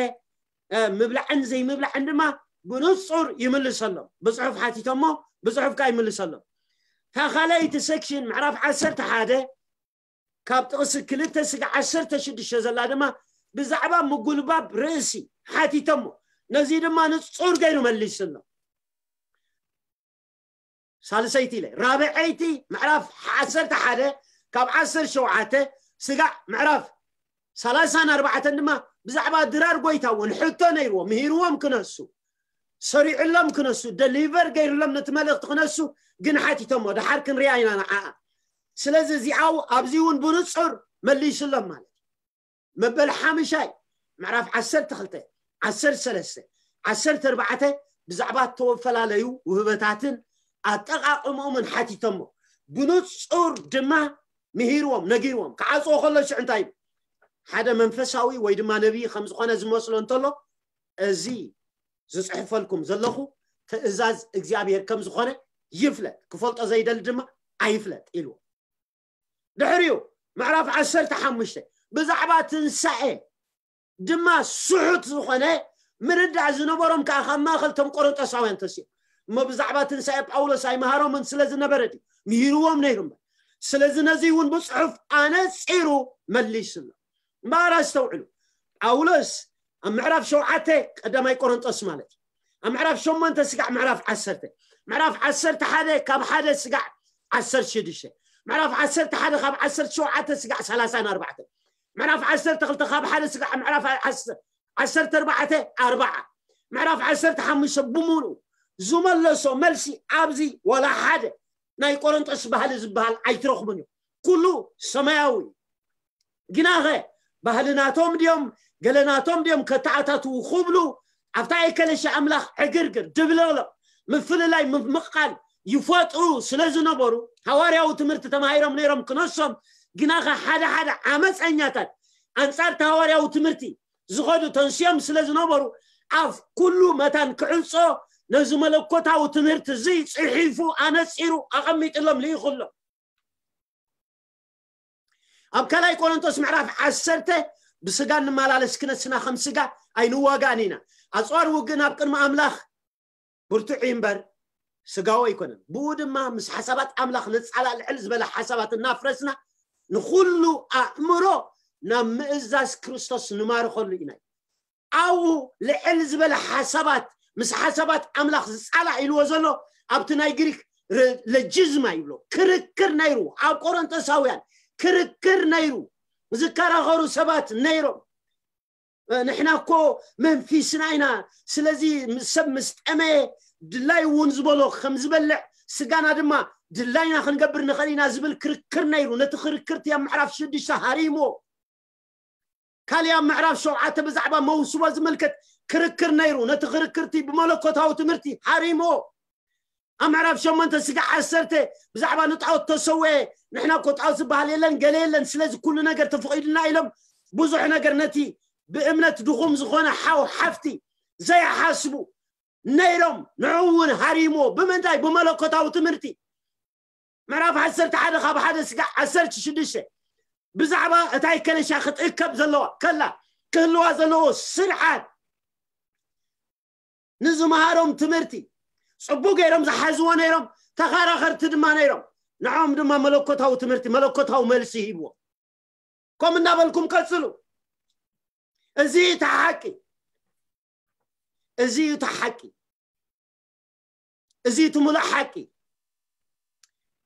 ምብላዕን ዘይምብላዕን ድማ ብንፁር ይምልሰሎም። ብፅሑፍ ሓቲቶሞ ብፅሑፍ ከዓ ይምልሰሎም። እታ ካልኣይቲ ሴክሽን ምዕራፍ ዓሰርተ ሓደ ካብ ጥቕሲ ክልተ ስጋ ዓሰርተ ሽዱሽተ ዘላ ድማ ብዛዕባ ምጉልባብ ርእሲ ሓቲቶሞ። ነዚ ድማ ንጹር ገይሩ መሊስሎም። ሳልሰይቲ ኢለ ራብዐይቲ ምዕራፍ ዓሰርተ ሓደ ካብ ዓሰርተ ሸውዓተ ስጋዕ ምዕራፍ ሰላሳን ኣርባዕተን ድማ ብዛዕባ ድራር ጎይታ እውን ሕቶ ነይርዎ፣ ምሂርዎም ክነሱ፣ ሰሪዕሎም ክነሱ፣ ደሊቨር ገይርሎም ነቲ መልእኽቲ ክነሱ ግን ሓቲቶሞ። ድሓር ክንሪኣ ኢና ንዓኣ። ስለዚ እዚኣው ኣብዚ እውን ብንጹር መሊስሎም ማለት እዩ። መበል ሓምሻይ ምዕራፍ ዓሰርተ ክልተ፣ ዓሰርተ ሰለስተ፣ ዓሰርተ ኣርባዕተ ብዛዕባ እተፈላለዩ ውህበታትን ኣጠቓቕምኦምን ሓቲቶሞ። ብንጹር ድማ ምሂርዎም፣ ነጊርዎም። ክዓጽዎ ከሎ ሽዑ እንታይ ኢሉ? ሓደ መንፈሳዊ ወይ ድማ ነቢይ ከም ዝኾነ ዝመስሎ እንተሎ፣ እዚ ዝጽሕፈልኩም ዘለኹ ትእዛዝ እግዚኣብሔር ከም ዝኾነ ይፍለጥ፣ ክፈልጦ ዘይደሊ ድማ ኣይፍለጥ ኢልዎ። ድሕሪኡ ምዕራፍ ዓሰርተ ሓሙሽተ ብዛዕባ ትንሳኤ ድማ ስሑት ዝኾነ ምርዳእ ዝነበሮም ከዓ ካብ ማእኸል ቶም ቆሮንጦሳውያን ተሲኦም እሞ ብዛዕባ ትንሳኤ ጳውሎስ ኣይመሃሮምን ስለ ዝነበረ ድዩ? ምሂርዎም ነይሩ እምበር። ስለዚ ነዚ እውን ብፅሑፍ ኣነፂሩ መሊስሎ። እምበኣር ኣስተውዕሉ፣ ጳውሎስ ኣብ ምዕራፍ ሸውዓተ ቀዳማይ ቆሮንጦስ ማለት እዩ፣ ኣብ ምዕራፍ ሸሞንተ ስጋዕ ምዕራፍ ዓሰርተ፣ ምዕራፍ ዓሰርተ ሓደ ካብ ሓደ ስጋዕ ዓሰርተ ሽዱሽተ፣ ምዕራፍ ዓሰርተ ሓደ ካብ ዓሰርተ ሸውዓተ ስጋዕ ሰላሳን ኣርባዕተ፣ ምዕራፍ ዓሰርተ ክልተ ካብ ሓደ ስጋዕ ምዕራፍ ዓሰርተ ኣርባዕተ ኣርባዓ፣ ምዕራፍ ዓሰርተ ሓሙሽተ ብምሉኡ ዝመለሶ መልሲ ኣብዚ ዋላ ሓደ ናይ ቆሮንጦስ ባህሊ ዝበሃል ኣይትረኽቡን እዩ። ኩሉ ሰማያዊ እዩ። ግናኸ ባህልናቶም ድዮም ገለናቶም ድዮም ከተኣታትዉ ክብሉ ኣብታ ኤከለሻ ኣምላኽ ዕግርግር ድብለሎ ምፍልላይ ምምቕቃል ይፈጥሩ ስለ ዝነበሩ ሃዋርያዊ ትምህርቲ ተማሂሮም ነይሮም ክነሶም። ግናኸ ሓደ ሓደ ዓመፀኛታት ኣንጻር እቲ ሃዋርያዊ ትምህርቲ ዝኸዱ ተንስዮም ስለ ዝነበሩ ኣፍ ኩሉ መታን ክዕጾ ነዚ መለኮታዊ ትምህርቲ እዚ ጽሒፉ ኣነጺሩ ኣቐሚጥሎም ልኢኹሎም። ኣብ ካልኣይ ቆሮንቶስ ምዕራፍ ዓሰርተ ብስጋ እንመላለስ ክነስና ከም ስጋ ኣይንዋጋእን ኢና። ኣጽዋር ውግእና ኣብ ቅድሚ ኣምላኽ ብርቱዕ እዩ እምበር ስጋዊ ኣይኮነን። ብኡ ድማ ምስ ሓሳባት ኣምላኽ ንጻላእ ልዕል ዝበለ ሓሳባት እናፍረስና ንኹሉ ኣእምሮ ናብ ምእዛዝ ክርስቶስ ንማርኸሉ ኢና። ኣብኡ ልዕል ዝበለ ሓሳባት ምስ ሓሳባት ኣምላኽ ዝጻላእ ኢልዎ ዘሎ ኣብቲ ናይ ግሪክ ረ- ለጂዝማ ይብሎ ክርክር ነይሩ። ኣብ ቆሮንቶሳውያን ክርክር ነይሩ። ዝከራኸሩ ሰባት ነይሮም። ንሕና እኮ መንፊስና ኢና። ስለዚ ሰብ ምስ ጠመየ ድላይ እውን ዝበሎ ከም ዝበልዕ ስጋና ድማ ድላይና ክንገብር ንኽእል ኢና ዝብል ክርክር ነይሩ። ነቲ ክርክርቲ ኣብ ምዕራፍ ሽዱሽተ ሃሪሞ ካልያ ምዕራፍ ሸውዓተ ብዛዕባ መውስቦ ዝምልከት ክርክር ነይሩ። ነቲ ክርክርቲ ብመለኮታዊ ትምህርቲ ሃሪሞ ኣብ ምዕራፍ ሸሞንተ ስጋ ዓሰርተ ብዛዕባ ንጣዖት ተሰወየ። ንሕና እኮ ጣዖት ዝበሃል የለን ገለ የለን፣ ስለዚ ኩሉ ነገር ተፈቒዱና ኢሎም ብዙሕ ነገር ነቲ ብእምነት ድኹም ዝኾነ ሓው ሓፍቲ ዘይሓስቡ ነይሮም። ንዕኡ እውን ሃሪሞ ብምንታይ? ብመለኮታዊ ትምህርቲ። ምዕራፍ ዓሰርተ ሓደ ካብ ሓደ ስጋ ዓሰርተ ሽዱሽተ ብዛዕባ እታ ከለሻ ክትእከብ ዘለዋ ከላ ክህልዋ ዘለዎ ስርዓት ንዝመሃሮም ትምህርቲ ጽቡቅ ገይሮም ዝሓዝዎ ነይሮም። ተኸራኸርቲ ድማ ነይሮም። ንዖም ድማ መለኮታዊ ትምህርቲ መለኮታዊ መልሲ ሂብዎ። ከም እናበልኩም ቀጽሉ። እዚ እቲ ሓቂ፣ እዚ እቲ ሓቂ፣ እዚ እቲ ሙሉእ ሓቂ።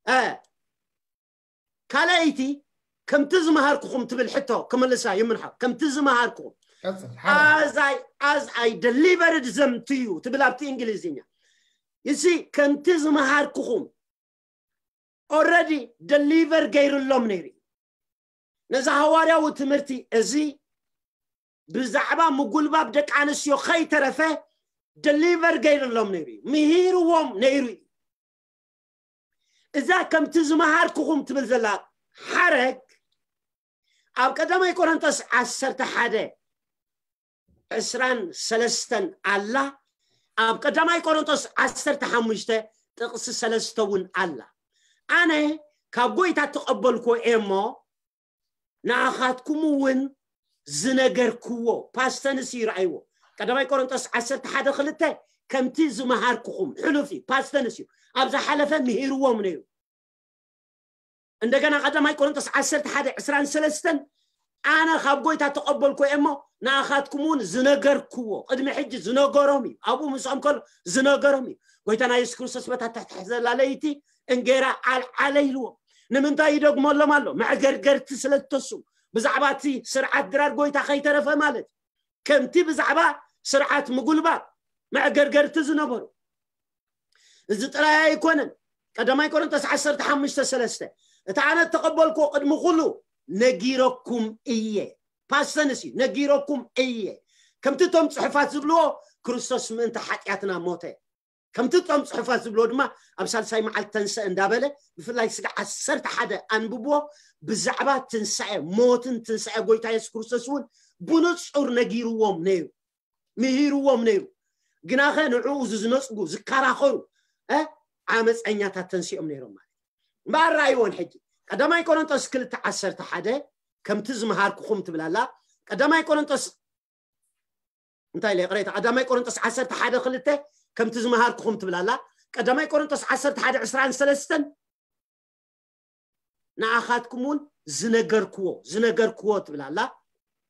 እ ካልኣይቲ ከምቲ ዝመሃርኩኹም ትብል ሕቶ ክምልሳ ይምንሓ። ከምቲ ዝመሃርኩኹም ቀጽል። ሓደ። As I, as I delivered them to you ትብል ኣብቲ እንግሊዝኛ። እዚ ከምቲ ዝመሃርኩኹም ኦረዲ ደሊቨር ገይርሎም ነይሩ እዩ። ነዚ ሃዋርያዊ ትምህርቲ እዚ ብዛዕባ ምጉልባብ ደቂ ኣንስትዮ ከይተረፈ ደሊቨር ገይርሎም ነይሩ እዩ፣ ምሂርዎም ነይሩ እዩ። እዛ ከምቲ ዝመሃርኩኹም ትብል ዘላ ሓረግ ኣብ ቀዳማይ ቆሮንቶስ ዓሰርተ ሓደ ዕስራን ሰለስተን ኣላ። ኣብ ቀዳማይ ቆሮንቶስ ዓሰርተ ሓሙሽተ ጥቕሲ ሰለስተ እውን ኣላ። ኣነ ካብ ጎይታ እተቐበልኩዎ እየ እሞ ንኣኻትኩም እውን ዝነገርክዎ። ፓስተንስ እዩ ረኣይዎ። ቀዳማይ ቆሮንቶስ ዓሰርተ ሓደ ክልተ ከምቲ ዝመሃርኩኹም። ሕሉፍ እዩ፣ ፓስተንስ እዩ። ኣብ ዝሓለፈ ምሂርዎም ነይሩ። እንደገና ቀዳማይ ቆሮንቶስ ዓሰርተ ሓደ ዕስራን ሰለስተን ኣነ ካብ ጎይታ ተቐበልኩ እየ እሞ ንኣኻትኩም እውን ዝነገርክዎ፣ ቅድሚ ሕጂ ዝነገሮም እዩ። ኣብኡ ምስኦም ከሎ ዝነገሮም እዩ። ጎይታና የሱስ ክርስቶስ በታ ትሕትሕት ዘላ ለይቲ እንጌራ ኣልዓለ ኢልዎ። ንምንታይ ይደግመሎም ኣሎ? መዕገርገርቲ ስለ ዝተሱ፣ ብዛዕባ እቲ ስርዓት ድራር ጎይታ ከይተረፈ ማለት እዩ። ከምቲ ብዛዕባ ስርዓት ምጉልባብ መዕገርገርቲ ዝነበሩ። እዚ ጥራይ ኣይኮነን። ቀዳማይ ቆሮንቶስ ዓሰርተ ሓሙሽተ ሰለስተ፣ እቲ ኣነ እተቐበልኩዎ ቅድሚ ኩሉ ነጊረኩም እየ። ፓስተንስ እዩ፣ ነጊረኩም እየ። ከምቲ እቶም ጽሑፋት ዝብልዎ፣ ክርስቶስ ምእንቲ ሓጢኣትና ሞተ። ከምቲ እቶም ጽሑፋት ዝብልዎ ድማ፣ ኣብ ሳልሳይ መዓልቲ ተንስአ እንዳበለ፣ ብፍላይ ስጋ ዓሰርተ ሓደ ኣንብብዎ። ብዛዕባ ትንሳኤ፣ ሞትን ትንሳኤ ጎይታ የሱስ ክርስቶስ እውን ብንጹር ነጊርዎም ነይሩ፣ ምሂርዎም ነይሩ። ግናኸ ንዕኡ ዝነጽጉ፣ ዝከራኸሩ፣ እ፣ ዓመፀኛታት ተንሲኦም ነይሮም ማለት እዩ። እምበኣር ረኣይዎን ሕጂ፣ ቀዳማይ ቆሮንቶስ ክልተ ዓሰርተ ሓደ፣ ከምቲ ዝመሃርኩኹም ትብል ኣላ። ቀዳማይ ቆሮንቶስ፣ እንታይ ኢለ ይቕሬታ፣ ቀዳማይ ቆሮንቶስ ዓሰርተ ሓደ ክልተ፣ ከምቲ ዝመሃርኩኹም ትብል ኣላ። ቀዳማይ ቆሮንቶስ ዓሰርተ ሓደ ዕስራን ሰለስተን፣ ንኣኻትኩም እውን ዝነገርክዎ፣ ዝነገርክዎ ትብል ኣላ።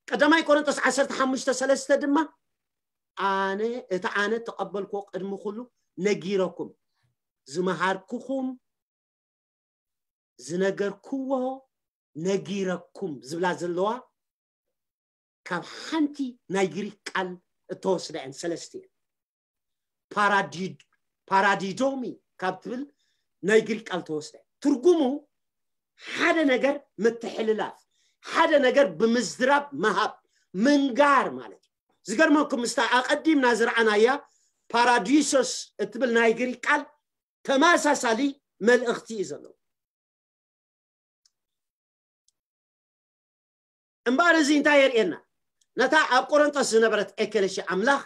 ቀዳማይ ቆሮንቶስ ዓሰርተ ሓሙሽተ ሰለስተ ድማ፣ ኣነ፣ እቲ ኣነ ተቐበልክዎ ቅድሚ ኩሉ ነጊረኩም፣ ዝመሃርኩኹም፣ ዝነገርክዎ፣ ነጊረኩም ዝብላ ዘለዋ፣ ካብ ሓንቲ ናይ ግሪክ ቃል እተወስዳ እየን፣ ሰለስተ እየን። ፓራዲ-፣ ፓራዲዶሚ ካብ ትብል ናይ ግሪክ ቃል ተወስደ። ትርጉሙ ሓደ ነገር ምትሕልላፍ፣ ሓደ ነገር ብምዝራብ ምሃብ፣ ምንጋር ማለት እዩ። ዝገርመኩም፣ ምስታ ኣቐዲምና ዝረኣናያ ፓራዲሶስ እትብል ናይ ግሪክ ቃል ተመሳሳሊ መልእኽቲ እዩ ዘለዎ። እምበኣር እዚ እንታይ የርእየና? ነታ ኣብ ቆሮንቶስ ዝነበረት ኤከለሲ ኣምላኽ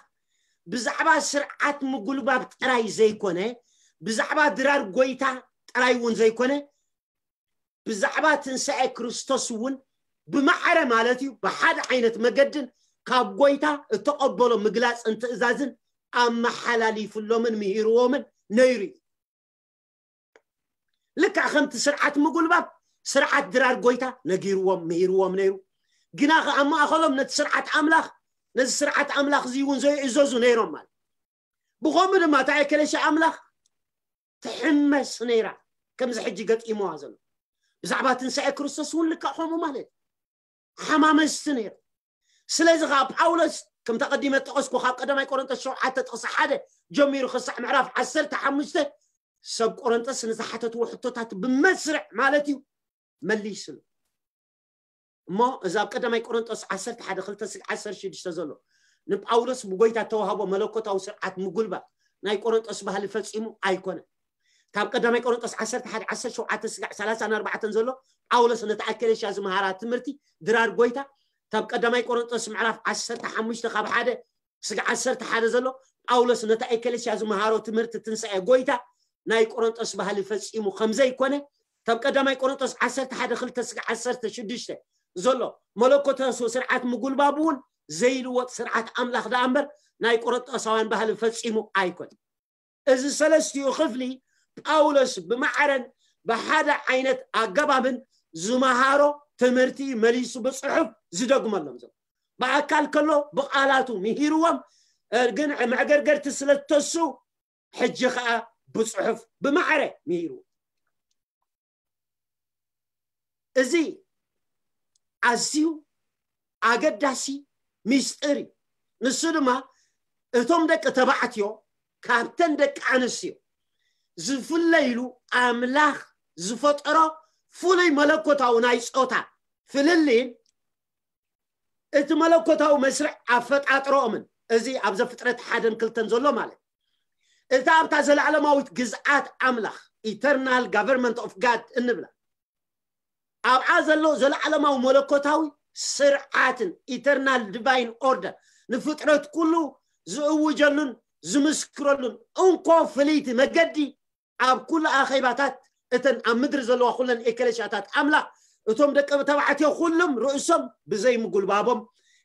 ብዛዕባ ስርዓት ምጉልባብ ጥራይ ዘይኮነ፣ ብዛዕባ ድራር ጎይታ ጥራይ እውን ዘይኮነ፣ ብዛዕባ ትንሳኤ ክርስቶስ እውን ብማዕረ ማለት እዩ፣ ብሓደ ዓይነት መገድን ካብ ጎይታ እተቐበሎ ምግላጽን ትእዛዝን ኣመሓላሊፍሎምን ምሂርዎምን ነይሩ እዩ። ልክዕ ከምቲ ስርዓት ምጉልባብ፣ ስርዓት ድራር ጎይታ ነጊርዎም፣ ምሂርዎም ነይሩ። ግና ከ ኣብ ማእኸሎም ነቲ ስርዓት ኣምላኽ፣ ነዚ ስርዓት ኣምላኽ እዚ እውን ዘይእዘዙ ነይሮም ማለት። ብኸምኡ ድማ እታ ኤከለሲ ኣምላኽ ትሕመስ ነይራ፣ ከምዚ ሕጂ ገጢምዋ ዘሎ። ብዛዕባ ትንሳኤ ክርስቶስ እውን ልክዕ ከምኡ ማለት እዩ። ሓማመስቲ ነይሩ። ስለዚ ከዓ ጳውሎስ፣ ከምቲ ኣቐዲመ ጠቐስኩ፣ ካብ ቀዳማይ ቆሮንቶስ ሸውዓተ ጥቕሲ ሓደ ጀሚሩ ክሳዕ ምዕራፍ ዓሰርተ ሓሙሽተ፣ ሰብ ቆሮንቶስ ንዝሓተትዎ ሕቶታት ብመስርዕ ማለት እዩ መሊስሉ። እሞ እዚ ኣብ ቀዳማይ ቆሮንቶስ ዓሰርተ ሓደ ክልተ ስግ ዓሰርተ ሽዱሽተ ዘሎ፣ ንጳውሎስ ብጎይታ እተዋህቦ መለኮታዊ ስርዓት ምጉልባብ ናይ ቆሮንቶስ ባህሊ ፈጺሙ ኣይኮነን። ካብ ቀዳማይ ቆሮንቶስ ዓሰርተ ሓደ ዓሰርተ ሸውዓተ ስጋዕ ሰላሳን ኣርባዕተን ዘሎ፣ ጳውሎስ ነታ ኣከለሽያ ዝመሃራ ትምህርቲ ድራር ጎይታ፣ ካብ ቀዳማይ ቆሮንቶስ ምዕራፍ ዓሰርተ ሓሙሽተ ካብ ሓደ ስጋዕ ዓሰርተ ሓደ ዘሎ፣ ጳውሎስ ነታ ኤከለሽያ ዝመሃሮ ትምህርቲ ትንሳኤ ጎይታ ናይ ቆሮንቶስ ባህሊ ፈጺሙ ከም ዘይኮነ፣ ካብ ቀዳማይ ቆሮንቶስ ዓሰርተ ሓደ ክልተ ስጋዕ ዓሰርተ ሽዱሽተ ዘሎ፣ መለኮታዊ ስርዓት ምጉልባብ እውን ዘይልወጥ ስርዓት ኣምላኽ ደኣ እምበር ናይ ቆሮንቶሳውያን ባህሊ ፈጺሙ ኣይኮነን። እዚ ሰለስቲኡ ክፍሊ ጳውሎስ ብማዕረን ብሓደ ዓይነት ኣገባብን ዝመሃሮ ትምህርቲ መሊሱ ብጽሑፍ ዝደግመሎም ዘሎ። ብኣካል ከሎ ብቓላቱ ምሂርዎም፣ እ፣ ግን መዕገርገርቲ ስለ ዝተሱ ሕጂ ኸኣ ብጽሑፍ ብማዕረ ምሂርዎ። እዚ ኣዝዩ ኣገዳሲ ሚስጥር እዩ። ንሱ ድማ እቶም ደቂ ተባዕትዮ ካብተን ደቂ ኣንስትዮ ዝፍለይሉ ኣምላኽ ዝፈጠሮ ፍሉይ መለኮታዊ ናይ ጾታ ፍልልይን እቲ መለኮታዊ መስርዕ ኣፈጣጥሮኦምን፣ እዚ ኣብ ዘፍጥረት ሓደን ክልተን ዘሎ ማለት፣ እታ ኣብታ ዘለዓለማዊት ግዝኣት ኣምላኽ፣ ኢተርናል ጋቨርንመንት ኦፍ ጋድ እንብላ፣ ኣብኣ ዘሎ ዘለዓለማዊ መለኮታዊ ስርዓትን፣ ኢተርናል ዲቫይን ኦርደር፣ ንፍጥረት ኩሉ ዝእውጀሉን ዝምስክረሉን እንኮ ፍልይቲ መገዲ፣ ኣብ ኩሉ ኣኼባታት እተን ኣብ ምድሪ ዘለዋ ኩለን ኤከለሽያታት ኣምላኽ፣ እቶም ደቂ ተባዕትዮ ኩሎም ርእሶም ብዘይ ምጉልባቦም፣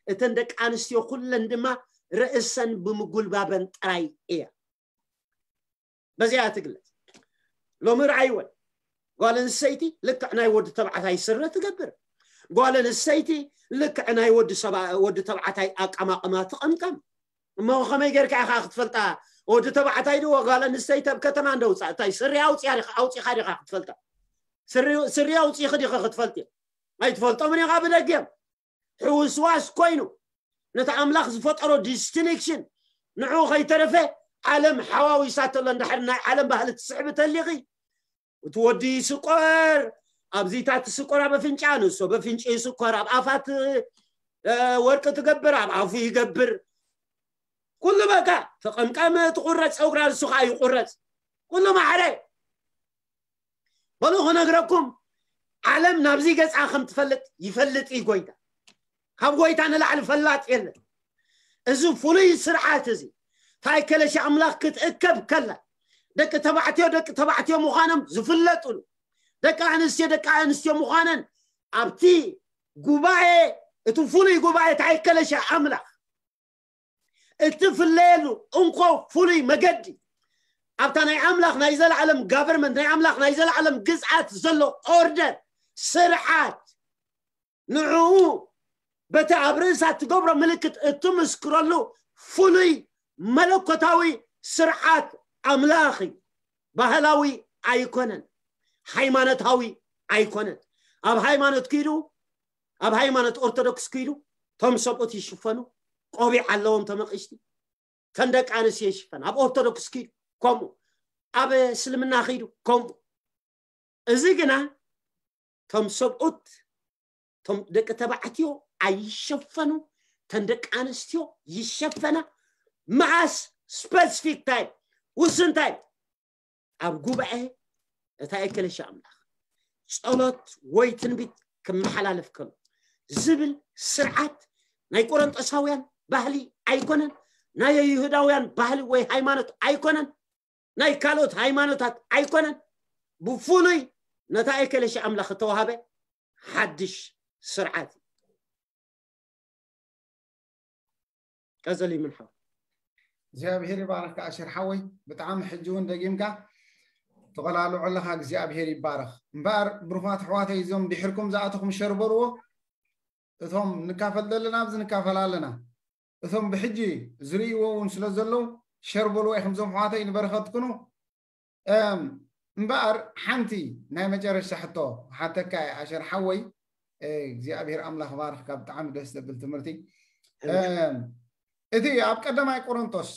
እተን ደቂ ኣንስትዮ ኩለን ድማ ርእሰን ብምጉልባበን ጥራይ እያ። በዚኣ ትግለጽ። ሎሚ ረኣይወን፣ ጓል ኣንስተይቲ ልክዕ ናይ ወዲ ተባዕታይ ስረ ትገብር። ጓል ኣንስተይቲ ልክዕ ናይ ወዲ ሰባ ወዲ ተባዕታይ ኣቀማቕማ ትቐምቀም። እሞ ከመይ ጌርካ ኢኻ ክትፈልጣ? ወዲ ተባዕታይ ድዎ ጓል ኣንስተይቲ ኣብ ከተማ እንደውፃእ እንታይ ስሪ ኣውፂኻ ዲኻ ክትፈልጣ? ስሪ ኣውፂኺ ዲኻ ክትፈልጥ? ኣይትፈልጦምን ኢኻ ብደጊኦም። ሕውስዋስ ኮይኑ ነቲ ኣምላኽ ዝፈጠሮ ዲስቲንክሽን ንዑ ከይተረፈ ዓለም ሓዋዊሳተሎ እንድሕር ናይ ዓለም ባህሊ ትስዕቢ ተሊኺ እቲ ወዲ ይስቆር ኣብዚታት ትስቆር ኣብ ኣፍንጫ ንሶ በፍንጭ ይስቆር ኣብ ኣፋት ወርቂ ትገብር ኣብ ኣፉ ይገብር ኩሉ በቃ ተቐምቀመ ትቑረፅ ፀጉራ ንሱ ከዓ ይቑረፅ ኩሉ ማዕረ በሉ ክነግረኩም ዓለም ናብዚ ገፃ ከም ትፈልጥ ይፈልጥ እዩ ጎይታ ካብ ጎይታ ንላዕሊ ፈላጥ የለን እዚ ፍሉይ ስርዓት እዚ ታይ ከለሻ ኣምላኽ ክትእከብ ከላ ደቂ ተባዕትዮ ደቂ ተባዕትዮ ምዃኖም ዝፍለጡሉ ደቂ ኣንስትዮ ደቂ ኣንስትዮ ምዃነን ኣብቲ ጉባኤ እቲ ፍሉይ ጉባኤ ታይ ከለሻ ኣምላኽ እትፍለየሉ እንኮ ፍሉይ መገዲ ኣብታ ናይ ኣምላኽ ናይ ዘለዓለም ጋቨርመንት ናይ ኣምላኽ ናይ ዘለዓለም ግዝኣት ዘሎ ኦርደር ስርዓት ንዕኡ በቲ ኣብ ርእሳ ትገብሮ ምልክት እትምስክረሉ ፍሉይ መለኮታዊ ስርዓት ኣምላኽ እዩ። ባህላዊ ኣይኮነን፣ ሃይማኖታዊ ኣይኮነን። ኣብ ሃይማኖት ኪዱ ኣብ ሃይማኖት ኦርቶዶክስ ኪዱ ቶም ሰብኡት ይሽፈኑ፣ ቆቢዕ ኣለዎም ተመቂሽቲ፣ ተን ደቂ ኣንስትዮ ይሽፈን። ኣብ ኦርቶዶክስ ኪዱ ከምኡ፣ ኣብ እስልምና ኪዱ ከምኡ። እዚ ግና ቶም ሰብኡት ቶም ደቂ ተባዕትዮ ኣይሸፈኑ፣ ተን ደቂ ኣንስትዮ ይሸፈና። መዓስ ስፐሲፊክ ታይም ውስን ታይም ኣብ ጉባኤ እታ ኤከለሻ ኣምላኽ ጸሎት ወይ ትንቢት ክመሓላለፍ ከሎ ዝብል ስርዓት ናይ ቆሮንጦሳውያን ባህሊ ኣይኮነን፣ ናይ ይሁዳውያን ባህሊ ወይ ሃይማኖት ኣይኮነን፣ ናይ ካልኦት ሃይማኖታት ኣይኮነን። ብፍሉይ ነታ ኤከለሻ ኣምላኽ እተዋሃበ ሓድሽ ስርዓት እዩ። ቀጸል ይምን ሓው። እግዚኣብሔር ይባረክ ኣሸር ሓወይ ብጣዕሚ ሕጂ እውን ደጊምካ ተቆላልዖ ኣለካ እግዚኣብሔር ይባረክ እምበኣር ብሩኻት ኣሕዋተይ እዞም ድሕርኩም ዝኣተኹም ሸር በልዎ እቶም ንካፈል ዘለና ኣብዚ ንካፈል ኣለና እቶም ብሕጂ ዝርእይዎ እውን ስለ ዘለዉ ሸር በልዎ ኢኹም እዞም ኣሕዋተይ ንበረኸት ኩኑ እምበኣር ሓንቲ ናይ መጨረሻ ሕቶ ሓተካ ኣሸር ሓወይ እግዚኣብሔር ኣምላኽ ባርኽካ ብጣዕሚ ደስ ዘብል ትምህርቲ እቲ ኣብ ቀዳማይ ቆሮንቶስ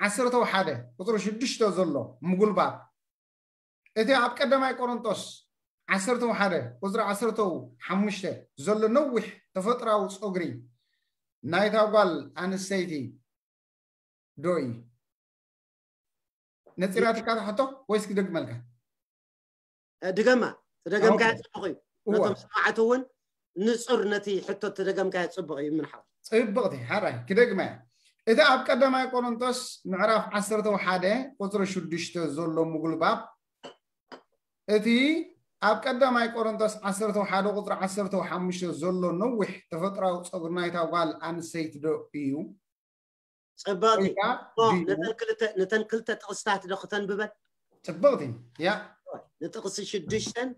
ዓሰርተው ሓደ ቁፅሪ ሽዱሽተ ዘሎ ምጉልባብ እቲ ኣብ ቀዳማይ ቆሮንቶስ ዓሰርተው ሓደ ቁፅሪ ዓሰርተው ሓሙሽተ ዘሎ ነዊሕ ተፈጥራዊ ፀጉሪ ናይታ ጓል ኣንስተይቲ ዶ እዩ ነፂራትካ ትሓቶ ወይስ ክደግመልካ ድገማ ተደገምካያ ፅቡቅ እዩ ነቶም ሰማዕቲ እውን ንፁር ነቲ ሕቶ ተደገምካያ ፅቡቅ እዩ ምንሓው ፅብቅቲ ሓራይ ክደግመያ እቲ ኣብ ቀዳማይ ቆሮንቶስ ምዕራፍ ዓሰርተ ሓደ ቁፅሪ ሽዱሽተ ዘሎ ምጉልባብ እቲ ኣብ ቀዳማይ ቆሮንቶስ ዓሰርተ ሓደ ቁፅሪ ዓሰርተ ሓሙሽተ ዘሎ ነዊሕ ተፈጥራዊ ፀጉሪ ናይታ ጓል ኣንሰይቲ ዶ እዩ ፅብቕቲ ነተን ክልተ ጥቕስታት ዶ ክተንብበን ፅብቕቲ ያ ንጥቕሲ ሽዱሽተን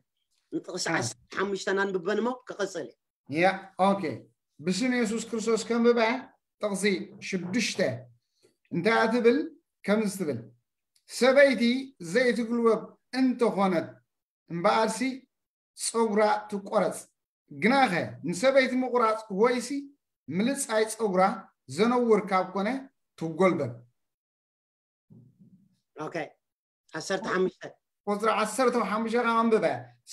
ንጥቕሲ ዓሰርተ ሓሙሽተን ኣንብበን እሞ ክቕፅል ያ ኦኬ ብስም የሱስ ክርስቶስ ከንብበ ጥቕሲ ሽዱሽተ እንታይ ትብል ከምዚ ትብል ሰበይቲ ዘይትግልበብ እንተኾነት እምበኣርሲ ፀጉራ ትቆረፅ ግናኸ ንሰበይቲ ምቑራፅ ወይሲ ምልፃይ ፀጉራ ዘነውር ካብ ኮነ ትጎልበብ ኦኬ ዓሰርተ ሓሙሽተ ቁፅሪ ዓሰርተ ሓሙሽተ ከዓ ኣንብበ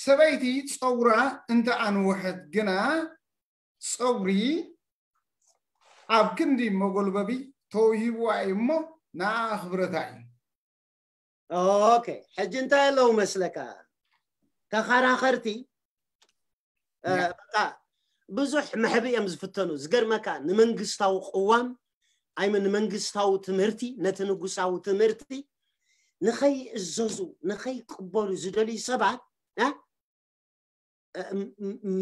ሰበይቲ ፀጉራ እንተ ኣንውሐት ግና ፀጉሪ ኣብ ክንዲ መጎልበቢ ተውሂብዋ እዩ እሞ ንኣ ኣኽብረታ እዩ ኦኬ ሕጂ እንታይ ኣለዉ መስለካ ተኸራኸርቲ በቃ ብዙሕ መሕቢ እዮም ዝፍተኑ ዝገርመካ ንመንግስታዊ ቅዋም ኣይመ ንመንግስታዊ ትምህርቲ ነቲ ንጉሳዊ ትምህርቲ ንኸይእዘዙ ንኸይቅበሉ ዝደልዩ ሰባት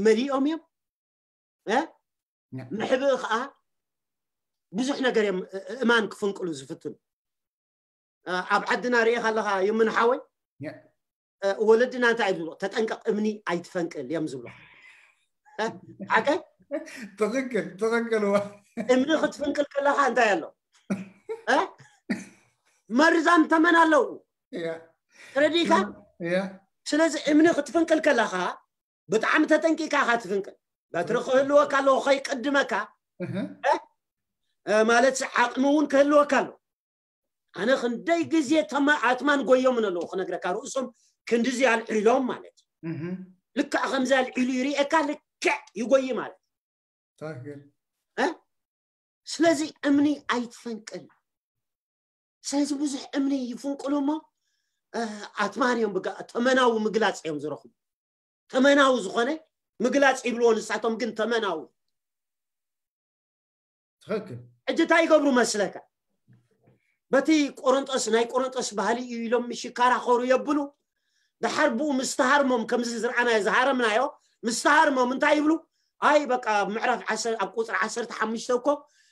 መሊኦም እዮም መሕብኢ ከዓ ብዙሕ ነገር እዮም እማን ክፍንቅሉ ዝፍትኑ ኣብ ዓድና ርኢኻ ኣለኻ ይምንሓወይ ወለድና እንታይ ዝብሎ ተጠንቀቕ እምኒ ኣይትፈንቅል እዮም ዝብሎ ሓቀ ትኽክል ትኽክል ዋ እምኒ ክትፍንቅል ከለኻ እንታይ ኣሎ እ? መርዛም ተመን ኣለዉ ያ ተረዲእካ ያ ስለዚ እምኒ ክትፍንቅል ከለኻ ብጣዕሚ ተጠንቂካ ኢኻ ትፍንቅል በትሪ ክህልወካ ኣለዎ ከይቅድመካ እህ እ፣ ማለት ዓቕሚ እውን ክህልወካ ኣሎ ኣነ ክንደይ ግዜ ተማ ኣትማን ጎዮም ኣለዎ ክነግረካ ርእሶም ክንድዚ ኣልዒሎም ማለት እዩ እህ ልክዕ ከምዚ ኣልዒሉ ይርእየካ ልክዕ ይጎይ ማለት እዩ ትኽክል ስለዚ እምኒ ኣይትፈንቅል ስለዚ ብዙሕ እምኒ ይፍንቅሉ እሞ እ፣ ኣትማን እዮም ብጋ- ተመናዊ ምግላፅ እዮም ዝረኽቡ ተመናዊ ዝኾነ ምግላፅ ይብልዎ ንሳቶም ግን ተመናዊ ትኽክል ሕጂ እንታይ ይገብሩ መስለካ በቲ ቆሮንጦስ ናይ ቆሮንጦስ ባህሊ እዩ ኢሎም ምሽ ይከራኸሩ የብሉ ድሓር ብኡ ምስተሃርሞም ከምዚ ዝረኣናዮ ዝሃረምናዮ ምስተሃርሞም እንታይ ይብሉ ኣይ በቃ ኣብ ምዕራፍ ዓሰር- ኣብ ቁፅሪ ዓሰርተ ሓሙሽተ እኮ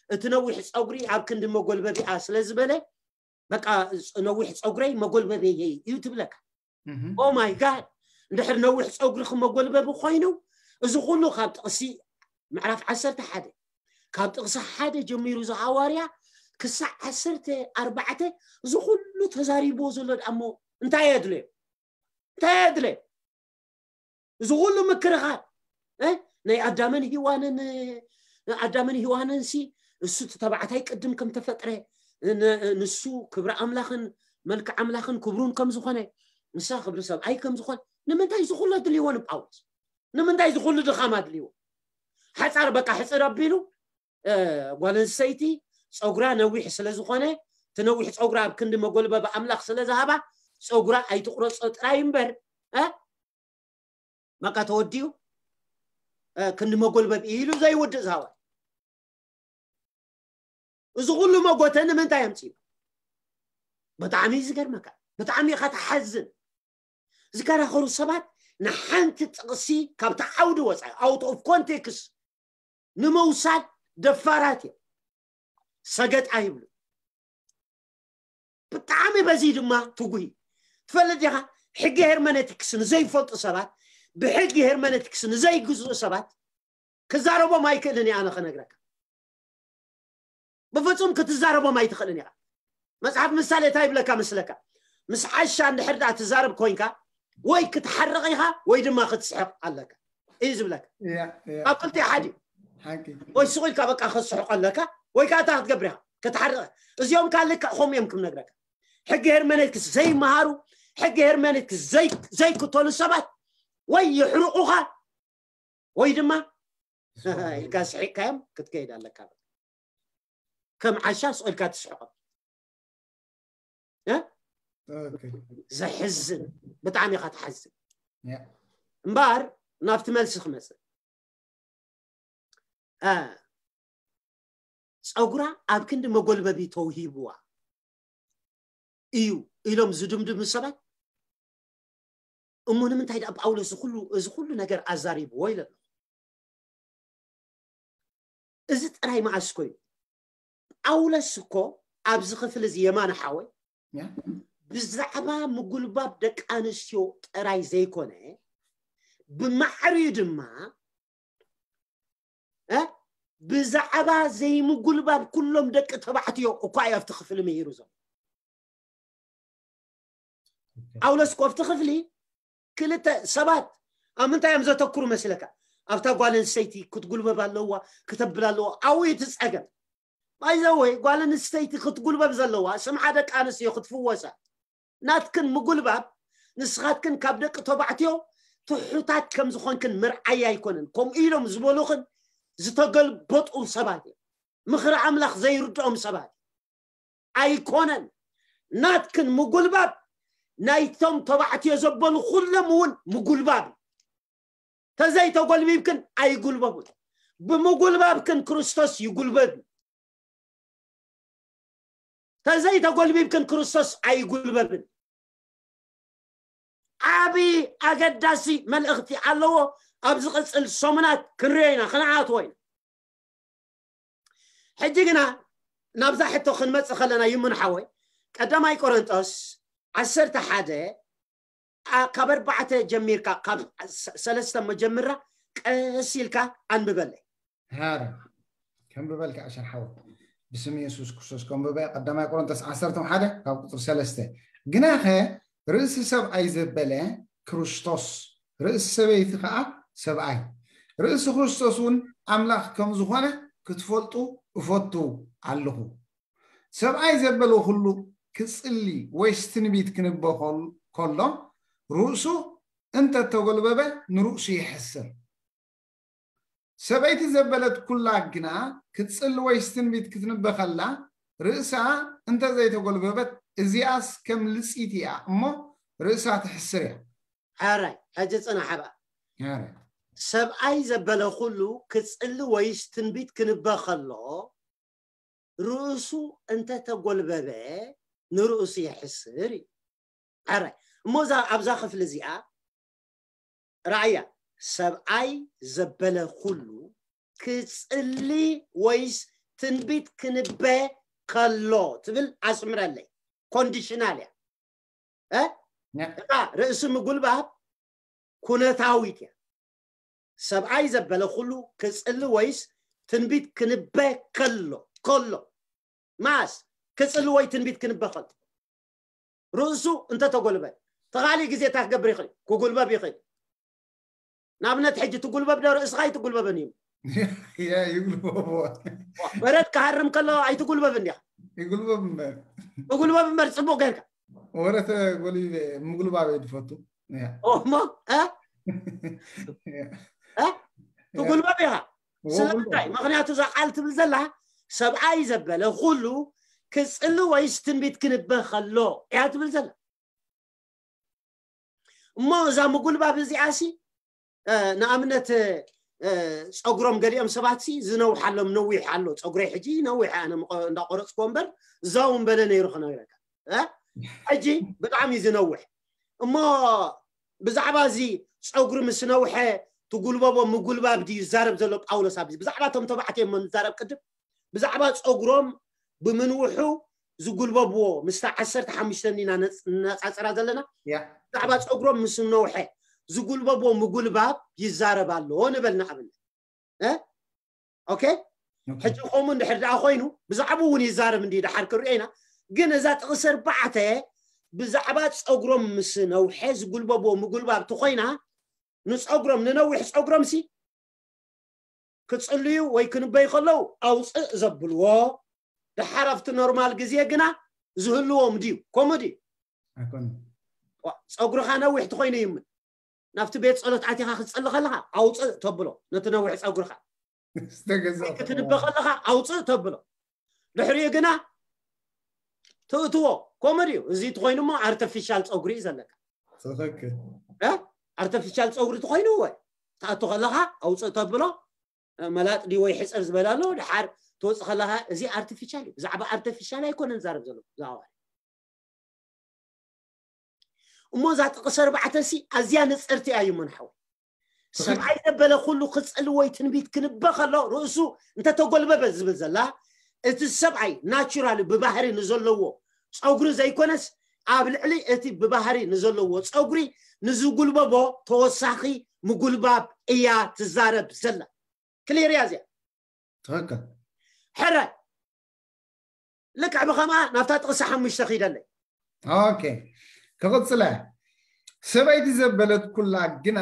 እቲ ነዊሕ ፀጉሪ ኣብ ክንዲ መጎልበቢኣ ስለ ዝበለ በቃ ነዊሕ ፀጉረይ መጎልበበየይ እዩ ትብለካ እህ ኦ ማይ ጋድ እንድሕር ነዊሕ ፀጉሪ ክመጎልበቢ ኮይኑ እዚ ኩሉ ካብ ጥቕሲ ምዕራፍ ዓሰርተ ሓደ ካብ ጥቕሲ ሓደ ጀሚሩ ዝሃዋርያ ክሳዕ ዓሰርተ ኣርባዕተ እዚ ኩሉ ተዛሪብዎ ዘሎ ደኣሞ እንታይ የድለዮ እንታይ የድለዮ እዚ ኩሉ ምክርኻር እ? ናይ ኣዳምን ሂዋንን ኣዳምን ሂዋንን ሲ እሱ እቲ ተባዕታይ ቅድም ከም ተፈጥረ ን- ንሱ ክብሪ ኣምላኽን መልክዕ ኣምላኽን ክብሩን ከም ዝኾነ ንሳ ክብሪ ሰብኣይ ከም ዝኾነ ንምንታይ እዚ ኩሉ ኣድልይዎ ንጳውሎስ ንምንታይ እዚ ኩሉ ድኻም ኣድልይዎ ሓፃር በቃ ሕፅር ኣቢሉ እ፣ ጓል ኣንስተይቲ ፀጉራ ነዊሕ ስለ ዝኾነ እቲ ነዊሕ ፀጉራ ኣብ ክንዲ መጎልበቢ ኣምላኽ ስለ ዝሃባ ፀጉራ ኣይትቁረፆ ጥራይ እምበር እ? በቃ ተወዲኡ እ፣ ክንዲ መጎልበቢ ኢሉ ዘይውድእ ዝሃባ እዚ ኩሉ መጎተ ንምንታይ ኣምፅኡ ብጣዕሚ እዩ ዝገርመካ ብጣዕሚ ኢኻ ትሓዝን ዝከራኸሩ ሰባት ንሓንቲ ጥቕሲ ካብቲ ዓውዲ ወፃኢ out of context ንምውሳድ ደፋራት እዮም ሰገጥ ኣይብሉ ብጣዕሚ በዚ ድማ ትጉሂ ትፈልጥ ዲኻ ሕጊ ሄርመነቲክስ ንዘይፈልጡ ሰባት ብሕጊ ሄርመነቲክስ ንዘይግዝኡ ሰባት ክዛረቦም ኣይክእልን እየ ኣነ ክነግረካ ብፍፁም ክትዛረቦም ኣይትኽእልን ኢኻ መፅሓፍ ምሳሌ እንታይ ይብለካ መስለካ ምስ ዓሻ እንድሕር ዳ ትዛረብ ኮይንካ ወይ ክትሓርቕ ኢኻ ወይ ድማ ክትስሕቕ ኣለካ እዩ ዝብለካ ያ ያ ኣብ ክልቲ ሓዲ ሓቂ ወይ ስቕ ኢልካ በቃ ክትስሕቕ ኣለካ ወይ ከዓ እታ ክትገብር ኢኻ ክትሓርቕ እዚኦም ከዓ ልክዕ ከምኡ እዮም ክም ነግረካ ሕጊ ሄርመነቲክስ ዘይመሃሩ ሕጊ ሄርመነቲክስ ዘይ- ዘይክተሉ ሰባት ወይ ይሕርቑኻ ወይ ድማ ኢልካ ስሒቕካዮም ክትከይድ ኣለካ ከም ዓሻ ስቕ ኢልካ ትስሕቖም ኦኬ ዘሕዝን ብጣዕሚ ኢኻ ትሓዝን ያ እምበኣር ናብቲ መልሲ ክመፅእ እ፣ ፀጉራ ኣብ ክንዲ መጎልበቢ ተውሂብዋ እዩ ኢሎም ዝድምድሙ ሰባት እሞ ንምንታይ ደኣ ጳውሎስ እዚ ኩሉ እዚ ኩሉ ነገር ኣዛሪብዎ ኢለ ኣለኹ እዚ ጥራይ መዓስ ኮይኑ ጳውሎስ እኮ ኣብዚ ክፍሊ እዚ የማነ ሓወይ ያ ብዛዕባ ምጉልባብ ደቂ ኣንስትዮ ጥራይ ዘይኮነ ብማዕሪኡ ድማ እ፣ ብዛዕባ ዘይምጉልባብ ኩሎም ደቂ ተባዕትዮ እኳ እዩ ኣብቲ ክፍሊ ምሂሩ ዘሎ ጳውሎስ እኮ ኣብቲ ክፍሊ ክልተ ሰባት ኣብ ምንታይ እዮም ዘተኩሩ መስለካ ኣብታ ጓል ኣንስተይቲ ክትጉልበብ ኣለዋ ክተብል ኣለዋ ኣብኡ እቲ ፀገም ባይዘወይ ጓል ኣንስተይቲ ክትጉልበብ ዘለዋ ስምዓ ደቂ ኣንስትዮ ክትፍወሳ ናትክን ምጉልባብ ንስኻትክን ካብ ደቂ ተባዕትዮ ትሑታት ከም ዝኾንክን ምርዓይ ኣይኮነን ከምኡ ኢሎም ዝበሉኽን ዝተገልበጡ ሰባት እዮም ምኽሪ ኣምላኽ ዘይርድኦም ሰባት ኣይኮነን ናትክን ምጉልባብ ናይቶም ተባዕትዮ ዘበሉ ኩሎም እውን ምጉልባብ እዩ ተዘይተጎልቢብክን ኣይጉልበቡን ብምጉልባብክን ክርስቶስ ይጉልበብ እዩ ተዘይተጎልቢብክን ክርስቶስ ኣይጉልበብን ዓብዪ ኣገዳሲ መልእኽቲ ኣለዎ ኣብ ዝቕፅል ሰሙናት ክንሪኦ ኢና ክንዓትዎ ኢና ሕጂ ግና ናብዛ ሕቶ ክንመፅእ ከለና ይሙን ሓወይ ቀዳማይ ቆረንጦስ ዓሰርተ ሓደ ካብ ኣርባዕተ ጀሚርካ ካብ ሰለስተ መጀምራ ቀስ ኢልካ ኣንብበለይ። ሃረ። ከንብበልካ ኣሸር ሓወይ፣ ብስም የሱስ ክርስቶስ ከንብበ። ቀዳማይ ቆሮንቶስ ዓሰርተ ሓደ ካብ ቁፅሪ ሰለስተ። ግናኸ ርእሲ ሰብኣይ ዘበለ ክርስቶስ፣ ርእሲ ሰበይቲ ከዓ ሰብኣይ፣ ርእሲ ክርስቶስ እውን ኣምላኽ ከም ዝኾነ ክትፈልጡ እፈቱ ኣለኹ። ሰብኣይ ዘበለ ኩሉ ክፅሊ ወይስ ትንቢት ክንበ ከል- ከሎ ርእሱ እንተተጎልበበ ንርእሱ ይሕስር። ሰበይቲ ዘበለት ኩላ ግና ክትፅሊ ወይስ ትንቢት ክትንበ ከላ ርእሳ እንተዘይተጎልበበት እዚኣስ ከም ልፂት እያ እሞ ርእሳ ትሕስር እያ። ሓራይ ሕጂ ፅናሕ ብኣ። ያረ። ሰብኣይ ዘበለ ኩሉ ክፅሊ ወይስ ትንቢት ክንበ ከሎ ርእሱ እንተተጎልበበ ንርእሱ ይሕስር እዩ። ሓራይ እሞ እዛ ኣብዛ ክፍሊ እዚኣ ራእያ ሰብኣይ ዘበለ ኩሉ ክፅሊ ወይስ ትንቢት ክንበ ከሎ ትብል ኣስምረለይ። ኮንዲሽናል እያ እ? ያ። እታ ርእሲ ምጉልባብ ኩነታዊት እያ። ሰብኣይ ዘበለ ኩሉ ክፅሊ ወይስ ትንቢት ክንበ ከሎ ከሎ ማስ ክፅሊ ወይ ትንቢት ክንበ ከሎ ርእሱ እንተተጎልበ ተኻሊ ግዜ እታ ክገብር ይኽእል ክጉልበብ ይኽእል። ንኣብነት ሕጂ ትጉልበብ ዶ ርእስኻ ኣይትጉልበብን እዩ። ይጉልበቦ። በረድ ክሃርም ከሎ ኣይትጉልበብን ዲኻ? ይጉልበብ እምበር። ትጉልበብ እምበር ፅቡቅ ጌርካ። ወረ ተጎልበ ምጉልባብ እየ ዝፈቱ። ያ። እሞ እ? እ? ትጉልበብ ኢኻ። ስለምንታይ? ምክንያቱ እዛ ቃል ትብል ዘላ ሰብኣይ ዘበለ ኩሉ ክፅሊ ወይስ ትንቢት ክንበ ከሎ እያ ትብል ዘላ። እሞ እዛ ምጉልባብ እዚኣ ሲ እ፣ ንኣብነት እ፣ ፀጉሮም ገሊኦም ሰባት ሲ ዝነውሓሎም ነዊሕ ኣሎ። ፀጉረይ ሕጂ ነዊሕ ኣነ ምቆ- እንዳቆረፅኩ እምበር እዛው በለ ነይሩ ክነግረካ እ? ሕጂ ብጣዕሚ እዩ ዝነውሕ። እሞ ብዛዕባ እዚ ፀጉሪ ምስ ነውሐ ትጉልበቦ ምጉልባብ ድዩ ይዛረብ ዘሎ ጳውሎስ? ኣብዚ ብዛዕባ እቶም ተባዕትዮ እሞ ንዛረብ ቅድም ብዛዕባ ፀጉሮም ብምንውሑ ዝጉልበብዎ ምስታ ዓሰርተ ሓሙሽተ ኢና ነፅ- ነፃፅራ ዘለና። ያ። ብዛዕባ ፀጉሮም ምስ ነውሐ ዝጉልበብዎ ምጉልባብ ይዛረብ ኣሎ ንበል ንኣብነት እ? ኦኬ። ኦኬ። ሕጂ ከምኡ እንድሕር ደኣ ኮይኑ ብዛዕባ እውን ይዛረብ እንዲ ደሓር ክሪኦ ኢና። ግን እዛ ጥቕሲ ኣርባዕተ ብዛዕባ ፀጉሮም ምስ ነውሐ ዝጉልበብዎ ምጉልባብ ትኮይና ንፀጉሮም ንነዊሕ ፀጉሮም ሲ ክፅልዩ ወይ ክንበይ ከለዉ ኣውፅእ ዘብልዎ ደሓር ኣብቲ ኖርማል ግዜ ግና ዝህልዎም ድዩ? ከምኡ ድዩ? ኣይኮነ። ዋ፣ ፀጉርኻ ነዊሕ ትኮይኑ ይምን ናብቲ ቤት ፀሎት ኣቲኻ ክትፅሊ ከለኻ ኣውፅእ ተብሎ ነቲ ነዊሕ ፀጉርኻ ዝተገዛእ ክትንበ ከለኻ ኣውፅእ ተብሎ ድሕሪኡ ግና ትእትዎ። ከምኡ ድዩ? እዚ ትኮይኑ እሞ ኣርተፊሻል ፀጉሪ እዩ ዘለካ። ትኽክል። እ? ኣርተፊሻል ፀጉሪ ትኮይኑ ወይ ትኣቱ ከለካ ኣውፅእ ተብሎ መላጥ ድዩ ወይ ሕፅር ዝበለ ኣሎ። ድሓር ትወፅእ ከለካ እዚ ኣርቲፊሻል እዩ። ብዛዕባ ኣርቲፊሻል ኣይኮነን ዛረብ ዘሎ ዛዋሪ እሞ እዛ ጥቕስ ኣርባዕተ ሲ ኣዝያ ንፅርቲ እዩ መንሓው ሰብኣይ ዘበለ ኩሉ ክፅሊ ወይ ትንቢት ክንበ ከሎ ርእሱ እንተተጎልበበ ዝብል ዘላ እቲ ሰብኣይ ናቹራል ብባህሪ ንዘለዎ ፀጉሪ ዘይኮነስ ኣብ ልዕሊ እቲ ብባህሪ ንዘለዎ ፀጉሪ ንዝጉልበቦ ተወሳኺ ምጉልባብ እያ ትዛረብ ዘላ። ክሊር እያ እዚኣ። ትኽክል። ሕረ ልክዕ ብኸምኣ ናብታ ጥቕሲ ሓሙሽተ ኺደለይ። ኦኬ፣ ክቕፅለ። ሰበይቲ ዘበለት ኩላ ግና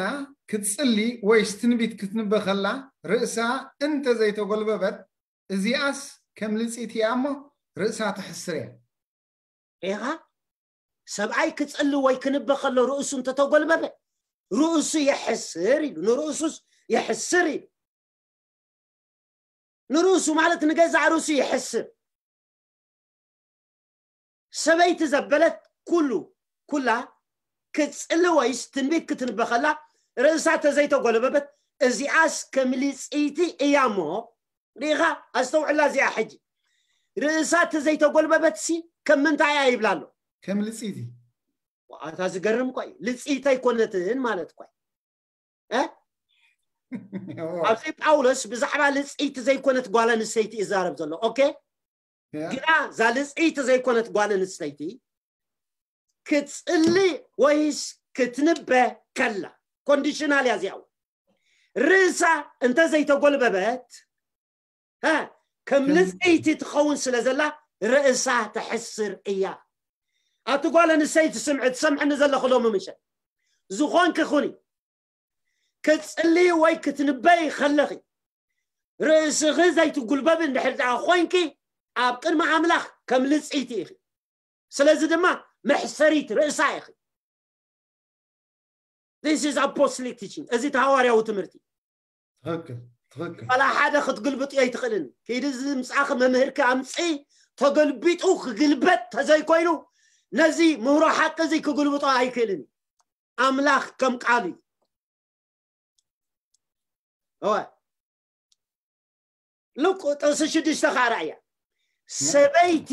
ክትፅሊ ወይስ ትንቢት ክትንበ ከላ ርእሳ እንተ ዘይተጎልበበት እዚኣስ ከም ልፂት እያ እሞ ርእሳ ትሕስር እያ። ኢኻ ሰብኣይ ክፅሊ ወይ ክንበ ከሎ ርእሱ እንተተጎልበበ ርእሱ የሕስር ኢሉ ንርእሱስ የሕስር ኢሉ ንርእሱ ማለት ንገዛእ ርእሱ የሕስር። ሰበይቲ ዘበለት ኩሉ ኩላ ክትፅሊ ወይስ ትንቢት ክትንበ ከላ ርእሳ ተዘይተጎለበበት እዚኣስ ከም ልፅይቲ እያ እሞ ርኢኻ ኣስተውዕላ እዚኣ ሕጂ ርእሳ ተዘይተጎልበበት ሲ ከም ምንታይ እያ ይብላ ኣሎ። ከም ልፅይቲ ዋኣታ ዝገርም እኮ እዩ። ልፅይቲ ኣይኮነትን ማለት እኮ እዩ። እ? ኣብዚ ጳውሎስ ብዛዕባ ልፅይቲ ዘይኮነት ጓል ኣንስተይቲ ይዛረብ ዘሎ። ኦኬ ግና እዛ ልፅይቲ ዘይኮነት ጓል ኣንስተይቲ ክትፅሊ ወይስ ክትንበ ከላ ኮንዲሽናል እያ እዚኣ እውን። ርእሳ እንተ ዘይተጎልበበት፣ እ፣ ከም ከም ልጽይቲ ትኸውን ስለ ዘላ፣ ርእሳ ተሕስር እያ። ኣቲ ጓል ኣንስተይቲ ስምዒ፣ ትሰምዕኒ ዘለኹ ሎሚ ምሸት፣ ዝኾንኪ ኩኒ፣ ክትጽልዪ ወይ ክትንበይ ከለኺ፣ ርእስኺ ዘይትጉልበብ እንድሕር ደኣ ኮይንኪ፣ ኣብ ቅድሚ ኣምላኽ ከም ልጽይቲ ኢኺ። ስለዚ ድማ መሕሰሪት ርእሳ ኢኺ። This is apostolic teaching። እዚ ተሃዋርያዊ ትምህርቲ። ትኽክል፣ ትኽክል። ዋላ ሓደ ክትግልብጥ ኣይትኽእልን። ከይዲ እዚ ምጻኺ መምህርኪ ኣምጺ፣ ተገልቢጡ ክግልበጥ ተዘይኮይኑ፣ ነዚ ምህሮ ሓቂ እዚ ክግልብጦ ኣይክእልን። ኣምላኽ ከም ቃሉ እዩ። እወ። ሉቅ ጥቕሲ ሽዱሽተ ከዓ ራእያ። ሰበይቲ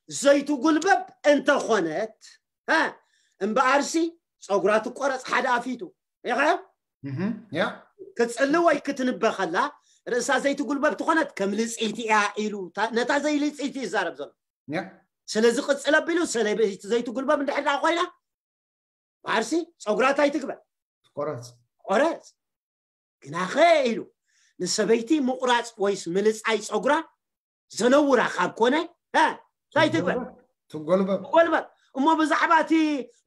ዘይትጉልበብ እንተኾነት፣ እ፣ እምበኣርሲ ጸጉራ ትቆረጽ ሓደ ኣፊቱ። ኢኻ? እህ፣ ያ። ክትጽሊ ወይ ክትንበ ከላ፣ ርእሳ ዘይትጉልበብ ትኾነት ከም ልጽይቲ እያ ኢሉ፣ ታ-፣ ነታ ዘይልጽይቲ ይዛረብ ዘሎ። ያ። ስለዚ ቅጽል ኣቢሉ፣ ሰበይቲ ዘይትጉልበብ እንድሕር ደኣ ኮይና፣ በኣርሲ ጸጉራ እንታይ ትግበር? ትቆረጽ። ቆረጽ። ግናኸ ኢሉ፣ ንሰበይቲ ምቑራጽ ወይስ ምልጻይ ጸጉራ ዘነውራ ካብ ኮነ፣ እ፣ እንታይ ትግበር? ትጎልበብ። ትጎልበብ። እሞ ብዛዕባ እቲ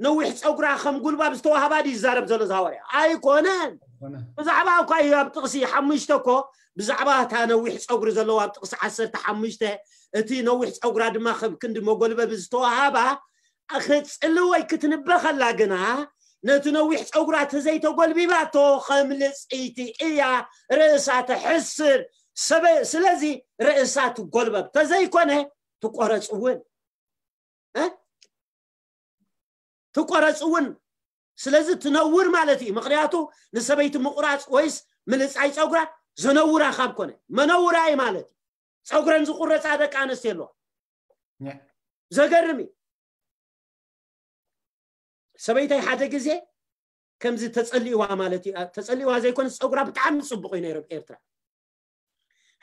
ነዊሕ ጸጉራ ከም ጉልባብ ዝተዋህባ ድዩ ዝዛረብ ዘሎ እዚ ሃዋርያ? ኣይኮነን። ኮነ። ብዛዕባ እኳ እዩ ኣብ ጥቕሲ ሓሙሽተ እኮ፣ ብዛዕባ እታ ነዊሕ ጸጉሪ ዘለዋ ኣብ ጥቕሲ ዓሰርተ ሓሙሽተ፣ እቲ ነዊሕ ጸጉራ ድማ ከም ክንዲ መጎልበቢ ዝተዋሃባ፣ ክትጽሊ ወይ ክትንበ ከላ ግና፣ ነቲ ነዊሕ ጸጉራ ተዘይተጎልቢባቶ ከም ልጽይቲ እያ፣ ርእሳ ተሕስር። ሰበ-፣ ስለዚ ርእሳ ትጎልበብ፣ ተዘይኮነ ትቆረጽ እውን። እ? ትቆረጽ እውን። ስለዚ ትነውር ማለት እዩ። ምኽንያቱ ንሰበይቲ ምቑራጽ ወይስ ምልጻይ ጸጉራ ዘነውራ ካብ ኮነ፣ መነውራይ ማለት እዩ። ጸጉረን ዝቁረጻ ደቂ ኣንስትዮ ኣለዋ። ኛ። ዘገርም እዩ። ሰበይታይ ሓደ ግዜ ከምዚ ተጸሊእዋ ማለት እዩ። ተጸሊእዋ ዘይኮነስ ጸጉራ ብጣዕሚ ጽቡቕ እዩ ነይሩ ኣብ ኤርትራ።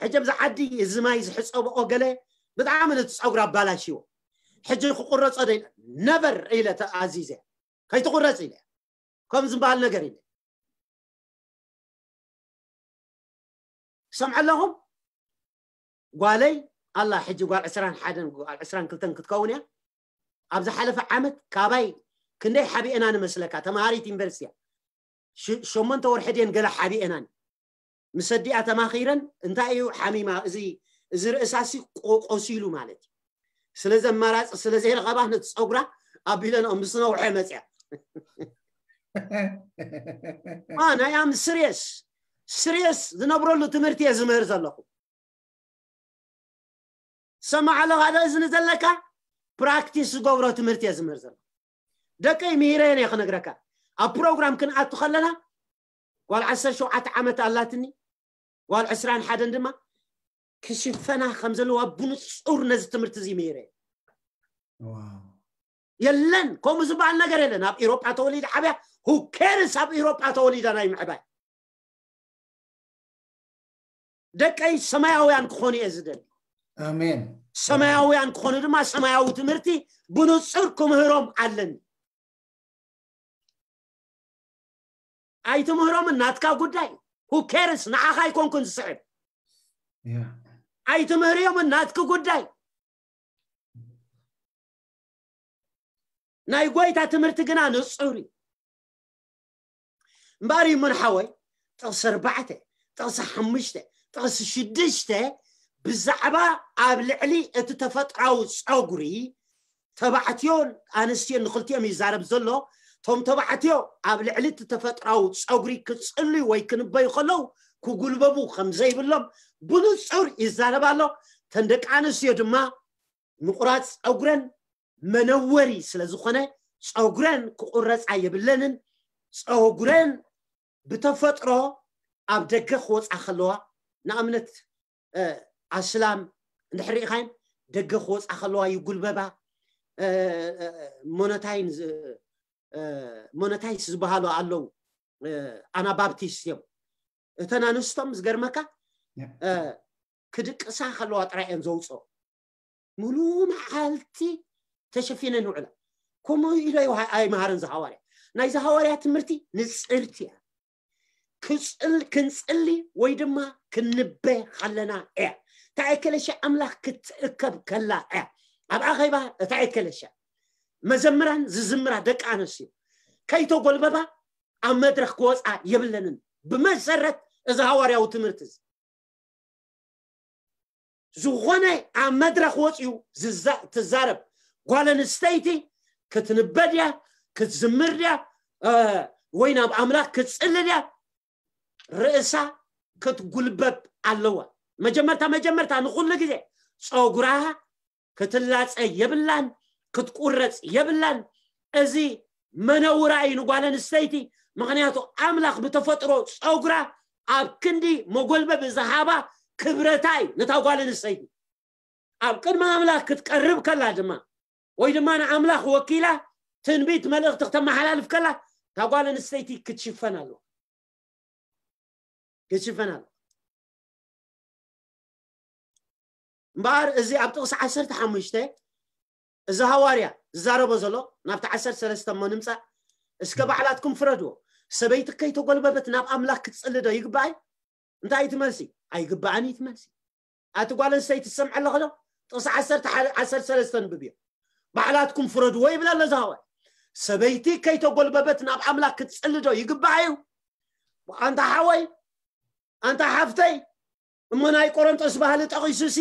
ሕጂ ኣብዚ ዓዲ እዚ ማይ ዝሕጸብኦ ገለ ብጣዕሚ ነቲ ጸጉራ ኣባላሽዎ። ሕጂ ክቁረጾ ደ-፣ ነቨር ኢለ ተኣዚዘ። ከይትቁረጽ ኢለ። ከም ዝበሃል ነገር ኢለ። ሰምዐ ኣለኹም? ጓለይ ኣላ ሕጂ ጓል ዕስራን ሓደን ጓል ዕስራን ክልተን ክትከውን እያ። ኣብ ዝሓለፈ ዓመት ካባይ ክንደይ ሓቢኤና ንመስለካ? ተምሃሪት ዩኒቨርሲቲ እያ። ሽ-፣ ሸሞንተ ወርሒ ድየን ገለ ሓቢኤናን። ምስ ኣዲኣ ተማኺረን፣ እንታይ እዩ ሓሚማ? እዚ፣ እዚ ርእሳሲ ቆ-፣ ቆሲሉ ማለት እዩ። ስለዚ ኣማራፂ ስለ ዘይረኸባ ነቲ ፀጉራ ኣቢለንኦ ምስ ነውሐ መፅያ። ማ፣ ናይ ኣም ስሪየስ፣ ስሪየስ ዝነብረሉ ትምህርቲ እየ ዝምህር ዘለኹ። ሰማዕ ኣለኻ ዶ እዝኒ ዘለካ? ፕራክቲስ ዝገብሮ ትምህርቲ እየ ዝምህር ዘለኹ። ደቀይ ምሂረየን እየ ክነግረካ። ኣብ ፕሮግራም ክንኣቱ ከለና ጓል ዓሰርተ ሸውዓተ ዓመት ኣላትኒ፣ ጓል ዕስራን ሓደን ድማ ክሽፈና ከም ዘለዋ ብንጹር ነዚ ትምህርቲ እዚ ምሂረየን። ዋው። የለን፣ ከምኡ ዝበሃል ነገር የለን። ኣብ ኤሮጳ ተወሊዳ ዓብያ፣ who cares ኣብ ኤሮጳ ተወሊዳ ናይ ምዕባይ። ደቀይ ሰማያውያን ክኾኑ እየ ዝደሊ። ኣሜን። ሰማያውያን ክኾኑ ድማ ሰማያዊ ትምህርቲ ብንጹር ክምህሮም ኣለኒ። ኣይትምህሮምን፣ ናትካ ጉዳይ። Who cares? ንዓኻ ኣይኮንኩን ዝስዕብ። ያ። ኣይትምህርዮምን፣ ናትኪ ጉዳይ። ናይ ጎይታ ትምህርቲ ግና ንጹር እዩ። እምበኣር ይሙን ሓወይ፣ ጥቕሲ ኣርባዕተ፣ ጥቕሲ ሓሙሽተ፣ ጥቕሲ ሽዱሽተ ብዛዕባ ኣብ ልዕሊ እቲ ተፈጥራዊ ጸጉሪ ተባዕትዮን ኣንስትዮን ንኽልቲኦም ይዛረብ ዘሎ። እቶም ተባዕትዮ ኣብ ልዕሊ እቲ ተፈጥራዊ ጸጉሪ ክጽልዩ ወይ ክንበዩ ከለዉ ክጉልበቡ ከም ዘይብሎም ብንጹር ይዛረብ ኣሎ። እተን ደቂ ኣንስትዮ ድማ ምቑራጽ ጸጉረን መነወሪ ስለ ዝኾነ ጸጉረን ክቑረጻ የብለንን። ጸጉረን ብተፈጥሮ ኣብ ደገ ክወጻ ከለዋ፣ ንኣብነት፣ እ፣ ኣስላም እንድሕር ርኢኻየን ደገ ክወጻ ከለዋ ይጉልበባ። እ፣ እ፣ ሞኖታይን ዝ-፣ እ፣ ሞኖታይስ ዝበሃሉ ኣለዉ። እ፣ ኣናባብቲስት እዮም። እተን ኣንስቶም ዝገርመካ፣ ያ። እ፣ ክድቅሳ ከለዋ ጥራይ እየን ዘውፅኦ። ሙሉ መዓልቲ ተሸፊነን ይውዕላ። ከምኡ ኢሎ ይውሃ-፣ ኣይምሃርን ዝሃዋርያ። ናይ ዝሃዋርያ ትምህርቲ ንጽርቲ እያ። ክፅል ክንፅሊ ወይ ድማ ክንበ ከለና እያ። እታ ኤከለሻ ኣምላኽ ክትእከብ ከላ እያ። ኣብ ኣኼባ እታ ኤከለሻ መዘምራን ዝዝምራ ደቂ ኣንስትዮ ከይተጎልበባ ኣብ መድረኽ ክወፃ የብለንን። ብመሰረት እዚ ሃዋርያዊ ትምህርቲ እዚ ዝኾነ ኣብ መድረኽ ወፂኡ ዝዛ- ትዛረብ ጓል ኣንስተይቲ ክትንበ ድያ፣ ክትዝምር ድያ፣ እ፣ ወይ ናብ ኣምላኽ ክትፅሊ ድያ፣ ርእሳ ክትጉልበብ ኣለዋ። መጀመርታ መጀመርታ ንኹሉ ግዜ ፀጉራ ክትላፀ የብላን፣ ክትቁረፅ የብላን። እዚ መነውራ እዩ ንጓል ኣንስተይቲ። ምክንያቱ ኣምላኽ ብተፈጥሮ ፀጉራ ኣብ ክንዲ መጎልበቢ ዝሃባ ክብረታ እዩ ነታ ጓል ኣንስተይቲ። ኣብ ቅድሚ ኣምላኽ ክትቀርብ ከላ ድማ ወይ ድማ ንኣምላኽ ወኪላ ትንቢት መልእኽቲ ክተመሓላልፍ ከላ እታ ጓል ኣንስተይቲ ክትሽፈን ኣለዋ። ክትሽፈን ኣለዋ። እምበኣር እዚ ኣብ ጥቕሲ ዓሰርተ ሓሙሽተ እዚ ሃዋርያ ዝዛረቦ ዘሎ ናብቲ ዓሰርተ ሰለስተ እሞ ንምፃእ፣ እስከ ባዕላትኩም ፍረድዎ። ሰበይቲ ከይተጎልበበት ናብ ኣምላኽ ክትፅሊ ዶ ይግባእ? እንታይ እዩ እቲ መልሲ? ኣይግባእን እዩ እቲ መልሲ። ኣቲ ጓል ኣንስተይቲ ትሰምዐ ኣለኺ ዶ? ጥቕሲ ዓሰርተ ሓደ ዓሰርተ ሰለስተ ንብብዮ። ባዕላትኩም ፍረድዎ ይብል ኣሎ እዚ ሃዋርያ። ሰበይቲ ከይተጎልበበት ናብ ኣምላኽ ክትፅሊ ዶ ይግባእ እዩ? ኣንታ ሓወይ፣ ኣንታ ሓፍተይ፣ እሞ ናይ ቆሮንጦስ ባህሊ ጠቒሱሲ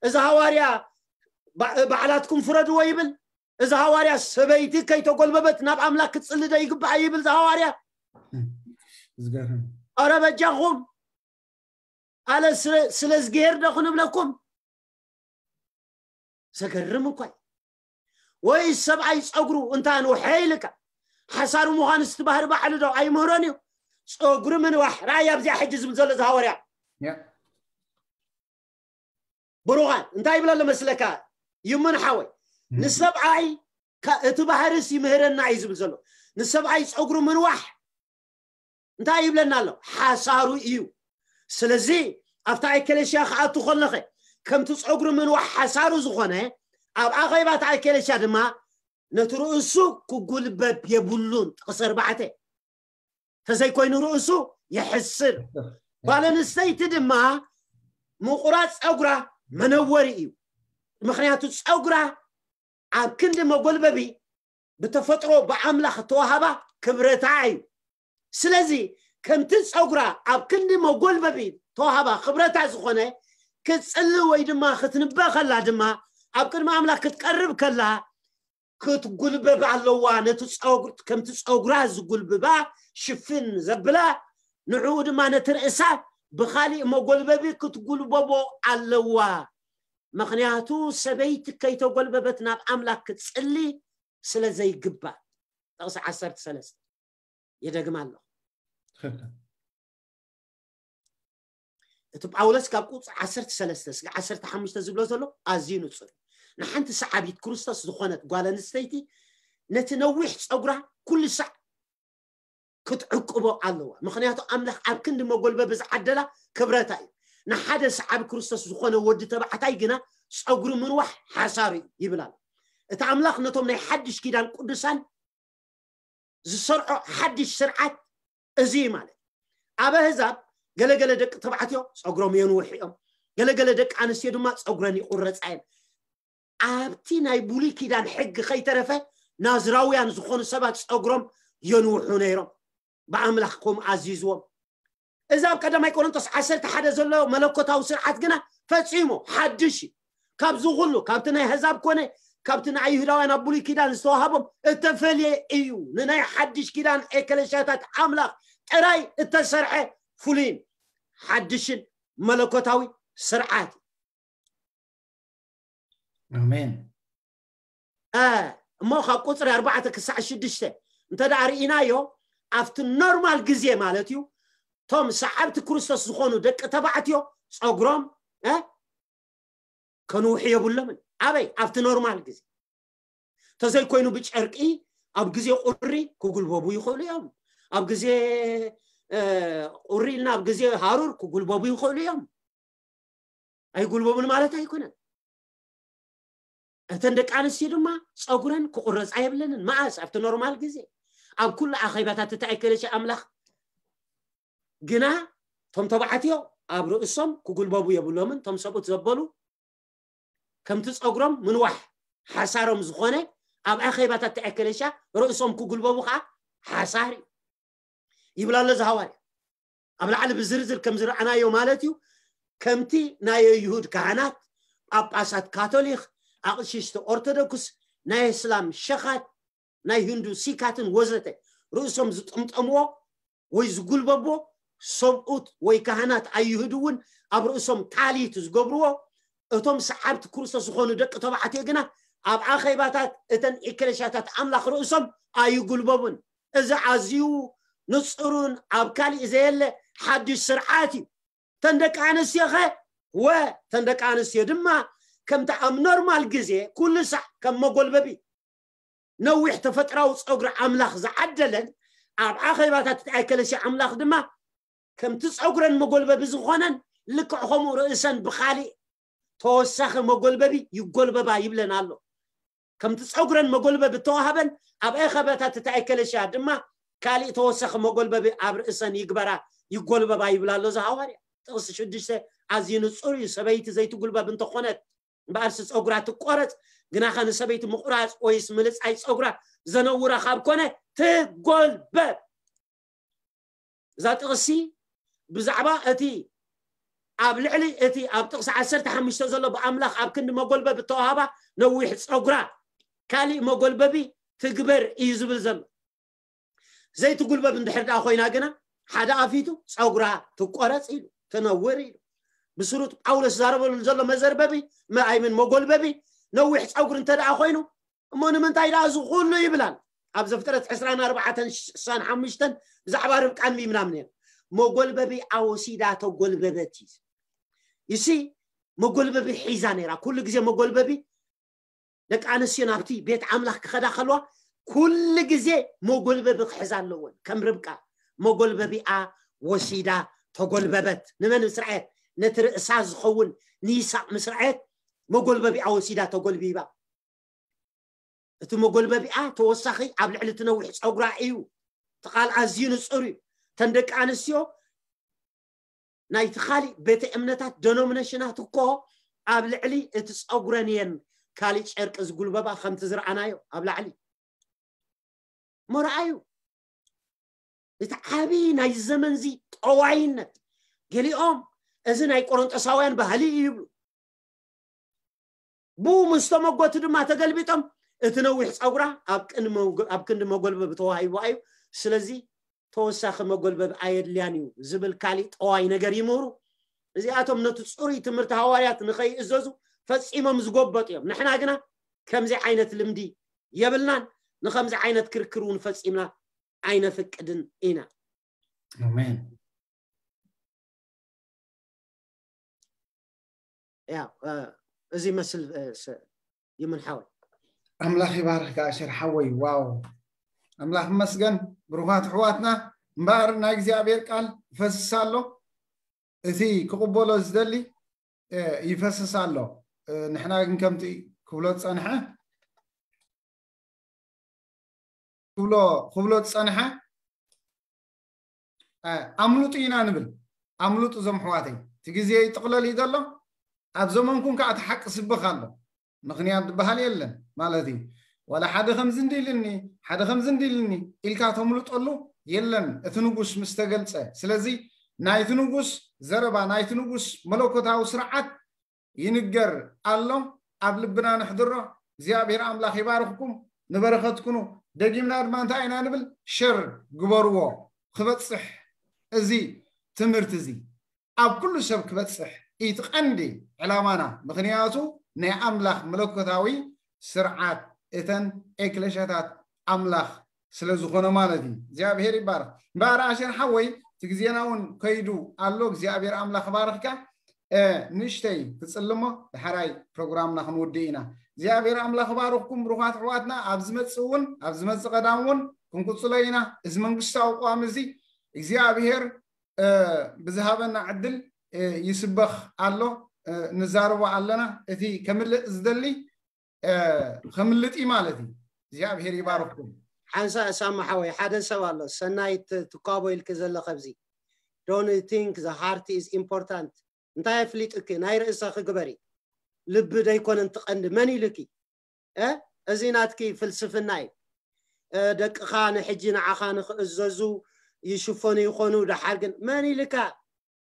እዚ ሃዋርያ ባ- ባዕላትኩም ፍረድዎ ይብል። እዚ ሃዋርያ ሰበይቲ ከይተጎልበበት ናብ ኣምላኽ ክትፅሊ ዶ ይግባእ ይብል እዚ ሃዋርያ። ዝገርም ኣረ በጃኹም ኣለ ስለ- ስለ ዝገሄር ዶ ክንብለኩም? ዘገርም እኳ እዩ። ወይ ሰብኣይ ፀጉሩ እንታ ንውሐ ኢልካ ሓሳሩ ምዃን ስቲ ባህሪ ባዕሉ ዶ ኣይምህሮን እዩ? ፀጉሪ ምንዋሕ ራእይ ኣብዚኣ ሕጂ ዝብል ዘሎ እዚ ሃዋርያ ያ ብሩኻን እንታይ ይብል ኣሎ መስለካ? ይምን ሓወይ ንሰብኣይ ካ- እቲ ባህርስ ይምህረና እዩ ዝብል ዘሎ። ንሰብኣይ ፀጉሪ ምንዋሕ እንታይ ይብለና ኣሎ? ሓሳሩ እዩ። ስለዚ ኣብታ ኤከለሽያ ክኣቱ ከለኸ ከምቲ ፀጉሪ ምንዋሕ ሓሳሩ ዝኾነ ኣብ ኣኼባታ ኤከለሽያ ድማ ነቲ ርእሱ ክጉልበብ የብሉን። ጥቕሲ ኣርባዕተ ተዘይኮይኑ ርእሱ የሕስር። ጓል ኣንስተይቲ ድማ ምቑራፅ ፀጉራ መነወሪ እዩ። ምክንያቱ ፀጉራ ኣብ ክንዲ መጎልበቢ ብተፈጥሮ ብኣምላኽ ተዋሃባ ክብረታ እዩ። ስለዚ ከምቲ ፀጉራ ኣብ ክንዲ መጎልበቢ ተዋሃባ ክብረታ ዝኾነ ክትፅሊ ወይ ድማ ክትንበ ከላ ድማ ኣብ ቅድሚ ኣምላኽ ክትቀርብ ከላ ክትጉልበብ ኣለዋ። ነቲ ፀጉር ከምቲ ፀጉራ ዝጉልብባ ሽፍን ዘብላ ንዕኡ ድማ ነቲ ርእሳ ብኻሊእ መጎልበቢ ክትጉልበቦ ኣለዋ። ምኽንያቱ ሰበይቲ ከይተጎልበበት ናብ ኣምላኽ ክትፅሊ ስለ ዘይግባእ። ጥቕሲ ዓሰርተ ሰለስተ የደግማ ኣለኹ። ትኽክል እቲ ጳውሎስ ካብ ቁፅሪ ዓሰርተ ሰለስተ እስከ ዓሰርተ ሓሙሽተ ዝብሎ ዘሎ ኣዝዩ ንፁር እዩ። ንሓንቲ ሰዓቢት ክርስቶስ ዝኾነት ጓል ኣንስተይቲ ነቲ ነዊሕ ፀጉራ ኩሉ ሳዕ ክትዕቅቦ ኣለዋ። ምክንያቱ ኣምላኽ ኣብ ክንዲ መጎልበቢ ዝዓደላ ክብረታ እዩ። ንሓደ ሰዓቢ ክርስቶስ ዝኾነ ወዲ ተባዕታይ ግና ፀጉሪ ምንዋሕ ሓሳሩ እዩ ይብል ኣሎ። እቲ ኣምላኽ ነቶም ናይ ሓድሽ ኪዳን ቅዱሳን ዝሰርዖ ሓድሽ ስርዓት እዚ እዩ ማለት። ኣብ ኣህዛብ ገለገለ ደቂ ተባዕትዮ ፀጉሮም የንውሑ እዮም። ገለገለ ደቂ ኣንስትዮ ድማ ፀጉረን ይቁረፃ እየን። ኣብቲ ናይ ብሉይ ኪዳን ሕጊ ከይተረፈ ናዝራውያን ዝኾኑ ሰባት ፀጉሮም የንውሑ ነይሮም። ብኣምላኽ ከምኡ ኣዚዝዎም። እዚ ኣብ ቀዳማይ ቆሮንቶስ ዓሰርተ ሓደ ዘሎ መለኮታዊ ስርዓት ግና ፈጺሙ ሓድሽ እዩ። ካብዚ ኩሉ ካብቲ ናይ ኣህዛብ ኮነ ካብቲ ንኣይሁዳውያን ኣብ ብሉይ ኪዳን ዝተዋሃቦም እተፈልየ እዩ። ንናይ ሓድሽ ኪዳን ኤከለሻታት ኣምላኽ ጥራይ እተሰርሐ ፍሉይን ሓድሽን መለኮታዊ ስርዓት እዩ። ኣሜን እ፣ እሞ ካብ ቁፅሪ ኣርባዕተ ክሳዕ ሽዱሽተ እንተ ደኣ ርኢናዮ ኣብቲ ኖርማል ግዜ ማለት እዩ እቶም ሰዓብቲ ክርስቶስ ዝኾኑ ደቂ ተባዕትዮ ፀጉሮም እ፣ ከንውሑ የብሎምን። ኣበይ ኣብቲ ኖርማል ግዜ ተዘይኮይኑ ብጨርቂ ኣብ ግዜ ቁሪ ክጉልበቡ ይኽእሉ እዮም። ኣብ ግዜ እ፣ ቁሪ ኢልና ኣብ ግዜ ሃሩር ክጉልበቡ ይኽእሉ እዮም። ኣይጉልበቡን ማለት ኣይኮነን። እተን ደቂ ኣንስትዮ ድማ ፀጉረን ክቁረፃ የብለንን። መኣስ ኣብቲ ኖርማል ግዜ ኣብ ኩሉ ኣኼባታት እቲ ኣይከለሽ ኣምላኽ ግና እቶም ተባዕትዮ ኣብ ርእሶም ክጉልበቡ የብሎምን። እቶም ሰብኡት ዘበሉ ከምቲ ጸጉሮም ምንዋሕ ሓሳሮም ዝኾነ፣ ኣብ ኣኼባታት እቲ ኤክሌሽያ ርእሶም ክጉልበቡ ከዓ ሓሳር እዩ ይብል ኣሎ እዚ ሃዋርያ። ኣብ ላዕሊ ብዝርዝር ከም ዝረኣናዮ ማለት እዩ። ከምቲ ናይ ይሁድ ካህናት፣ ጳጳሳት ካቶሊክ፣ ኣቕሽሽቲ ኦርቶዶክስ፣ ናይ እስላም ሸኻት፣ ናይ ህንዱ ሲካትን ወዘተ ርእሶም ዝጥምጠምዎ ወይ ዝጉልበቦ፣ ሰብኡት ወይ ካህናት ኣይሁድ እውን ኣብ ርእሶም ታሊት ዝገብርዎ፣ እቶም ሰዓብቲ ክርስቶስ ዝኾኑ ደቂ ተባዕትዮ ግና ኣብ ኣኼባታት እተን ኤክሌሽያታት ኣምላኽ ርእሶም ኣይጉልበቡን። እዚ ኣዝዩ ንጹርን ኣብ ካሊእ ዘየለ ሓድሽ ስርዓት እዩ። ተን ደቂ ኣንስትዮኸ? ወ ተን ደቂ ኣንስትዮ ድማ ከምቲ ኣብ ኖርማል ግዜ ኩሉ ሳዕ ከም መጎልበቢ ነዊሕ ተፈጥራዊ ጸጉሪ ኣምላኽ ዝዓደለን፣ ኣብ ኣኼባታት እቲ ኤክሌሽያ ኣምላኽ ድማ ከምቲ ጸጉረን መጎልበቢ ዝኾነን፣ ልክዕ ከምኡ ርእሰን ብኻሊእ ተወሳኺ መጎልበቢ ይጎልበባ ይብለን ኣሎ። ከምቲ ጸጉረን መጎልበቢ እተዋህበን፣ ኣብ ኣኼባታት እቲ ኤክሌሽያ ድማ ካሊእ ተወሳኺ መጎልበቢ ኣብ ርእሰን ይግበራ፣ ይጎልበባ ይብል ኣሎ እዚ ሃዋርያ። ጥቕሲ ሽዱሽተ ኣዝዩ ንጹር እዩ። ሰበይቲ ዘይትጉልበብ እንተኾነት እምበኣርሲ ጸጉራ ትቆረጽ። ግናኸ ንሰበይቲ ምቑራጽ ወይስ ምልጻይ ጸጉራ ዘነውራ ካብ ኮነ ትጎልበብ። እዛ ጥቕሲ ብዛዕባ እቲ ኣብ ልዕሊ እቲ ኣብ ጥቕሲ ዓሰርተ ሓሙሽተ ዘሎ ብኣምላኽ ኣብ ክንዲ መጎልበቢ እተዋህባ ነዊሕ ጸጉራ ካሊእ መጎልበቢ ትግበር እዩ ዝብል ዘሎ። ዘይትጉልበብ እንድሕር ደኣ ኮይና ግና ሓደ ኣፊቱ ጸጉራ ትቆረጽ ኢሉ፣ ትነውር ኢሉ። ብስሩጥ ጳውሎስ ዛረበሉ ዘሎ መዘርበቢ፣ መ-፣ ኣይምን መጎልበቢ ነዊሕ ጸጉሪ እንተ ደኣ ኮይኑ፣ እሞ ንምንታይ ደኣ እዚ ኩሉ ይብላል? ኣብ ዘፍጥረት ዕስራን ኣርባዕተን ስሳን ሓሙሽተን ብዛዕባ ርብቃ ኣንቢብና ምንየን። መጎልበቢ ኣወሲዳ ተጎልበበት እዩ። ይሲ መጎልበቢ ሒዛ ነይራ። ኩሉ ግዜ መጎልበቢ ደቂ ኣንስትዮ ናብቲ ቤት ኣምላኽ ክኸዳ ከለዋ ኩሉ ግዜ መጎልበቢ ክሕዛ ኣለወን። ከም ርብቃ መጎልበቢኣ ወሲዳ ተጎልበበት። ንመን ምስ ረኣየት? ነቲ ርእሳ ዝኸውን ንይስሐቅ ምስ ረኣየት መጎልበቢኣ ወሲዳ ተጎልቢባ። እቲ መጎልበቢኣ ተወሳኺ ኣብ ልዕሊ እቲ ነዊሕ ጸጉራ እዩ። እቲ ቃል ኣዝዩ ንጹር እዩ። እተን ደቂ ኣንስትዮ ናይቲ ካሊእ ቤተ እምነታት ደኖሚነሽናት እኮ ኣብ ልዕሊ እቲ ጸጉረን እየን ካሊእ ጨርቂ ዝጉልበባ፣ ከምቲ ዝረኣናዮ ኣብ ላዕሊ። እሞ ረኣዩ፣ እቲ ዓቢ ናይ ዘመንዚ ጠዋይነት። ገሊኦም እዚ ናይ ቆሮንጦሳውያን ባህሊ እዩ ይብሉ። ብኡ ምስ ተመጎቱ ድማ ተገልቢጦም እቲ ነዊሕ ጸጉራ ኣብ ቅን መጎ-፣ ኣብ ክንዲ መጎልበቢ ተዋሂቡዋ እዩ። ስለዚ ተወሳኺ መጎልበቢ ኣየድልያን እዩ ዝብል ካሊእ ጠዋይ ነገር ይምህሩ። እዚኣቶም ነቲ ጽሩይ ትምህርቲ ሃዋርያት ንኸይእዘዙ ፈጺሞም ዝጎበጡ እዮም። ንሕና ግና ከምዚ ዓይነት ልምዲ የብልናን፣ ንኸምዚ ዓይነት ክርክር እውን ፈጺምና ኣይነፍቅድን ኢና። ኣሜን። ያ፣ እ፣ እዚ ይመስል፣ እ፣ ስ-፣ ይምን ሓወይ። ኣምላኽ ይባርኽካ ኣሸር ሓወይ። ዋው፣ ኣምላኽ ይመስገን። ብሩኻት ኣሕዋትና፣ እምበኣር ናይ እግዚኣብሔር ቃል ይፈስስ ኣሎ። እቲ ክቕበሎ ዝደሊ፣ እ፣ ይፈስስ ኣሎ። እ፣ ንሕና ግን ከምቲ ክብሎ ዝጸንሐ፣ ክብሎ፣ ክብሎ ዝጸንሐ፣ እ፣ ኣምልጡ ኢና ንብል። ኣምልጡ እዞም ኣሕዋተይ። እቲ ግዜ ይጥቕለል እዩ ዘሎ። ኣብ ዘመንኩም ከኣ እቲ ሓቂ ስበኽ ኣሎ። ምኽንያት ዝበሃል የለን ማለት እዩ። ዋላ ሓደ ከምዚ እንዲ ኢልኒ፣ ሓደ ከምዚ እንዲ ኢልኒ ኢልካ ተምልጠሉ የለን፣ እቲ ንጉስ ምስ ተገልጸ። ስለዚ ናይቲ ንጉስ ዘረባ፣ ናይቲ ንጉስ መለኮታዊ ስርዓት ይንገር ኣሎ፣ ኣብ ልብና ነሕድሮ። እግዚኣብሔር ኣምላኽ ይባርኽኩም፣ ንበረኸት ኩኑ። ደጊምና ድማ እንታይ ኢና ንብል? ሸር ግበርዎ፣ ክበጽሕ እዚ ትምህርቲ እዚ ኣብ ኩሉ ሰብ ክበጽሕ እቲ ቀንዲ ዕላማና። ምኽንያቱ ናይ ኣምላኽ መለኮታዊ ስርዓት እተን ኤክለሽያታት ኣምላኽ ስለ ዝኾነ ማለት እዩ። እግዚኣብሔር ይባረኽ። እምበኣር ኣሸር ሓወይ፣ እቲ ግዜና እውን ከይዱ ኣሎ። እግዚኣብሔር ኣምላኽ ባርኽካ። እ፣ ንእሽተይ ክጽልሞ፣ ድሓራይ ፕሮግራምና ክንውድእ ኢና። እግዚኣብሔር ኣምላኽ ባርኽኩም ብሩኻት ኣሕዋትና። ኣብ ዝመጽእ እውን፣ ኣብ ዝመጽእ ቀዳም እውን ክንቅጽሎ ኢና። እዚ መንግስታዊ ቅዋም እዚ እግዚኣብሔር፣ እ፣ ብዝሃበና ዕድል፣ እ፣ ይስበኽ ኣሎ፣ እ፣ ንዛረቦ ኣለና። እቲ ከምልእ ዝደሊ፣ እ፣ ከምልጥ እዩ ማለት እዩ። እግዚኣብሔር ይባርኽኩም። ሓንሳ ሳማ ሓወይ፣ ሓደ ሰብ ኣሎ፣ ሰናይት ትኳቦ ኢልክ ዘለኸ ኣብዚ። don't you think the heart is important? እንታይ ኣፍሊጡኪ? ናይ ርእሰኺ ግበሪ። ልቢ ደይኮነን ትቐንዲ? መን ኢሉኪ? እ እዚ ናትኪ ፍልስፍና እዩ። እ ደቅኻ ንሕጂ ንዓኻ ንኽእዘዙ ይሽፈኑ ይኾኑ። ደሓር ግን መን ኢልካ?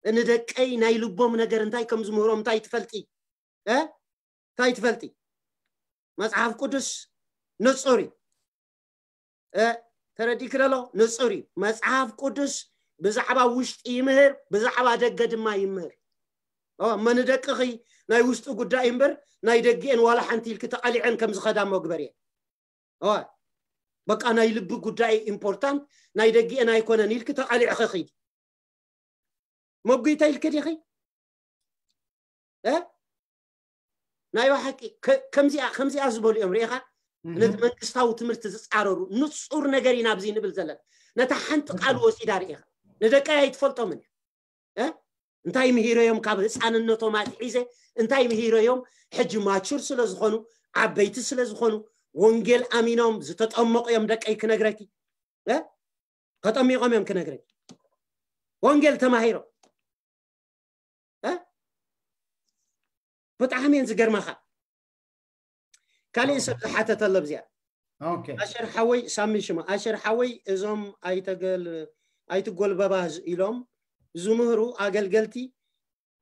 ንደቀይ ናይ ልቦም ነገር እንታይ ከም ዝምህሮም እንታይ ትፈልጢ? እ እንታይ ትፈልጢ? መጽሓፍ ቅዱስ ንጹር እዩ። እ ተረዲእኪ ደሎ ንጹር እዩ። መጽሓፍ ቅዱስ ብዛዕባ ውሽጢ ይምህር፣ ብዛዕባ ደገ ድማ ይምህር። ኦ መን ደቅኺ ናይ ውሽጢ ጉዳይ እምበር ናይ ደጊኤን ዋላ ሓንቲ ኢልኪ ተቐሊዐን ከም ዝኸዳ መግበር እየ። ኦ በቃ ናይ ልቢ ጉዳይ ኢምፖርታንት፣ ናይ ደጊኤን ኣይኮነን ኢልኪ ተቐሊዕኺ ኺዲ። መጉይታ ኢልኪ ዲኺ? እ ናይ ብሓቂ ከ- ከምዚኣ ከምዚኣ ዝበሉ እዮም ርኢኻ። ነቲ መንግስታዊ ትምህርቲ ዝፃረሩ ንፁር ነገር ኢና ኣብዚ ንብል ዘለና። ነታ ሓንቲ ቃል ወሲዳ ርኢኻ። ንደቀይ ኣይትፈልጦምን እያ። እ እንታይ ምሂረዮም ካብ ህፃንነቶም ኣትሒዘ እንታይ ምሂረዮም? ሕጂ ማቹር ስለ ዝኾኑ፣ ዓበይቲ ስለ ዝኾኑ፣ ወንጌል ኣሚኖም ዝተጠመቑ እዮም ደቀይ ክነግረኪ። እ ተጠሚቖም እዮም ክነግረኪ። ወንጌል ተማሂሮም። እ ብጣዕሚ እየን ዝገርማኻ። ካሊእ ሰብ ዝሓተተሎ ኣብዚኣ። ኦኬ ኣሸር ሓወይ፣ ሳሚ ሽማ ኣሸር ሓወይ፣ እዞም ኣይተገል ኣይትጎልበባ ኢሎም ዝምህሩ ኣገልገልቲ፣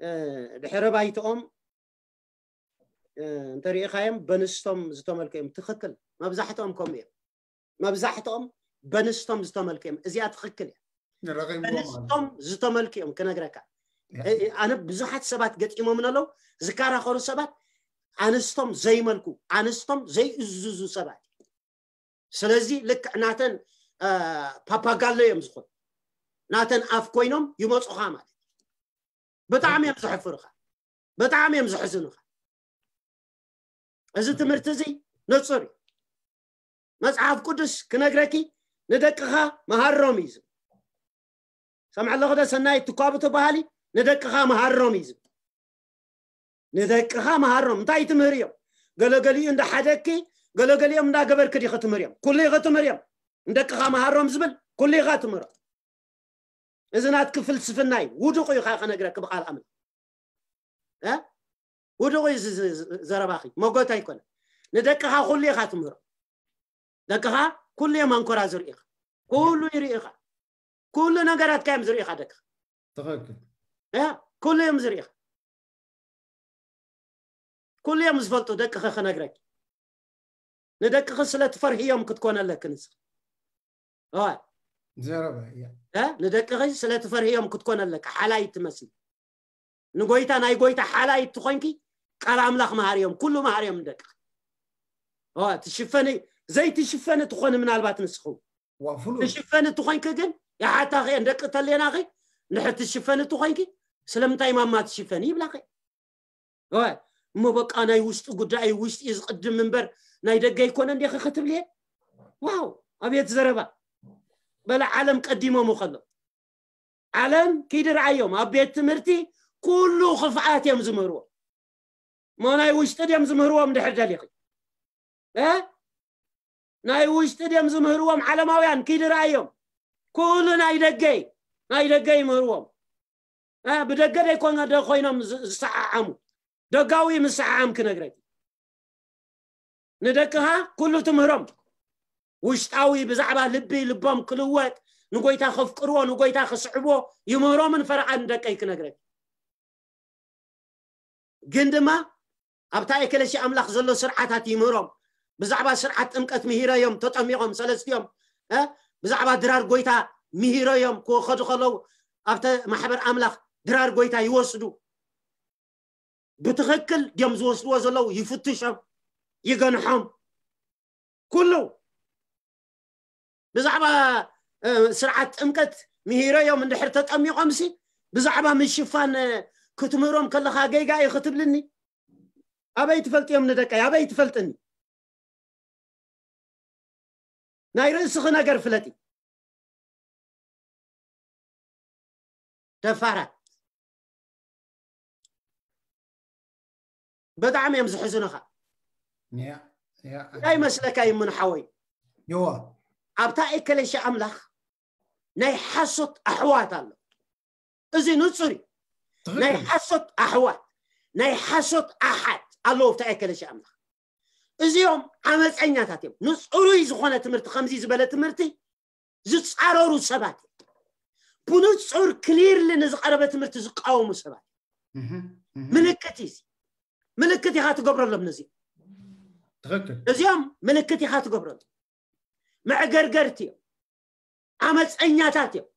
እ፣ ድሕረ ባይትኦም፣ እ፣ እንተሪኢኻዮም በንስቶም ዝተመልኩ እዮም። ትኽክል። መብዛሕትኦም ከምኡ እዮም። መብዛሕትኦም በንስቶም ዝተመልኩ እዮም። እዚኣ ትኽክል እያ። ንረኺብዎም በንስቶም ዝተመልኩ እዮም ክነግረካ። እ፣ ኣነ ብዙሓት ሰባት ገጢሞም ኣለዉ፣ ዝከራኸሩ ሰባት ኣንስቶም ዘይመልኩ፣ ኣንስቶም ዘይእዝዙ ሰባት። ስለዚ ልክዕ ናተን እ፣ ፓፓጋሎ እዮም ዝኾኑ። ናተን ኣፍ ኮይኖም ይመፁኻ ማለት እዩ። ብጣዕሚ እዮም ዘሕፍሩኻ። ብጣዕሚ እዮም ዘሕዝኑኻ። እዚ ትምህርቲ እዚ ንፁር እዩ። መፅሓፍ ቅዱስ ክነግረኪ ንደቅኻ መሃሮም እዩ ዝብል። ሰምዐ ኣለኹ ዶ ሰናይ ትኳቡ ትበሃሊ? ንደቅኻ መሃሮም እዩ ዝብል። ንደቅኻ መሃሮም። እንታይ ትምህርዮም? ገለገሊኡ እንዳሓደግኪ ገለገሊኦም እንዳገበርኪ ዲኺ ትምህርዮም? ኩሉ ኢኺ ትምህርዮም። ንደቅኻ መሃሮም ዝብል ኩሉ ኢኻ ትምህሮ። እዚ ናትኪ ፍልስፍና እዩ። ውዱቕ እዩ። ከ ክነግረኪ ብቓል ኣምላኽ እ ውዱቕ እዩ። ዝ- ዝ- ዝ- ዘረባኺ መጎት ኣይኮነ። ንደቅኻ ኩሉ ኢኻ ትምህሮ። ደቅኻ ኩሉ እዮም ኣንኮራ ዝርኢኻ። ኩሉ ይርኢኻ። ኩሉ ነገራትካ እዮም ዝርኢኻ ደቅኻ። ትኽክል ያ ኩሉ እዮም ዝርኢኻ። ኩሉ እዮም ዝፈልጡ ደቅኺ። ክነግረኪ ንደቅኺ ስለ ትፈርህዮም ክትኮነ ኣለኪ ንስኺ። እዋ ዘረባ እያ እ ንደቅኺ ስለ ትፈርህዮም ክትኮነ ኣለኪ። ሓላይ ትመስሊ ንጎይታ ናይ ጎይታ ሓላይ ትኾንኪ ቃል ኣምላኽ መሃርዮም ኩሉ መሃርዮም ንደቅኺ። እዋ ትሽፈኒ ዘይትሽፈኒ ትኾኒ ምናልባት ንስኹ ዋ ፍሉይ ትሽፈኒ ትኾንኪ ግን ይሓታኺ እየን ደቂ ተሌናኺ። ንድሕር ትሽፈኒ ትኾንኪ ስለምንታይ ማማ ትሽፈኒ ይብላኺ። እዋ እሞ በቃ ናይ ውሽጢ ጉዳይ ውሽጢ እዩ ዝቕድም እምበር ናይ ደገ ኣይኮነ እንዲኺ ክትብልየ። ዋው ኣቤት ዘረባ። በለ ዓለም ቀዲሞም ከሎ ዓለም ኪዲ ረኣዮም ኣብ ቤት ትምህርቲ ኩሉ ክፍኣት እዮም ዝምህርዎ። እሞ ናይ ውሽጢ ድዮም ዝምህርዎም ድሕር ደሊኺ እ ናይ ውሽጢ ድዮም ዝምህርዎም ዓለማውያን ኪዲ ረኣዮም። ኩሉ ናይ ደገይ ናይ ደገ ይምህርዎም። እ ብደገ ደይኮነ ዶ ኮይኖም ዝ- ዝሰዓዓሙ ደጋዊ ምስዓዓም ክነግረኪ። ንደቅኻ ኩሉ ትምህሮም ውሽጣዊ ብዛዕባ ልቢ ልቦም ክልወጥ ንጎይታ ከፍቅርዎ ንጎይታ ክስዕብዎ ይምህሮምን ፈረቓን ንደቀይ ክነግረኪ። ግን ድማ ኣብታ ኤክለሲ ኣምላኽ ዘሎ ስርዓታት ይምህሮም። ብዛዕባ ስርዓት ጥምቀት ምሂረዮም ተጠሚቖም ሰለስቲኦም እ ብዛዕባ ድራር ጎይታ ምሂረዮም ክኸዱ ከለዉ ኣብተ ማሕበር ኣምላኽ ድራር ጎይታ ይወስዱ። ብትኽክል ድዮም ዝወስድዎ ዘለዉ ይፍትሾም ይገንሖም። ኩሉ ብዛዕባ እ፣ ስርዓት ጥምቀት ምሂረዮም እንድሕር ተጠሚቖምሲ ብዛዕባ ምሽፋን እ፣ ክትምህሮም ከለኻ ገይጋ እዩ ክትብልኒ? ኣበይ ትፈልጥዮም ንደቀይ ኣበይ ትፈልጥኒ? ናይ ርእስኺ ነገር ፍለጢ። ደፋራት ብጣዕሚ እዮም ዝሕዝኑኻ። ያ ያ እንታይ መስለካ ይምን ሓወይ? ይዋ ኣብታ ኤከለሻ ኣምላኽ ናይ ሓሶት ኣሕዋት ኣሎ። እዚ ንጹር እዩ። ናይ ሓሶት ኣሕዋት፣ ናይ ሓሶት ኣሓት ኣለዉ ኣብቲ ኣከለሽ ኣምላኽ። እዚኦም ዓመፀኛታት እዮም። ንጽሩይ ዝኾነ ትምህርቲ፣ ከምዚ ዝበለ ትምህርቲ ዝጻረሩ ሰባት እዮም። ብንጹር ክሊርሊ ንዝቐረበ ትምህርቲ ዝቃወሙ ሰባት እዮም። ምልክት እዩ። ምልክት ኢኻ ትገብረሎም ነዚ። ትኽክል። እዚኦም ምልክት ኢኻ ትገብረሎም። መዕገርገርቲ እዮም። ዓመፀኛታት እዮም።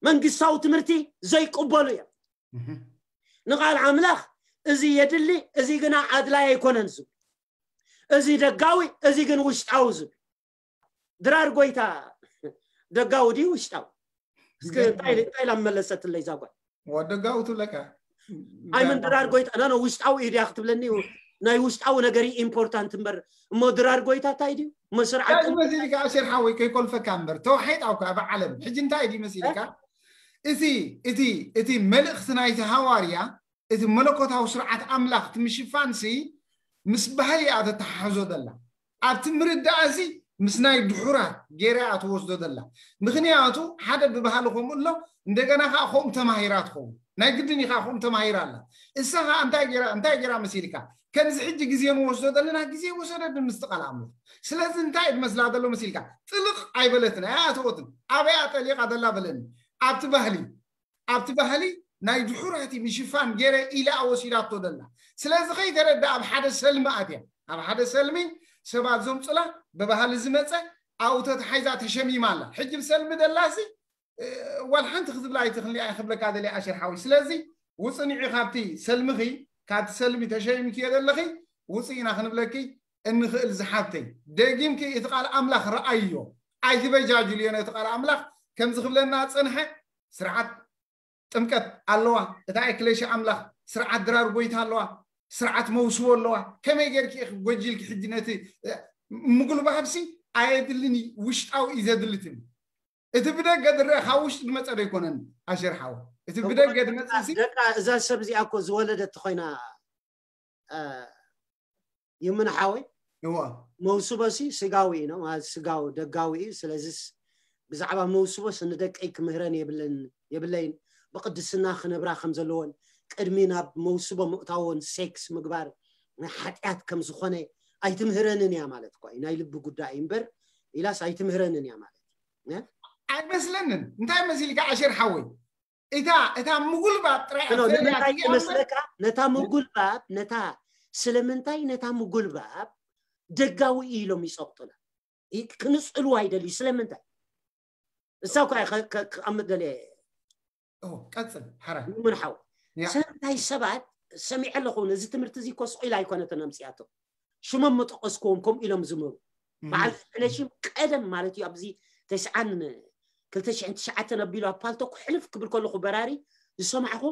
መንግስታዊ ትምህርቲ ዘይቅበሉ እዮም። ንቓል ኣምላኽ እዚ የድሊ፣ እዚ ግና ኣድላይ ኣይኮነን ዝብል፣ እዚ ደጋዊ፣ እዚ ግን ውሽጣዊ ዝብል። ድራር ጎይታ ደጋዊ ድዩ ውሽጣዊ? እስኪ እንታይ ኢላ መለሰትለይ እዛ ጓል? ወደጋዊ ትብለካ። ኣይምን ድራር ጎይታ ኖ ኖ ውሽጣዊ እዩ ድያ ክትብለኒ? ናይ ውሽጣዊ ነገር ኢምፖርታንት እምበር እሞ ድራር ጎይታ እንታይ ድዩ? እሞ ስርዓት እንታይ መሲልካ ኣሸር ሓወይ ከይኮልፈካ እምበር ተዋሒጣ እኳ ኣብ ዓለም ሕጂ እንታይ ድዩ መሲልካ? እቲ እቲ እቲ መልእኽቲ ናይቲ ሃዋርያ እቲ መለኮታዊ ስርዓት ኣምላኽ እቲ ምሽፋንሲ ምስ ባህሊ እያ ተተሓሕዞ ዘላ። ኣብቲ ምርዳእሲ ምስ ናይ ድሑራት ገይራ እያ ትወስዶ ዘላ። ምኽንያቱ ሓደ ብባህሊ ከምኡ ኣሎ፣ እንደገና ከዓ ከምኡ ተማሂራ ትኸውን። ናይ ግድን ኢኻ ከምኡ ተማሂራ ኣላ። እሳ ከዓ እንታይ ገይራ እንታይ ገይራ መሲልካ? ከምዚ ሕጂ ግዜ ንወስዶ ዘለና ግዜ ወሰደት ንምስትቃል ኣምልኽ። ስለዚ እንታይ እዩ ዝመስላ ዘሎ መሲልካ? ጥልቕ ኣይበለትን፣ ኣይኣተወትን። ኣበያ ጠሊቓ ዘላ በለኒ። ኣብቲ ባህሊ ኣብቲ ባህሊ ናይ ድሑራት ምሽፋን ገይረ ኢላ ወሲዳቶ ዘላ። ስለዚ ከይተረዳ ኣብ ሓደ ሰልሚ ኣትያ። ኣብ ሓደ ሰልሚ ሰባት ዘምፁላ ብባህሊ ዝመፀ ኣብኡ ተታሒዛ ተሸሚማ ኣላ። ሕጂ ብሰልሚ ደላሲ ዋል ሓንቲ ክትብላ ኣይትኽእሊ ኣይክብለካ ደልየ ኣሸር ሓዊ። ስለዚ ውፅንዒ ካብቲ ሰልምኺ ካብቲ ሰልሚ ተሸሚምክዮ ዘለኺ ውፅእ ኢና ክንብለኪ እንኽእል ዝሓብተይ። ደጊምኪ እቲ ቃል ኣምላኽ ረኣይዮ ኣይትበጃጅልዮ ነቲ ቃል ኣምላኽ ከምዚ ክብለና ፀንሐ ስርዓት ጥምቀት ኣለዋ። እታ ኤክሌሽያ ኣምላኽ ስርዓት ድራር ጎይታ ኣለዋ። ስርዓት መውስቦ ኣለዋ። ከመይ ጌርኪ ኢኺ ጎጂልኪ ሕጂ ነቲ ምጉልባብሲ ኣየድልን እዩ ውሽጣዊ እዩ ዘድሊ ትብል። እቲ ብደገ ዝረአ ካብ ውሽጢ ዝመፀ ዶ ይኮነን ኣሸር ሓወ? እቲ ብደገ ዝመፅእ ሲ ደቃ እዛ ሰብ እዚኣ እኮ ዝወለደት ኮይና ይምን ሓወይ እዋ መውስቦ ሲ ስጋዊ እዩ ነው ማለት ስጋዊ ደጋዊ እዩ። ስለዚስ ብዛዕባ መውስቦስ ንደቀይ ክምህረን የብለን የብለይን። ብቅድስና ክነብራ ከም ዘለዎን ቅድሚ ናብ መውስቦ ምእታዎን ሴክስ ምግባር ናይ ሓጢኣት ከም ዝኾነ ኣይትምህረንን እያ ማለት እኮ እዩ። ናይ ልቢ ጉዳይ እምበር ኢላስ ኣይትምህረንን እያ ማለት እዩ። ኣይመስለንን። እንታይ መሲልካ ኣሸር ሓወይ? እታ እታ ምጉልባብ ጥራይ ኖ ንምንታይ ይመስለካ? ነታ ምጉልባብ ነታ ስለምንታይ ነታ ምጉልባብ ደጋዊ እዩ ኢሎም ይፀቕጡና። ይ- ክንፅልዋ ይደልዩ ስለምንታይ? እሳ እኳ እየ ከ- ከ- ክቐምጥ ደልየ ኦ፣ ቀጽል ሓራ ይምን ሓው ያ። ሰምታይ ሰባት ሰሚዐ ኣለኹ። ነዚ ትምህርቲ እዚ እኮ ስቕ ኢላ ኣይኮነትን ኣምፅኣቶ። ሽሞም መጠቐስክዎም ከምኡ ኢሎም ዝምህሩ በዓል ሕነሽም ቀደም ማለት እዩ ኣብዚ ተስዓን ክልተ ሽሕን ትሽዓተን ኣቢሉ ኣብ ፓልቶክ ሕልፍ ክብል ከለኹ በራሪ ዝሰማዕኹ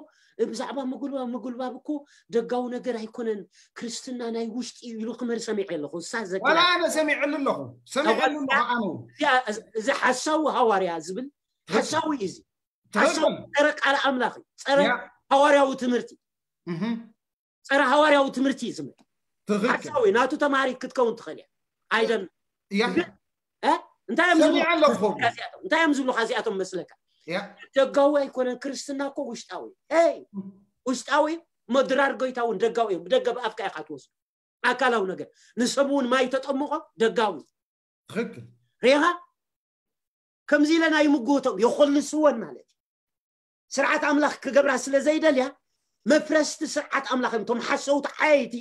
ብዛዕባ ምጉልባብ ምጉልባብ እኮ ደጋዊ ነገር ኣይኮነን። ክርስትና ናይ ውሽጢ እዩ ኢሉ ክምህር ሰሚዐ ኣለኹ። እሳ ዘግራ ዋላ ኣነ ሰሚዐሉ ኣለኹ ሰሚዐሉ ኣለኹ ኣነ እዚኣ- እዚ ሓሳዊ ሃዋርያ ዝብል ሓሳዊ እዩ። እዚ ሓሳዊ ትኽክል ጸረ ቃል ኣምላኽ እዩ። ጸረ ያ። ሃዋርያዊ ትምህርቲ እህ ጸረ ሃዋርያዊ ትምህርቲ እዩ ዝምህር። ትኽክል ሓሳዊ ናቱ ተማሃሪት ክትከውን ትኽእል እያ። ኣይደን ያ ግን እ? እንታይ እዮም ዝብሉ ሰሚዐ ኣለኹ እዚኣቶም? እንታይ እዮም ዝብሉካ እዚኣቶም መስለካ? ያ ደጋዊ ኣይኮነን ክርስትና እኮ ውሽጣዊ። ሄይ ውሽጣዊ እሞ ድራር ጎይታ እውን ደጋዊ እዮም። ብደገ ብኣፍካ ኢኻ ትወስዱ ኣካላዊ ነገር። ንሰብ እውን ማይ ተጠምቖ ደጋዊ ትኽክል ሬኻ ከምዚ ኢለን ኣይምግቶም የኾልስወን ማለት እዩ። ስርዓት ኣምላኽ ክገብራ ስለ ዘይደልያ መፍረስቲ ስርዓት ኣምላኽ እዮም። እቶም ሓሰውቲ ዓየይቲ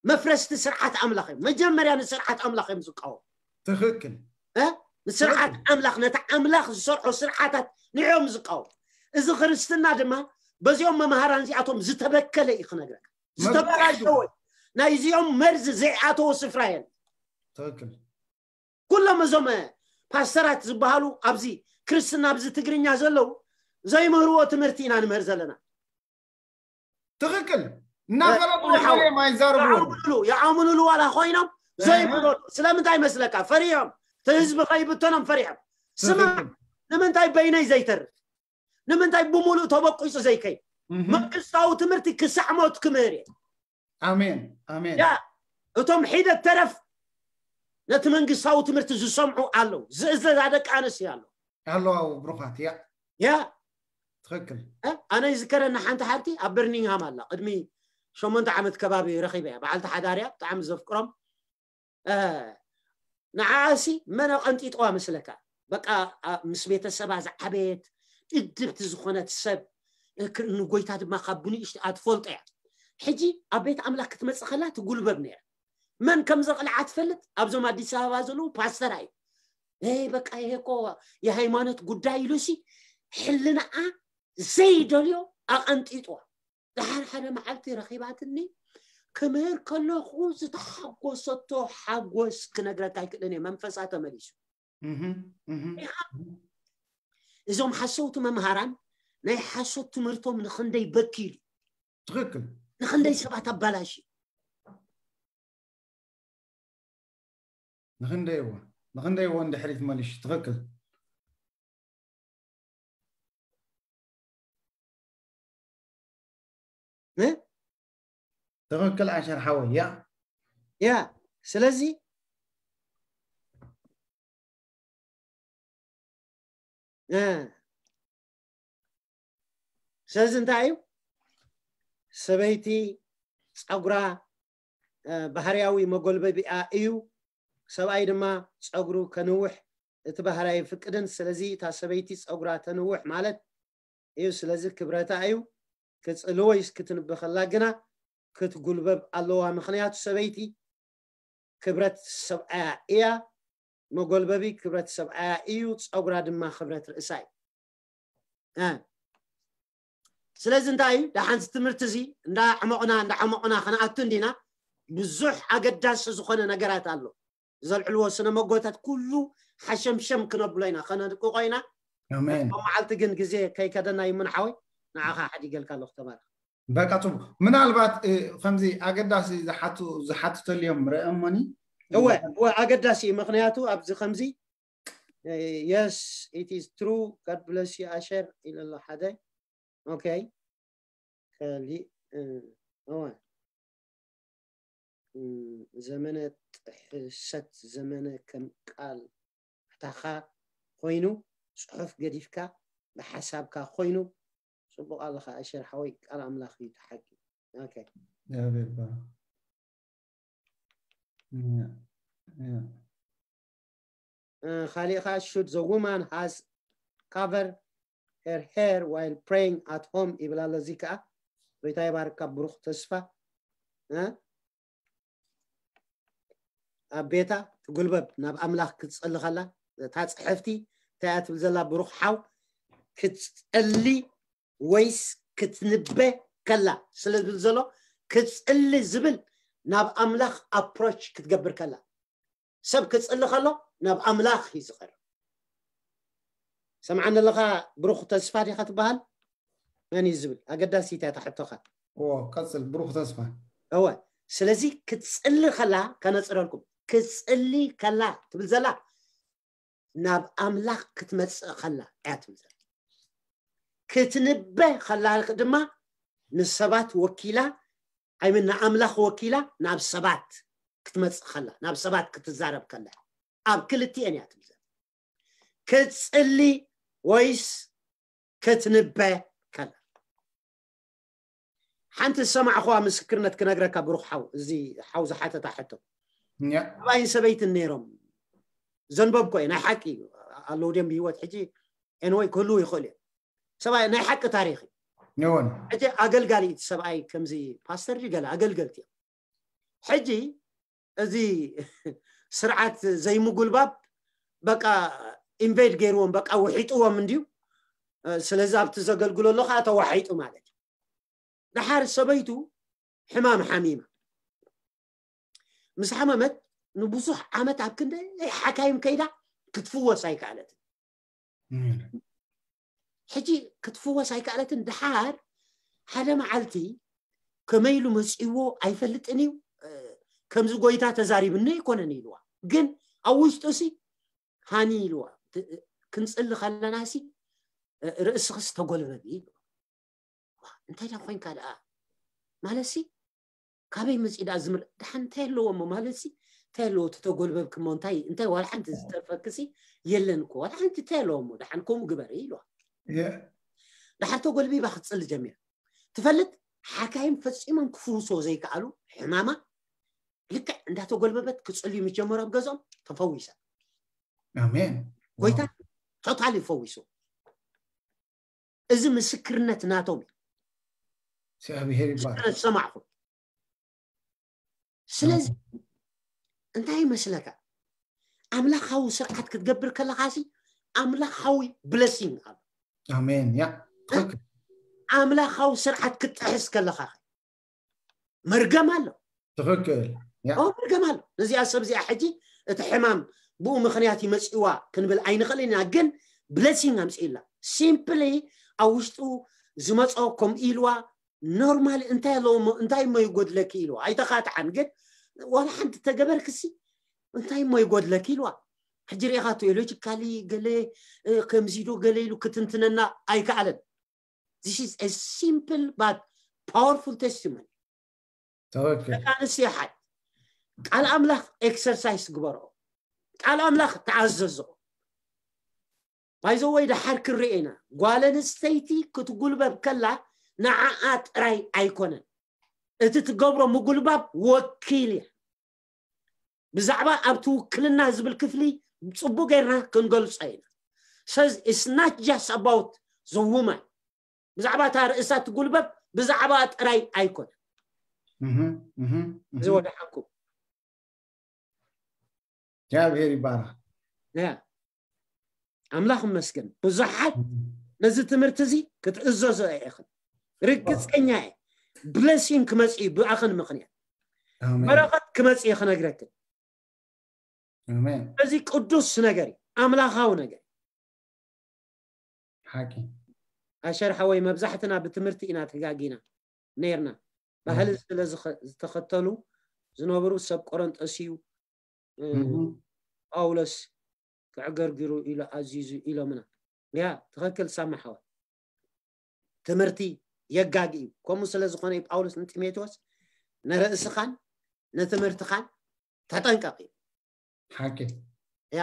መፍረስቲ ስርዓት ኣምላኽ እዮም። መጀመርያ ንስርዓት ኣምላኽ እዮም ዝቃወሙ። ትኽክል እ? ንስርዓት ኣምላኽ ነቲ ኣምላኽ ዝሰርሖ ስርዓታት ንዕኦም ዝቃወሙ። እዚ ክርስትና ድማ በዚኦም መምሃራን እዚኣቶም ዝተበከለ እዩ ክነግረካ። ዝተበላሸወ እዩ። ናይዚኦም መርዚ ዘይኣተዎ ስፍራ የለን። ትኽክል ኩሎም እዞም ፓስተራት ዝበሃሉ ኣብዚ ክርስትና ኣብዚ ትግርኛ ዘለዉ ዘይምህርዎ ትምህርቲ ኢና ንምህር ዘለና። ትኽክል እናፈለጡ ሓው- እዮም ኣይዛረብዎም ይዓምኑሉ ይዓምኑሉ ዋላ ኮይኖም ዘይምህሩ ስለምንታይ መስለካ? ፈሪሖም እቲ ህዝቢ ከይብተኖም ፈሪሖም። ስማ ትኽክል ንምንታይ በይነይ ዘይተርፍ? ንምንታይ ብምሉእ ተበቂፁ ዘይከይድ? እህ መንግስታዊ ትምህርቲ ክሳዕ ሞት ክምህር እየ። ኣሜን ኣሜን ያ እቶም ሒደት ተረፍ ነቲ መንግስታዊ ትምህርቲ ዝሰምዑ ኣለዉ። ዝእዘዛ ደቂ ኣንስትዮ ኣለዉ። ኣለዋ ብሩኻት ያ ያ ትኽክል። ኣነ ይዝከረና ሓንቲ ሓብቲ ኣብ በርሚንግሃም ኣላ፣ ቅድሚ ሸሞንተ ዓመት ከባቢ ረኺበ እያ። በዓልቲ ሓዳር እያ፣ ብጣዕሚ ዘፍቅሮም። ንዓኣሲ መን ኣቐንጢጥዋ መስለካ? በቃ ምስ ቤተሰባ ዝዓበየት፣ እድብቲ ዝኾነት ሰብ፣ ንጎይታ ድማ ካብ ብንእሽትኣ ትፈልጦ እያ። ሕጂ ኣብ ቤት ኣምላኽ ክትመጽእ ከላ ትጉልበብ ነይራ። መን ከም ዘቕልዓ ትፈልጥ? ኣብዞም ኣዲስ ኣበባ ዘለዉ ፓስተር እዩ። በቃ ይሄ እኮ የሃይማኖት ጉዳይ ኢሉሲ ሕልናኣ ዘይደልዮ ኣቐንጢጥዋ። ድሓር ሓደ መዓልቲ ረኺባትኒ። ክምህር ከለኹ ዝተሓጎሰቶ ሓጎስ ክነግረካ ኣይክእልን እየ። መንፈሳ ተመሊሱ። እዞም ሓሰውቲ መምሃራን ናይ ሓሶት ትምህርቶም ንኽንደይ በኪሉ፣ ትኽክል። ንኽንደይ ሰባት ኣባላሽ። ንኽንደይዎ ንኽንደይዎ እንድሕሪት መሊሽ። ትኽክል። ትኽክል ኣሸር ሓወይ። ያ ያ ስለዚ ስለዚ እንታይ እዩ? ሰበይቲ ፀጉራ ባህርያዊ መጎልበቢኣ እዩ። ሰብኣይ ድማ ፀጉሩ ከንውሕ እቲ ባህርያዊ ፍቅድን። ስለዚ እታ ሰበይቲ ፀጉራ ተንውሕ ማለት እዩ። ስለዚ ክብረታ እዩ። ክትፅሊ ወይስ ክትንበኸላ ግና ክትጉልበብ ኣለዋ። ምኽንያቱ ሰበይቲ ክብረት ሰብኣያ እያ። መጎልበቢ ክብረት ሰብኣያ እዩ። ፀጉራ ድማ ክብረት ርእሳ እዩ። ስለዚ እንታይ እዩ ደሓንዚ ትምህርቲ እዚ እንዳ ዕሞቕና እንዳ ዕሞቕና ከነኣቱ እንዲና። ብዙሕ ኣገዳሲ ዝኾነ ነገራት ኣሎ። ዘልዕልዎ ስነ መጎታት ኩሉ ሓሸምሸም ክነብሎ ኢና፣ ከነድቅቆ ኢና። መዓልቲ ግን ግዜ ከይከደና ይሙን ሓወይ፣ ንዓኻ ሓዲገልካ ኣለኹ። ተባረኽ። በቃ ጽቡቅ። ምናልባት ከምዚ ኣገዳሲ ዝሓቱ ዝሓትተልዮም ረእሞኒ። እወ እወ ኣገዳሲ እዩ። ምክንያቱ ኣብዚ ከምዚ yes it is true God bless you ኣሸር ኢለ ኣሎ ሓደ። ኦኬ ከሊእ እወ ዘመነ ጥሕሰት ዘመነ ከም ቃል ኣታኻ ኮይኑ ጽሑፍ ገዲፍካ ብሓሳብካ ኮይኑ ጽቡቕ ኣለኻ ኣሸር ሓወይ ቃል ኣምላኽ እዩ ተሓቂ ኦኬ ያቤባ ካሊእኻ should the woman has cover her hair while praying at home ይብል ኣሎ። እዚ ከዓ ጎይታ ይባርካ ብሩኽ ተስፋ ኣብ ቤታ ትጉልበብ ናብ ኣምላኽ ክትጸሊ ከላ እታ ጽሕፍቲ እንታይ እያ ትብል ዘላ ብሩኽ ሓው ክትጸሊ ወይስ ክትንበ ከላ ስለ ዝብል ዘሎ ክትጽሊ ዝብል ናብ ኣምላኽ approach ክትገብር ከላ ሰብ ክጽሊ ከሎ ናብ ኣምላኽ እዩ ዝቐርብ። ሰምዓኒ ኣለኻ ብሩኽ ተስፋ ዲኻ ትበሃል? መን እዩ ዝብል ኣገዳሲት እያ ታሕቶኻ። እዎ ቀጽል ብሩኽ ተስፋ። እወ ስለዚ ክትጽሊ ከላ ከነጽረልኩም ክትጽሊ ከላ ትብል ዘላ ናብ ኣምላኽ ክትመጽእ ከላ እያ ትብል ዘላ። ክትንበ ከላ ድማ ንሰባት ወኪላ ኣይምን ንኣምላኽ ወኪላ ናብ ሰባት ክትመጽእ ከላ ናብ ሰባት ክትዛረብ ከላ ኣብ ክልቲኤን እያ ትብል ዘላ። ክትጽሊ ወይስ ክትንበ ከላ ሓንቲ ዝሰማዕኹዋ ምስክርነት ክነግረካ ብሩኽ ሓው እዚ ሓው ዝሓተታ ሕቶ ሰብኣይን ሰበይትን ነይሮም ዘንበብኮ እየ ናይ ሓቂ ኣለዉ ድም ብሂወት ሕጂ ኤንወይ ክህልዉ ይኽእሉ እዮም ሰብኣይ ናይ ሓቂ ታሪኽ እዩ ሕጂ ኣገልጋሊ እቲ ሰብኣይ ከምዚ ፓስተር ገለ ኣገልገልቲ እዮም ሕጂ እዚ ስርዓት ዘይምጉልባብ በቃ invade ገይርዎም በቃ ውሒጥዎም እንድዩ ስለዚ ኣብቲ ዘገልግሎ ኣሎ ከዓ ተዋሒጡ ማለት እዩ ድሓር ሰበይቱ ሕማም ሓሚማ ምስ ሓመመት ንብዙሕ ዓመት ኣብ ክንደይ ሓካይም ከይዳ ክትፍወስ ኣይከኣለትን ሕጂ ክትፍወስ ኣይከኣለትን ድሓር ሓደ መዓልቲ ከመይ ኢሉ መፅእዎ ኣይፈልጥን እዩ ከምዚ ጎይታ ተዛሪብኒ ኣይኮነን ኢልዋ ግን ኣብ ውሽጡ ሲ ሃኒ ኢልዋ ክንፅሊ ከለና ሲ ርእስኽስ ተጎልበቢ ኢልዋ እንታይ ዳ ኮይንካ ደኣ ማለት ሲ ካበይ መፂእ ደኣ ዝምር ደሓን እንታይ ኣለዎ እሞ ማለት ሲ እንታይ ኣለዎ ተተጎልበብክ እሞ እንታይ እንታይ ዋላ ሓንቲ ዝተርፈክ ሲ የለን እኮ ዋላ ሓንቲ እንታይ ኣለዎ እሞ ደሓን ከምኡ ግበር ኢልዋ ድሓር ተጎልቢባ ክትፅሊ ጀሚራ። ትፈልጥ፣ ሓካይም ፈፂሞም ክፍውስዎ ዘይከኣሉ ሕማማ ልክዕ እንዳተጎልበበት ክፅልዩ ምስ ጀመሩ ኣብ ገዝኦም ተፈዊሳ። ኣሜን። ጎይታ ቶታሊ ፈዊሱ። እዚ ምስክርነት ናቶም እዩ። እግዚኣብሔር ይባረክ። ምስክርነት ዝሰማዕኹም። ስለዚ እንታይ ይመስለካ? ኣምላኻዊ ስርዓት ክትገብር ከለኻ ሲ ኣምላኻዊ ብለሲንግ ኣሎ። ኣሜን። ያ ትኽክል። ኣምላኻዊ ስርዓት ክትጥሕስ ከለኻ መርገም ኣሎ። ትኽክል። ያ ኦ መርገም ኣሎ። ነዚኣ ሰብ እዚኣ ሕጂ እቲ ሕማም ብኡ ምኽንያት ይመፅዋ ክንብል ኣይንኽእልን ኢና፣ ግን ብለሲንግ ኣምፅእላ። ሲምፕሊ ኣብ ውሽጡ ዝመፆ ከምኡ ኢልዋ ኖርማሊ እንታይ ኣለዎ እሞ እንታይ እሞ ይጎድለኪ ኢልዋ ኣይተኻትዓን፣ ግን ዋላ ሓንቲ ተገበርክሲ እንታይ እሞ ይጎድለኪ ኢልዋ። ሕጂ ርኢኻ ቴዎሎጂካሊ ገለ እ፣ ከምዚ ዶ ገለ ኢሉ ክትንትነና ኣይከኣለን። This is a simple but powerful testimony። ትኽክል። ደቂ ኣንስትዮ ሓይ ቃል ኣምላኽ ኤክሰርሳይስ ግበርኦ፣ ቃል ኣምላኽ ተኣዘዝኦ። ባይዘወይ ድሓር ክንርኢ ኢና። ጓል ኣንስተይቲ ክትጉልበብ ከላ ንዓኣ ጥራይ ኣይኮነን እቲ ትገብሮ ምጉልባብ ወኪል እያ። ብዛዕባ ኣብቲ ውክልና ዝብል ክፍሊ ፅቡቅ ጌርና ክንገልፆ ኢና። Says it's not just about the woman። ብዛዕባ እታ ርእሳ ትጉልበብ ብዛዕባ ጥራይ ኣይኮነ። እህ፣ እህ፣ እህ። እዚ ወደ ሓቁ እግዚኣብሔር ይባረክ። ያ ኣምላኽ ይመስገን። ብዙሓት ነዚ ትምህርቲ እዚ ክትእዘዞ ኢኽን ርግፀኛ እየ። ብለሲንግ ክመፅእ እዩ ብኣኽን ምኽንያት ኣሜን። በረኸት ክመፅእ እዩ ክነግረክን። ኣሜን። እዚ ቅዱስ ነገር እዩ፣ ኣምላኻዊ ነገር። ሓቂ። ኣሸር ሓወይ መብዛሕትና ብትምህርቲ ኢና ተጋጊና ነይርና። ባህሊ ስለ ዝኸ- ዝተኸተሉ ዝነበሩ ሰብ ቆረንጦስ እዩ እ፣ እህ። ጳውሎስ ክዕገርግሩ ኢሉ ኣዚዙ ኢሎምና። ያ ትኽክል ሳማ ሓወይ። ትምህርቲ የጋጊ እዩ። ከምኡ ስለ ዝኾነ እዩ ጳውሎስ ንጢሞቴዎስ ንርእስኻን ንትምህርትኻን ተጠንቀቕ እዩ። ሓቂ። ያ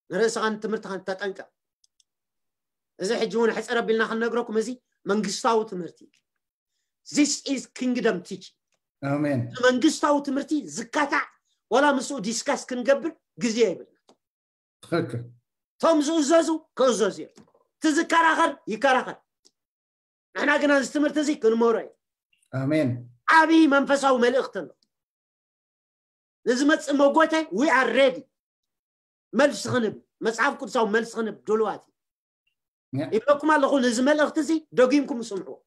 ንርእስኻን ትምህርትኻን ተጠንቀቕ። እዚ ሕጂ እውን ሕፅር ኣቢልና ክንነግረኩም እዚ መንግስታዊ ትምህርቲ እዩ። This is kingdom teaching። ኣሜን። መንግስታዊ ትምህርቲ ዝካታዕ ዋላ ምስኡ ዲስካስ ክንገብር ግዜ የብልና። ትኽክል። እቶም ዝእዘዙ ክእዘዙ እዮም። እቲ ዝከራኸር ይከራኸር። ንሕና ግና እዚ ትምህርቲ እዚ ክንመሮ እዩ። ኣሜን። ዓብዪ መንፈሳዊ መልእኽቲ ኣሎ። ንዝመፅእ መጎተ we are ready። መልሲ ክንብ መፅሓፍ ቅዱሳዊ መልሲ ክንብ ድሉዋት እዩ። ያ። ይብለኩም ኣለኹ። ነዚ መልእኽቲ እዚ ደጊምኩም ስምዕዎ፣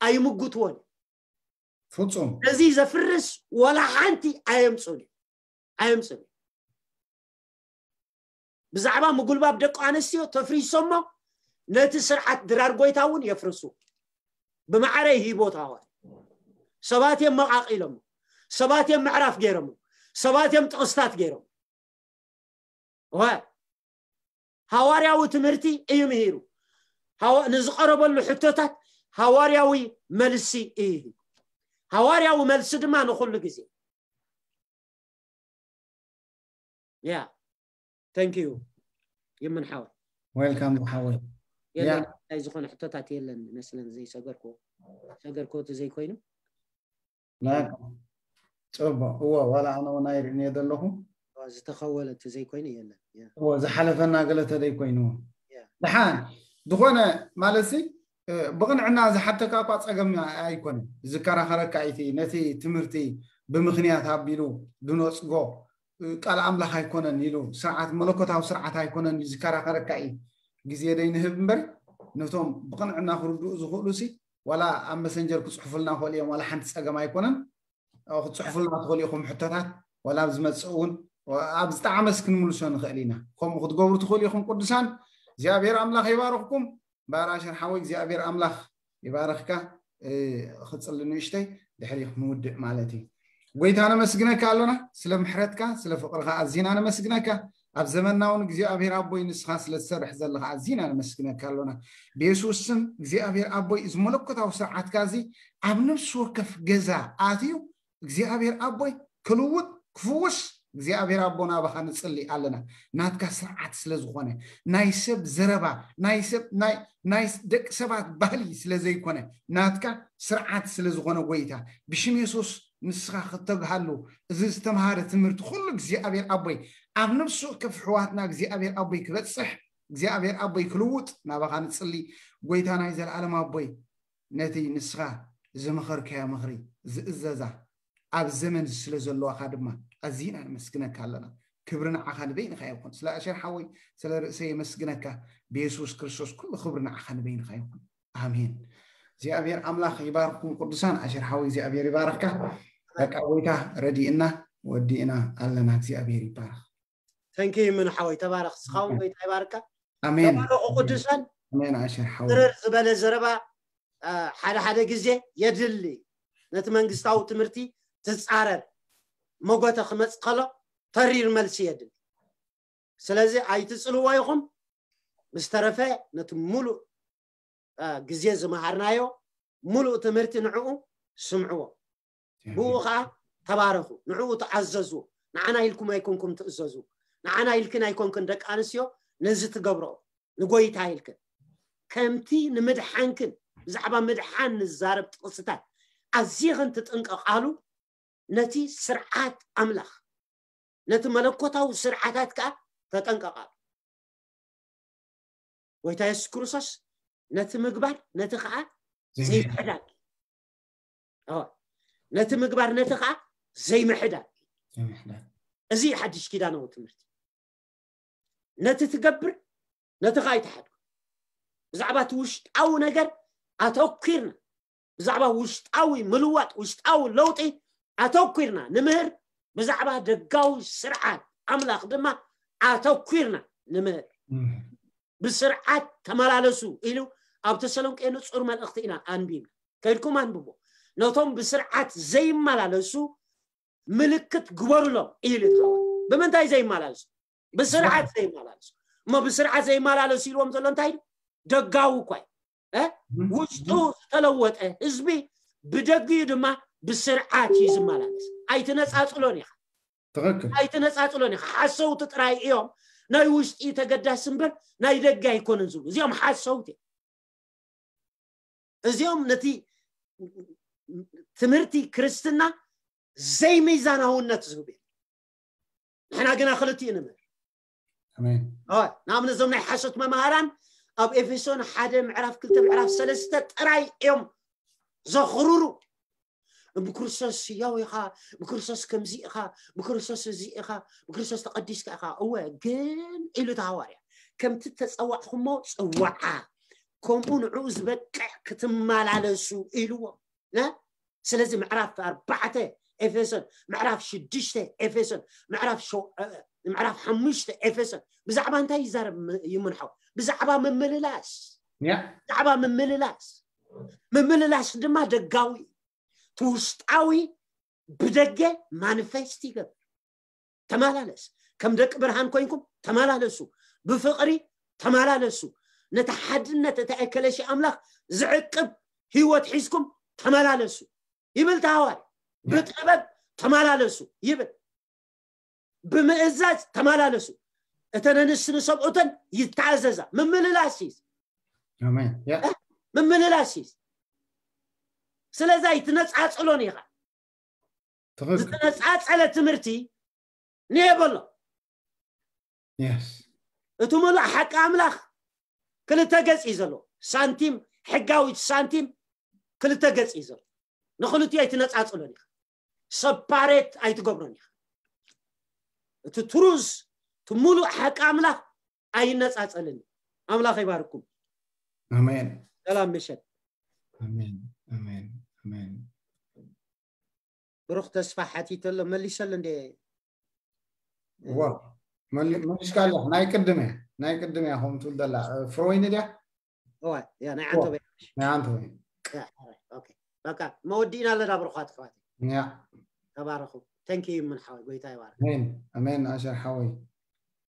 ኣይምጉትዎን። ፍጹም። ነዚ ዘፍርስ ዋላ ሓንቲ ኣየምፁን እዩ፣ ኣየምፁን እዩ። ብዛዕባ ምጉልባብ ደቂ ኣንስትዮ ተፍሪሶሞ ነቲ ስርዓት ድራር ጎይታ እውን የፍርሱ። ብማዕረ ይሂቦት ሃዋር ሰባት እዮም መቃቂሎሞ፣ ሰባት እዮም ምዕራፍ ገይሮሞ፣ ሰባት እዮም ጥቕስታት ገይሮም። ዋ ሃዋርያዊ ትምህርቲ እዩ ምሂሩ። ሃዋ- ንዝቐረበሉ ሕቶታት ሃዋርያዊ መልሲ እዩ። ሃዋርያዊ መልሲ ድማ ንኹሉ ግዜ። ያ thank you ይምን ሓወይ። ዌልካም ዝሓወይ። የለን ያ። ናይ ዝኾነ ሕቶታት የለን መስለን ዘይሰገርኩ ሰገርኩ እቲ ዘይኮይኑ ላካ ጽቡቅ። እዎ ዋላ ኣነ እውን ኣይርእን እየ ዘለኹ። ዝተኸወለ እቲ ዘይኮይኑ የለን። ያ። እዎ ዝሓለፈና ገለ ተደይ ኮይኑ ያ። ድሓን ዝኾነ ማለት ሲ እ፣ ብቕንዕና ዝሓተካ እኳ ጸገም ኣይኮነን። ዝከራኸረካ እቲ ነቲ ትምህርቲ ብምኽንያት ኣቢሉ ድነጽጎ እ፣ ቃል ኣምላኽ ኣይኮነን ኢሉ ስርዓት መለኮታዊ ስርዓት ኣይኮነን እዩ ዝከራኸረካ እዩ ግዜ ደይ ንህብ እምበር ነቶም ብቕንዕና ክርድኡ ዝኽእሉ ሲ ዋላ ኣብ መሰንጀር ክጽሕፉልና ክኽእሉ እዮም። ዋላ ሓንቲ ጸገም ኣይኮነን። ኣብ ክትጽሕፉልና ትኽእሉ ኢኹም ሕቶታት ዋላ ኣብ ዝመጽእ እውን ኣብ ዝጠዓመስ ክንምልሶ ንኽእል ኢና። ከምኡ ክትገብሩ ትኽእሉ ኢኹም ቅዱሳን። እግዚኣብሔር ኣምላኽ ይባርኽኩም። ባራሸር ሓወይ እግዚኣብሔር ኣምላኽ ይባርኽካ። እ፣ ክጽሊ ንእሽተይ ድሕሪ ክንውድእ ማለት እዩ። ጎይታ ነመስግነካ ኣሎና ስለ ምሕረትካ ስለ ፍቕርኻ ኣዚና ነመስግነካ። ኣብ ዘመንና እውን እግዚኣብሔር ኣቦይ ንስኻ ስለ ትሰርሕ ዘለኻ ኣዚና ነመስግነካ ኣሎና ብየሱስ ስም። እግዚኣብሔር ኣቦይ እዚ መለኮታዊ ስርዓትካ እዚ ኣብ ነፍሲ ወከፍ ገዛ ኣትዩ እግዚኣብሔር ኣቦይ ክልውጥ ክፍውስ እግዚኣብሔር ኣቦ ናባኻ ንጽሊ ኣለና። ናትካ ስርዓት ስለ ዝኾነ፣ ናይ ሰብ ዘረባ፣ ናይ ሰብ ናይ ናይ ደቂ ሰባት ባህሊ ስለ ዘይኮነ፣ ናትካ ስርዓት ስለ ዝኾነ ጎይታ፣ ብሽም የሱስ ንስኻ ክተግሃሉ፣ እዚ ዝተምሃረ ትምህርቲ ኩሉ እግዚኣብሔር ኣቦይ ኣብ ነፍሲ ወከፍ ኣሕዋትና እግዚኣብሔር ኣቦይ ክበጽሕ፣ እግዚኣብሔር ኣቦይ ክልውጥ ናባኻ ንጽሊ። ጎይታ ናይ ዘለኣለም ኣቦይ፣ ነቲ ንስኻ ዝመኸርካዮ ምኽሪ ዝእዘዛ ኣብ ዘመን ስለ ዘለዋኻ ድማ ኣዚና ነመስግነካ ኣለና። ክብሪ ንዓኻ ንበይንኻ ይኹን። ስለ ኣሸር ሓወይ፣ ስለ ርእሰይ የመስግነካ። ብየሱስ ክርስቶስ ኩሉ ክብሪ ንዓኻ ንበይንኻ ይኹን። ኣሜን። እግዚኣብሔር ኣምላኽ ይባርኩም ቅዱሳን። ኣሸር ሓወይ እግዚኣብሔር ይባርካ። በቃ ጎይታ ረዲእና ወዲእና ኣለና። እግዚኣብሔር ይባረኽ። ተንኪ ምን ሓወይ ተባረኽ። ስኻውን ጎይታ ይባርካ። ኣሜን። ተባረኹ ቅዱሳን። ኣሜን ኣሸር ሓወይ። ትርር ዝበለ ዘረባ ሓደ ሓደ ግዜ የድሊ። ነቲ መንግስታዊ ትምህርቲ ትጻረር መጎተ ክመጽእ ከሎ ተሪር መልሲ የድሊ። ስለዚ ኣይትጽልዎ ኢኹም። ምስተረፈ ነቲ ሙሉእ ግዜ ዝመሃርናዮ ሙሉእ ትምህርቲ ንዕኡ ስምዕዎ። ብኡ ከዓ ተባረኹ፣ ንዕኡ ተኣዘዙ። ንዓና ኢልኩም ኣይኮንኩም ትእዘዙ፣ ንዓና ኢልክን ኣይኮንክን ደቂ ኣንስትዮ ነዚ ትገብርኦ ንጎይታ ኢልክን። ከምቲ ንምድሓንክን ብዛዕባ ምድሓን ንዛረብ ጥቕስታት ኣዚኽን ትጥንቀቓሉ፣ ነቲ ስርዓት ኣምላኽ ነቲ መለኮታዊ ስርዓታት ከዓ ተጠንቀቓሉ። ጎይታ የሱስ ክርስቶስ ነቲ ምግባር ነቲ ከዓ ዘይምሕዳግ ነቲ ምግባር ነቲ ከዓ ዘይምሕዳግ። እዚ ሓድሽ ኪዳናዊ ትምህርቲ ነቲ ትገብር ነቲ ከዓ ኣይትሓዱ። ብዛዕባ እቲ ውሽጣዊ ነገር ኣተኪርና፣ ብዛዕባ ውሽጣዊ ምልዋጥ ውሽጣዊ ለውጢ ኣተኪርና ንምህር። ብዛዕባ ደጋዊ ስርዓት ኣምላኽ ድማ ኣተኪርና ንምህር። ብስርዓት ተመላለሱ ኢሉ ኣብ ተሰሎንቄ ንጹር መልእኽቲ ኢና ኣንቢብና። ከይድኩም ኣንብቦ። ነቶም ብስርዓት ዘይመላለሱ ምልክት ግበሩሎም ኢሉ። ብምንታይ ዘይመላለሱ? ብስርዓት ዘይመላለሱ። እሞ ብስርዓት ዘይመላለሱ ኢልዎም ዘሎ እንታይ? ደጋዊ እኳ እዩ። ውሽጡ ዝተለወጠ ህዝቢ ብደጊኡ ድማ ብስርዓት እዩ ዝመላለስ። ኣይትነፃፅሎን ኢኻ። ትኽክል። ኣይትነፃፅሎን ኢኻ። ሓሰውቲ ጥራይ እዮም። ናይ ውሽጢ ተገዳሲ እምበር ናይ ደገ ኣይኮነን ዝብሉ እዚኦም ሓሰውቲ እዮም። እዚኦም ነቲ ትምህርቲ ክርስትና ዘይሚዛናውነት ዝህቡ እዮም። ንሕና ግና ክልቲኡ ንምህር። ኣሜን። ንኣብነት እዞም ናይ ሓሶት መምሃራን ኣብ ኤፌሶን ሓደ ምዕራፍ ክልተ ምዕራፍ ሰለስተ ጥራይ እዮም ዘኽርሩ። ብክርስቶስ ህያው ኢኻ፣ ብክርስቶስ ከምዚ ኢኻ፣ ብክርስቶስ እዚ ኢኻ፣ ብክርስቶስ ተቐዲስካ ኢኻ። እወ ግን ኢሉ እቲ ሃዋርያ ከምቲ ተፀዋዕኹሞ ፅዋዓ ከምኡ ንዕኡ ዝበቅዕ ክትመላለሱ ኢልዎም። ስለዚ ምዕራፍ ኣርባዕተ ኤፌሶን፣ ምዕራፍ ሽዱሽተ ኤፌሶን፣ ምዕራፍ ምዕራፍ ሓሙሽተ ኤፌሶን ብዛዕባ እንታይ ይዛረብ? ይምንሖ ብዛዕባ ምምልላስ። ብዛዕባ ምምልላስ። ምምልላስ ድማ ደጋዊ እቲ ውሽጣዊ ብደገ ማኒፌስት ይገብር። ተመላለስ። ከም ደቂ ብርሃን ኮይንኩም ተመላለሱ። ብፍቕሪ ተመላለሱ። ነቲ ሓድነት እቲ ኤከለሲ ኣምላኽ ዝዕቅብ ህይወት ሒዝኩም ተመላለሱ ይብል ተሃዋሪ። ብጥበብ ተመላለሱ ይብል። ብምእዛዝ ተመላለሱ። እተን ኣንስቲ ንሰብኡተን ይተኣዘዛ። ምምልላስ እዩ። ኣሜን። ያ ምምልላስ እዩ። ስለዚ ኣይትነፃፅሎን ኢኻ። ትኽክል። ዝተነፃፀለ ትምህርቲ ንየበሎ። የስ እቲ ሙሉእ ሓቂ ኣምላኽ ክልተ ገፅ እዩ ዘለዎ። ሳንቲም፣ ሕጋዊት ሳንቲም ክልተ ገፅ እዩ ዘሎ። ንክልቲኡ ኣይትነፃፅሎን ኢኻ። ሰፓሬት ኣይትገብሮን ኢኻ። እቲ ትሩዝ እቲ ሙሉእ ሓቂ ኣምላኽ ኣይነፃፀልን እዩ። ኣምላኽ ይባርኩም። ኣሜን። ሰላም ምሸት። ኣሜን። ኣሜን። ኣሜን። ብሩኽ ተስፋ ሓቲተሎ መሊሰሉ እንደ ዋ መሊ- መሊስካ ኣለኻ። ናይ ቅድም እያ፣ ናይ ቅድም እያ ከምኡ ትብል ዘላ። ፍሮይን ድያ? እዋ ያ ናይ ዓንተበ ናይ ኣንተ ወይ? ያ ኦኬ። በቃ መወዲእና ኣለና ብሩኻት ኣሕዋት። ያ ተባረኹ። ተንኪ ምን ሓወይ ጎይታ ይባርክ። ኣሜን። ኣሜን ኣሸር ሓወይ።